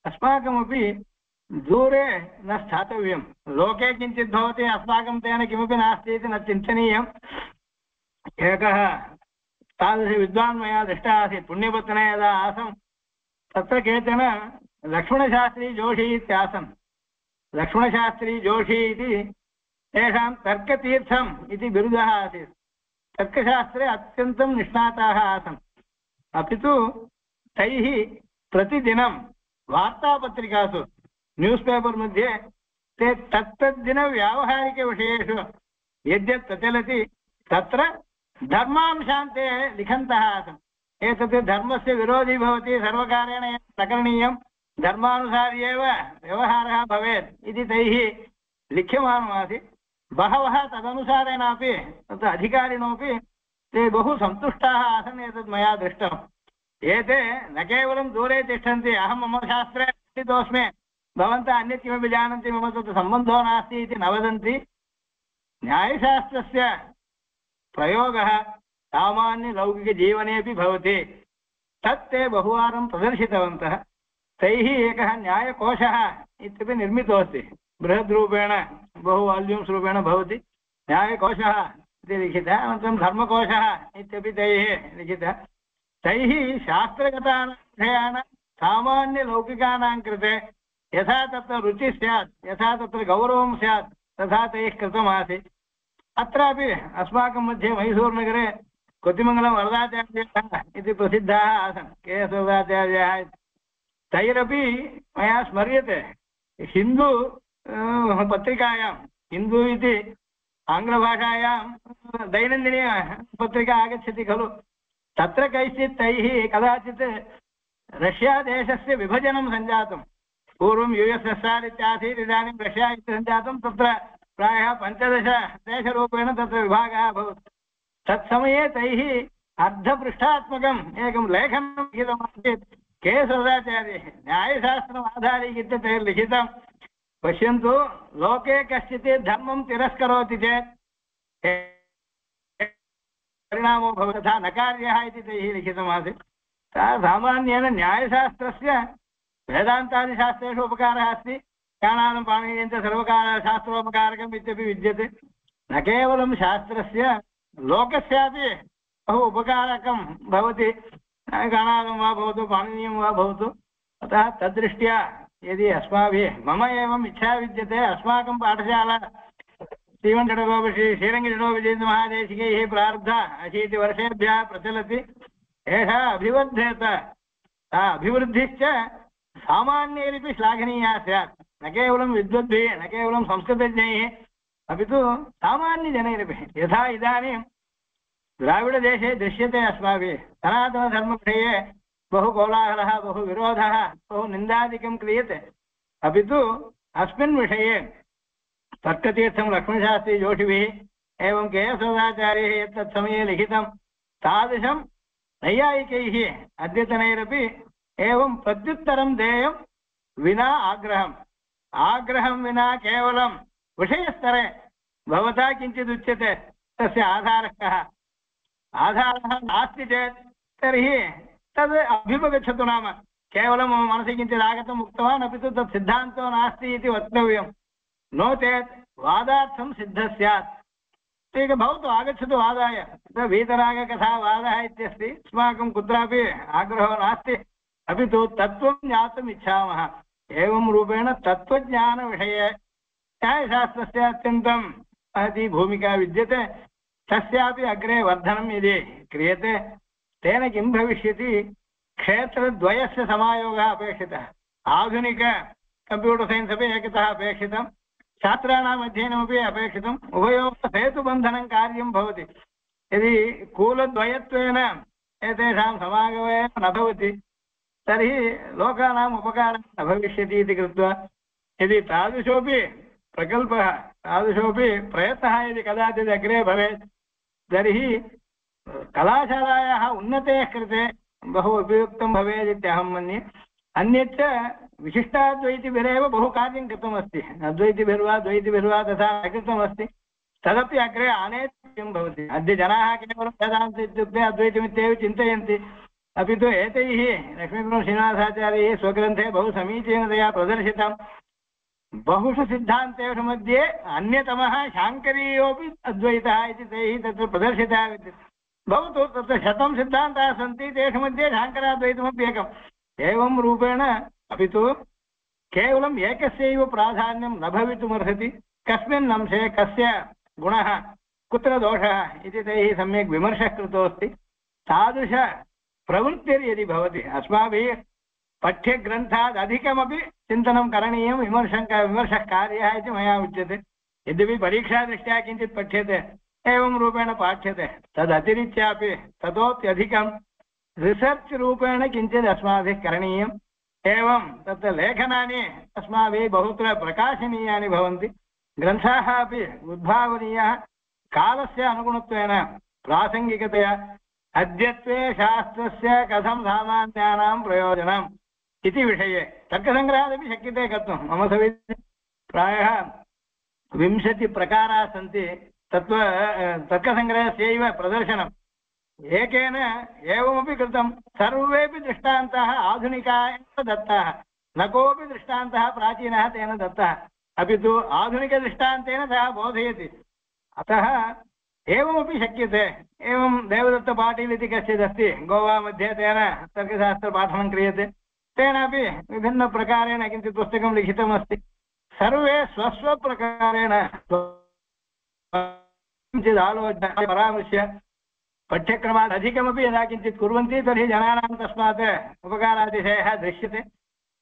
अस्माकमपि दूरे न स्थातव्यं, लोके किञ्चित् भवति, अस्माकं तेन किमपि नास्ति इति न चिन्तनीयम्। एकः तादृशविद्वान् मया दृष्टः आसीत्, पुण्यपत्तने यदा आसम् तत्र केचन लक्ष्मणशास्त्री जोशी इत्यासन्। लक्ष्मणशास्त्री जोशी इति तेषां तर्कतीर्थम् इति बिरुदः आसीत्। तर्कशास्त्रे अत्यन्तं निष्णाताः आसन्, अपि तु तैः प्रतिदिनं वार्तापत्रिकासु, न्यूस् पेपर् मध्ये ते तत्तद्दिनव्यावहारिकविषयेषु यद्यत् प्रचलति तत्र धर्मांशान् ते लिखन्तः आसन्। एतत् धर्मस्य विरोधी भवति, सर्वकारेण न करणीयं, धर्मानुसारी एव व्यवहारः भवेत् इति तैः लिख्यमानमासीत्। बहवः तदनुसारेणापि तत्र अधिकारिणोपि ते बहु सन्तुष्टाः आसन्। एतत् मया दृष्टम्। एते न केवलं दूरे तिष्ठन्ति, अहं मम शास्त्रे पठितोऽस्मि, भवन्तः अन्यत् किमपि जानन्ति, मम तत्र सम्बन्धो नास्ति इति न वदन्ति। न्यायशास्त्रस्य प्रयोगः सामान्यलौकिकजीवनेपि भवति। तत् ते बहुवारं प्रदर्शितवन्तः। तैः एकः न्यायकोशः इत्यपि निर्मितोऽस्ति, बृहद्रूपेण बहु वाल्यूम्स् रूपेण भवति। न्यायकोशः इति लिखितः, अनन्तरं धर्मकोशः इत्यपि तैः लिखितः। तैः शास्त्रगतानां विषयाणां सामान्यलौकिकानां कृते यथा तत्र रुचिः स्यात्, यथा तत्र गौरवं स्यात्, तथा तैः कृतमासीत्। अत्रापि अस्माकं मध्ये मैसूरुनगरे कोतिमङ्गलं वरदाचार्याः इति प्रसिद्धाः आसन्, के.एस्. वरदाचार्याः। तैरपि मया स्मर्यते, हिन्दू पत्रिकायां, हिन्दू इति आङ्ग्लभाषायां दैनन्दिनी पत्रिका आगच्छति खलु, तत्र कैश्चित् तैः कदाचित् रष्या देशस्य विभजनं सञ्जातं। पूर्वं USSR इत्यासीत्, इदानीं रष्या इति सञ्जातं। तत्र प्रायः 15 देशरूपेण तत्र विभागः अभवत्। तत्समये तैः अर्धपृष्ठात्मकम् एकं लेखनं लिखितमासीत् के.एस्. वरदाचार्यैः, न्यायशास्त्रम् आधारीकृत्य तैः लिखितं। पश्यन्तु, लोके कश्चित् धर्मं तिरस्करोति चेत् परिणामो भवति, तथा न कार्यः इति तैः लिखितमासीत्। सामान्येन न्यायशास्त्रस्य वेदान्तादिशास्त्रेषु उपकारः अस्ति, ज्ञानानं पाणिनीयं च सर्वकारशास्त्रोपकारकम् इत्यपि विद्यते। न केवलं शास्त्रस्य, लोकस्यापि बहु उपकारकं भवति, ज्ञानानं वा भवतु, पाणिनीयं वा भवतु। अतः तद्दृष्ट्या यदि अस्माभिः, मम एवम् इच्छा विद्यते, अस्माकं पाठशाला श्रीरङ्गजडोपजीन्द्रमहादेशिकैः प्रारब्धा 80 वर्षेभ्यः प्रचलति। एषा अभिवर्धेत, अभिवृद्धिश्च सामान्यैरपि श्लाघनीया स्यात्। न केवलं विद्वद्भिः, न केवलं संस्कृतज्ञैः, अपि तु सामान्यजनैरपि। यथा इदानीं द्राविडदेशे दृश्यते अस्माभिः, सनातनधर्मविषये बहु कोलाहलः, बहु विरोधः, बहु निन्दादिकं क्रियते। अपि तु अस्मिन् विषये तर्कतीर्थं लक्ष्मणशास्त्री जोषिभिः एवं के.एस्. वरदाचार्यैः यत् समये लिखितं, तादृशं नैयायिकैः अद्यतनैरपि एवं प्रत्युत्तरं देयं विना आग्रहम्। आग्रहं विना केवलं विषयस्तरे भवता किञ्चिदुच्यते, तस्य आधारः कः? आधारः नास्ति चेत् तर्हि तद् अभ्युपगच्छतु। नाम केवलं मम मनसि किञ्चित् आगतम् उक्तवान्, अपि तु तत् सिद्धान्तो नास्ति इति वक्तव्यं। नो चेत् वादार्थं सिद्धः स्यात्। ठीक भवतु, आगच्छतु वादाय। वीतरागकथा वादः इत्यस्ति, अस्माकं कुत्रापि आग्रहो नास्ति, अपि तु तत्त्वं ज्ञातुम् इच्छामः। एवं रूपेण तत्त्वज्ञानविषये न्यायशास्त्रस्य अत्यन्तं महती भूमिका विद्यते। तस्यापि अग्रे वर्धनं यदि क्रियते, तेन किं भविष्यति? क्षेत्रद्वयस्य समायोगः अपेक्षितः। आधुनिक कम्प्यूटर् सैन्स् अपि एकतः अपेक्षितं, छात्राणाम् अध्ययनमपि अपेक्षितम्। उभयोः सेतुबन्धनं कार्यं भवति। यदि कूलद्वयत्वेन एतेषां समागमेन न भवति, तर्हि लोकानाम् उपकारः न भविष्यति इति कृत्वा, यदि तादृशोपि प्रकल्पः, तादृशोपि प्रयत्नः यदि कदाचित् अग्रे भवेत्, तर्हि कलाशालायाः उन्नतेः कृते बहु उपयुक्तं भवेत् इत्यहं मन्ये। अन्यच्च विशिष्टाद्वैतिभिरेव बहु कार्यं कृतमस्ति। अद्वैतिभिर्वा द्वैतिभिर्वा तथा न कृतमस्ति, तदपि अग्रे आनेतव्यं भवति। अद्य जनाः केवलं वेदान्त इत्युक्ते अद्वैतमित्येव चिन्तयन्ति, अपि तु एतैः लक्ष्मीनरसिंहश्रीनिवासाचार्यैः स्वग्रन्थे बहु समीचीनतया प्रदर्शितं। बहुषु सिद्धान्तेषु मध्ये अन्यतमः शाङ्करीयोऽपि अद्वैतः इति तैः तत्र प्रदर्शितः विद्यते। भवतु, तत्र 100 सिद्धान्ताः सन्ति, तेषु मध्ये शाङ्कराद्वैतमपि एकम्। एवं रूपेण, अपि तु केवलम् एकस्यैव प्राधान्यं न भवितुमर्हति। कस्मिन् अंशे कस्य गुणः, कुत्र दोषः इति तैः सम्यक् विमर्शः कृतोऽस्ति। तादृश प्रवृत्तिर्यदि भवति, अस्माभिः पठ्यग्रन्थात् अधिकमपि चिन्तनं करणीयं विमर्शः कार्यः इति मया उच्यते यद्यपि परीक्षादृष्ट्या किञ्चित् पठ्यते एवं रूपेण पाठ्यते तदतिरिच्यापि ततोप्यधिकं रिसर्च् रूपेण किञ्चित् अस्माभिः करणीयम् एवं तत्र लेखनानि अस्माभिः बहुत्र प्रकाशनीयानि भवन्ति ग्रन्थाः अपि उद्भावनीयाः कालस्य अनुगुणत्वेन प्रासङ्गिकतया अद्यत्वे शास्त्रस्य कथं सामान्यानां प्रयोजनम् इति विषये तर्कसङ्ग्रहादपि शक्यते कर्तुं मम सविधे प्रायः 20 प्रकाराः सन्ति तर्कसङ्ग्रहस्यैव प्रदर्शनम् एकेन एवमपि कृतं सर्वेपि दृष्टान्ताः आधुनिकाः एव दत्ताः न कोऽपि दृष्टान्तः प्राचीनः तेन दत्तः अपि तु आधुनिकदृष्टान्तेन सः बोधयति अतः एवमपि शक्यते एवं देवदत्तपाटील् इति कश्चिदस्ति गोवा मध्ये तेन तर्कशास्त्रपाठनं क्रियते तेनापि विभिन्नप्रकारेण किञ्चित् पुस्तकं लिखितमस्ति सर्वे स्वस्वप्रकारेण किञ्चित् आलोच्य परामृश्य पठ्यक्रमात् अधिकमपि यदा किञ्चित् कुर्वन्ति तर्हि जनानां तस्मात् उपकारातिशयः दृश्यते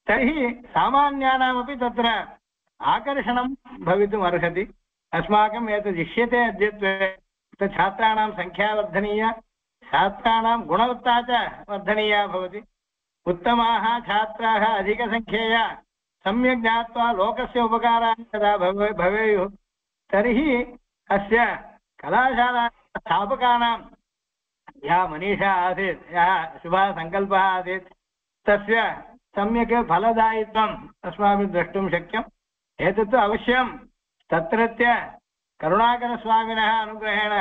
तर्हि सामान्यानामपि तत्र आकर्षणं भवितुम् अर्हति अस्माकम् एतद् इष्यते अद्यत्वे छात्राणां संख्या वर्धनीया छात्राणां गुणवत्ता च वर्धनीया भवति उत्तमाः छात्राः अधिकसङ्ख्यया सम्यक् ज्ञात्वा लोकस्य उपकाराः यदा भवेयुः तर्हि अस्य कलाशाला स्थापकानां या मनीषा आसीत् यः शुभः सङ्कल्पः आसीत् तस्य सम्यक् फलदायित्वम् अस्माभिः द्रष्टुं शक्यम् एतत्तु अवश्यं तत्रत्य करुणाकरस्वामिनः अनुग्रहेण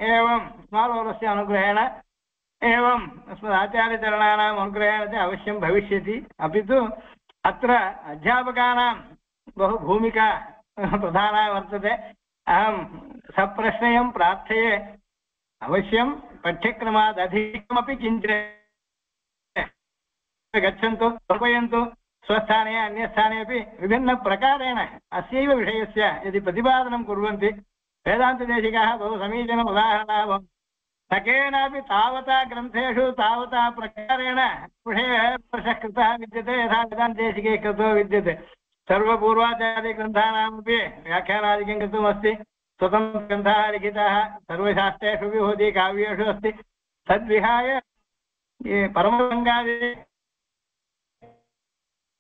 एवं स्मालोलस्य अनुग्रहेण एवम् अस्मदाचार्यचरणानाम् अनुग्रहेण च अवश्यं भविष्यति अपि तु अत्र अध्यापकानां बहु भूमिका प्रधाना वर्तते अहं सप्रश्नयं प्रार्थये अवश्यं पाठ्यक्रमात् अधिकमपि किञ्चित् गच्छन्तु कल्पयन्तु स्वस्थाने अन्यस्थाने अपि विभिन्नप्रकारेण अस्यैव विषयस्य यदि प्रतिपादनं कुर्वन्ति वेदान्तदेशिकाः बहु समीचीनम् उदाहरणाः भवन्ति न केनापि तावता ग्रन्थेषु तावता प्रकारेण विषयः कृतः विद्यते यथा वेदान्तदेशिके कृतो विद्यते सर्वपूर्वाचार्यग्रन्थानामपि व्याख्यानादिकं कृतमस्ति स्वतन्त्रग्रन्थाः लिखिताः सर्वशास्त्रेषु विभूति काव्येषु अस्ति तद्विहाय ये परमसङ्गादि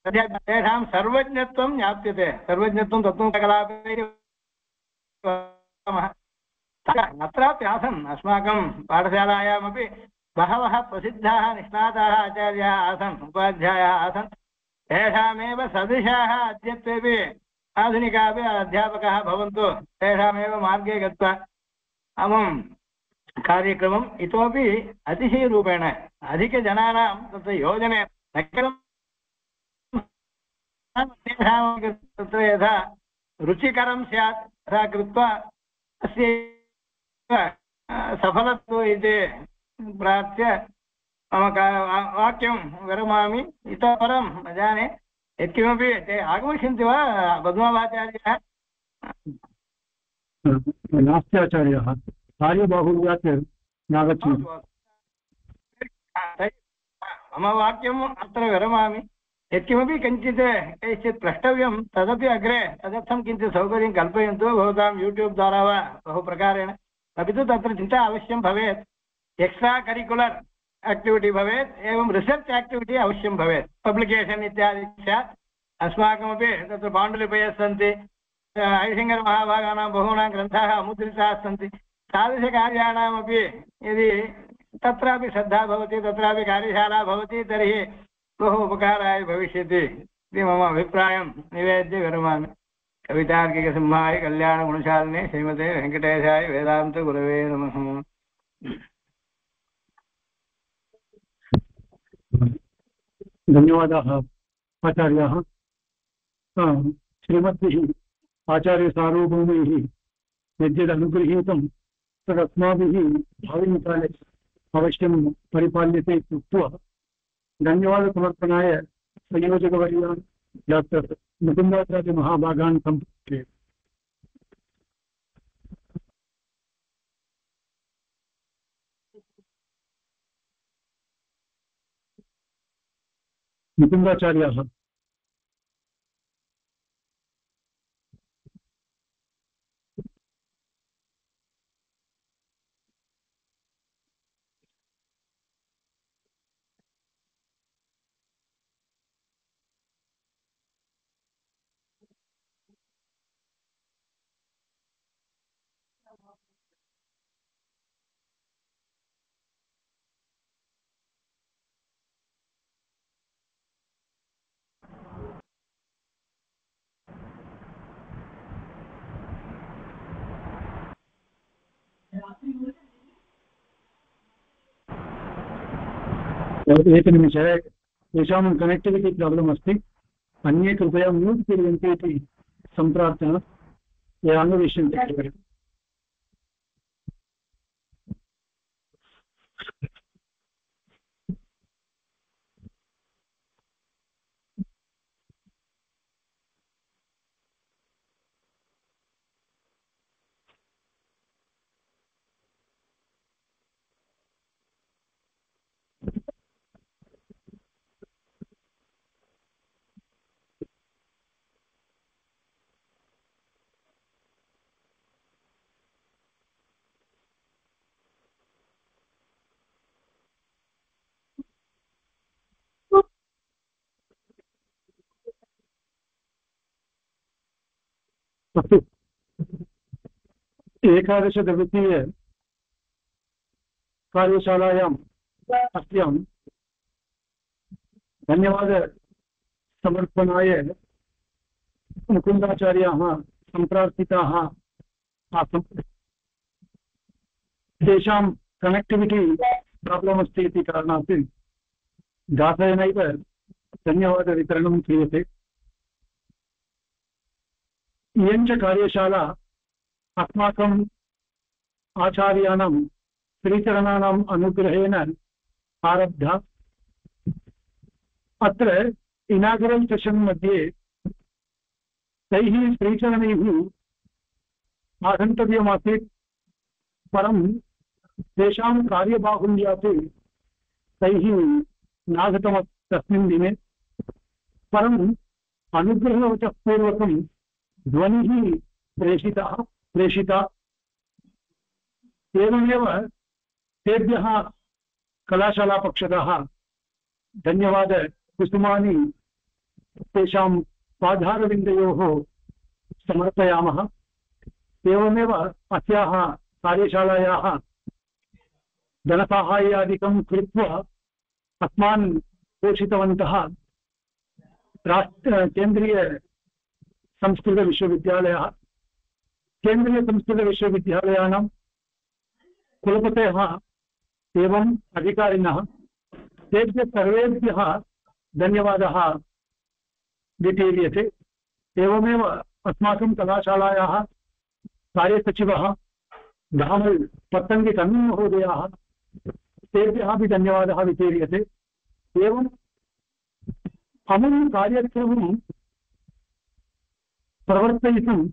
तेषां सर्वज्ञत्वं ज्ञाप्यते सर्वज्ञत्वं तत्त्वकलापैः अत्रापि आसन् अस्माकं पाठशालायामपि बहवः प्रसिद्धाः निष्णाताः आचार्याः आसन् उपाध्यायाः आसन् तेषामेव सदृशाः अद्यत्वेपि आधुनिकापि अध्यापकाः भवन्तु तेषामेव मार्गे गत्वा अमुं कार्यक्रमम् इतोपि अतिशयरूपेण अधिकजनानां तत्र योजने न केवलं तत्र यथा रुचिकरं स्यात् तथा कृत्वा अस्य सफलत्व इति प्रार्थ्य मम वाक्यं विरमामि इतः परं न जाने यत्किमपि ते आगमिष्यन्ति वा पद्मवाचार्याः नास्ति आचार्याः कार्यबाहुल्यात् नागच्छन्ति मम वाक्यम् अत्र विरमामि यत्किमपि किञ्चित् कैश्चित् प्रष्टव्यं तदपि अग्रे तदर्थं किञ्चित् सौकर्यं कल्पयन्तु भवतां यूट्यूब् द्वारा वा बहु प्रकारेण अपि तु तत्र चिन्ता अवश्यं भवेत् एक्स्ट्रा करिकुलर् एक्टिविटि भवेत् एवं रिसर्च् एक्टिविटि अवश्यं भवेत् पब्लिकेशन् इत्यादि स्यात् अस्माकमपि तत्र पाण्डुलिपयः सन्ति ऐसिङ्गरमहाभागानां बहूनां ग्रन्थाः अमुद्रिताः सन्ति तादृशकार्याणामपि यदि तत्रापि श्रद्धा भवति तत्रापि कार्यशाला भवति तर्हि बहु उपकाराय भविष्यति इति मम अभिप्रायं निवेद्य विरमामि कवितार्किकसिंहाय कल्याणगुणशालिने श्रीमते वेङ्कटेशाय वेदान्तगुरवे नमः धन्यवादाः आचार्याः श्रीमद्भिः आचार्यसार्वभौमैः यद्यदनुगृहीतं तदस्माभिः भाविकाले अवश्यं परिपाल्यते इत्युक्त्वा धन्यवादसमर्पणाय संयोजकवर्यान् डाक्टर् मुकुन्दाचार्य महाभागान् सम्पर्के मुकुन्दाचार्याः। एकनिमिषे तेषां कनेक्टिविटि प्राब्लम् अस्ति। अन्ये कृपया म्यूट् कुर्वन्तु इति सम्प्रार्थना। ये अन्वेष्यन्ते अस्तु। एकादशदिवसीय कार्यशालायाम् अस्यां धन्यवादसमर्पणाय मुकुन्दाचार्याः सम्प्रार्थिताः आसन्। तेषां कनेक्टिविटि प्राब्लम् अस्ति इति कारणात् दासेनैव धन्यवादवितरणं क्रियते। इयं च कार्यशाला अस्माकम् आचार्याणां श्रीचरणानाम् अनुग्रहेण आरब्धा। अत्र इनागुरल् सेशन् मध्ये तैः श्रीचरणैः आगन्तव्यमासीत्, परं तेषां कार्यबाहुल्यात् तैः नागतम् तस्मिन् दिने। परम् अनुग्रहवचः पूर्वकं ध्वनिः प्रेषिता। एवमेव तेभ्यः कलाशालापक्षतः धन्यवादकुसुमानि तेषां पादारविन्दयोः समर्पयामः। एवमेव अस्याः कार्यशालायाः धनसाहाय्यादिकं कृत्वा अस्मान् पोषितवन्तः केन्द्रीयसंस्कृतविश्वविद्यालयः, केन्द्रीयसंस्कृतविश्वविद्यालयानां कुलपतयः एवं अधिकारिणः, तेभ्यः सर्वेभ्यः धन्यवादः वितीर्यते। एवमेव अस्माकं कलाशालायाः कार्यसचिवः धामल् पत्तङ्गि तन्वी महोदयाः, तेभ्यः अपि धन्यवादः वितीर्यते। एवम् अमुं कार्यक्रमं प्रवर्तयितुं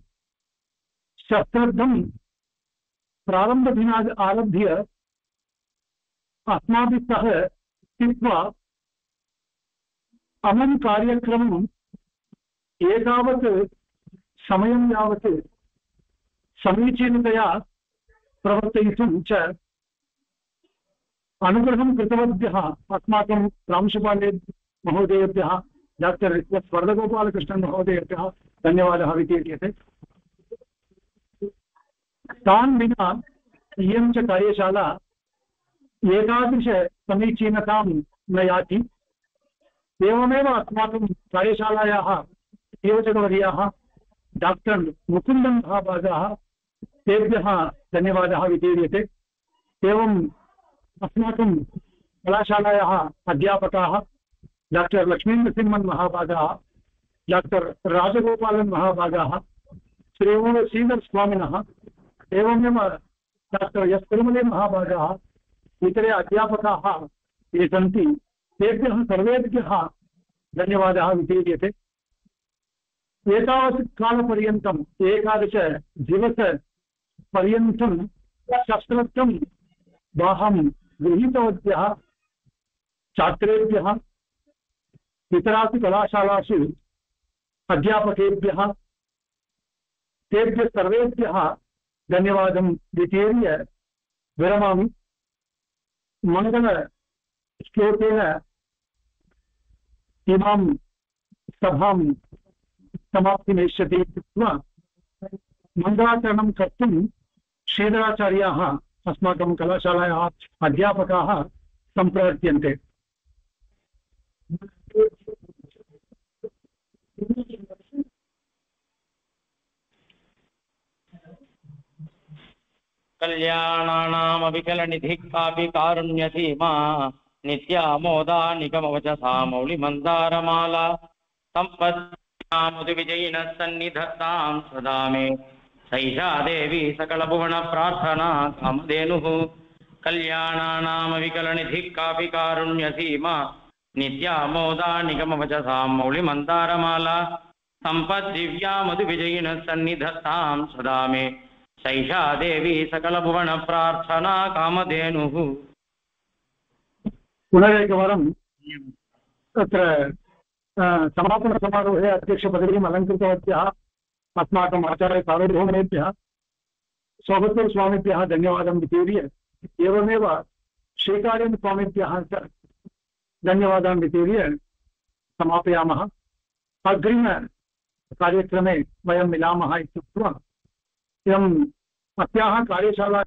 शस्त्रद्धं प्रारम्भदिनात् आरभ्य अस्माभिः सह स्थित्वा अमुं कार्यक्रमम् एतावत् समयं यावत् समीचीनतया प्रवर्तयितुं च अनुग्रहं कृतवद्भ्यः अस्माकं प्रांशुपाले महोदयेभ्यः, डाक्टर् एस् वरदगोपालकृष्णन् महोदयेभ्यः धन्यवादः वितीर्यते। तान् विना इयं च कार्यशाला एतादृशसमीचीनतां न याति। एवमेव अस्माकं कार्यशालायाः योजकवर्याः डाक्टर् मुकुन्दन् महाभागाः, तेभ्यः धन्यवादः वितीर्यते। एवम् अस्माकं कलाशालायाः अध्यापकाः डाक्टर् लक्ष्मीनरसिंहन् महाभागाः, डाक्टर् राजगोपालन् महाभागाः, श्री श्रीधर स्वामिनः, एवमेव डाक्टर् एस् तिरुमले महाभागाः, इतरे अध्यापकाः ये सन्ति, तेभ्यः सर्वेभ्यः धन्यवादः वितीर्यते। एतावत् कालपर्यन्तम् 11 दिवसपर्यन्तं शस्त्रस्थं वाहं गृहीतवद्भ्यः छात्रेभ्यः इतरासु कलाशालासु अध्यापकेभ्यः तेभ्यः सर्वेभ्यः धन्यवादं वितीर्य विरमामि। मङ्गलश्लोकेन इमां सभां समाप्तिमेष्यति इत्युक्त्वा मङ्गलाचरणं कर्तुं श्रीधराचार्याः अस्माकं कलाशालायाः अध्यापकाः सम्प्रवर्त्यन्ते। कल्याणानामविकलनिधिः कापि कारुण्यसीमा नित्यामोदा निगमवचसा मौलिमन्दारमाला सम्पत्तिविजयिनः सन्निधत्तां सदा मे सैषा देवी सकलभुवनप्रार्थना कामधेनुः। कल्याणानामविकलनिधिः कापि कारुण्यसीमा नित्यामोदा निगमवचसा मौलिमन्दारमाला सम्पद्दिव्या मधुविजयिनः सन्निधत्तां सदा मे सैषा देवी सकलभुवनप्रार्थना कामधेनुः। पुनरेकवारं तत्र समापनसमारोहे अध्यक्षपदवीम् अलङ्कृतवत्याः अस्माकम् आचार्यसार्वभौमेभ्यः सौगतस्वामिभ्यः धन्यवादं वितीर्य एवमेव श्रीकार्यस्वामिभ्यः च धन्यवादान् वितीर्य समापयामः। अग्रिमकार्यक्रमे वयं मिलामः इत्युक्त्वा इदम् अस्याः कार्यशाला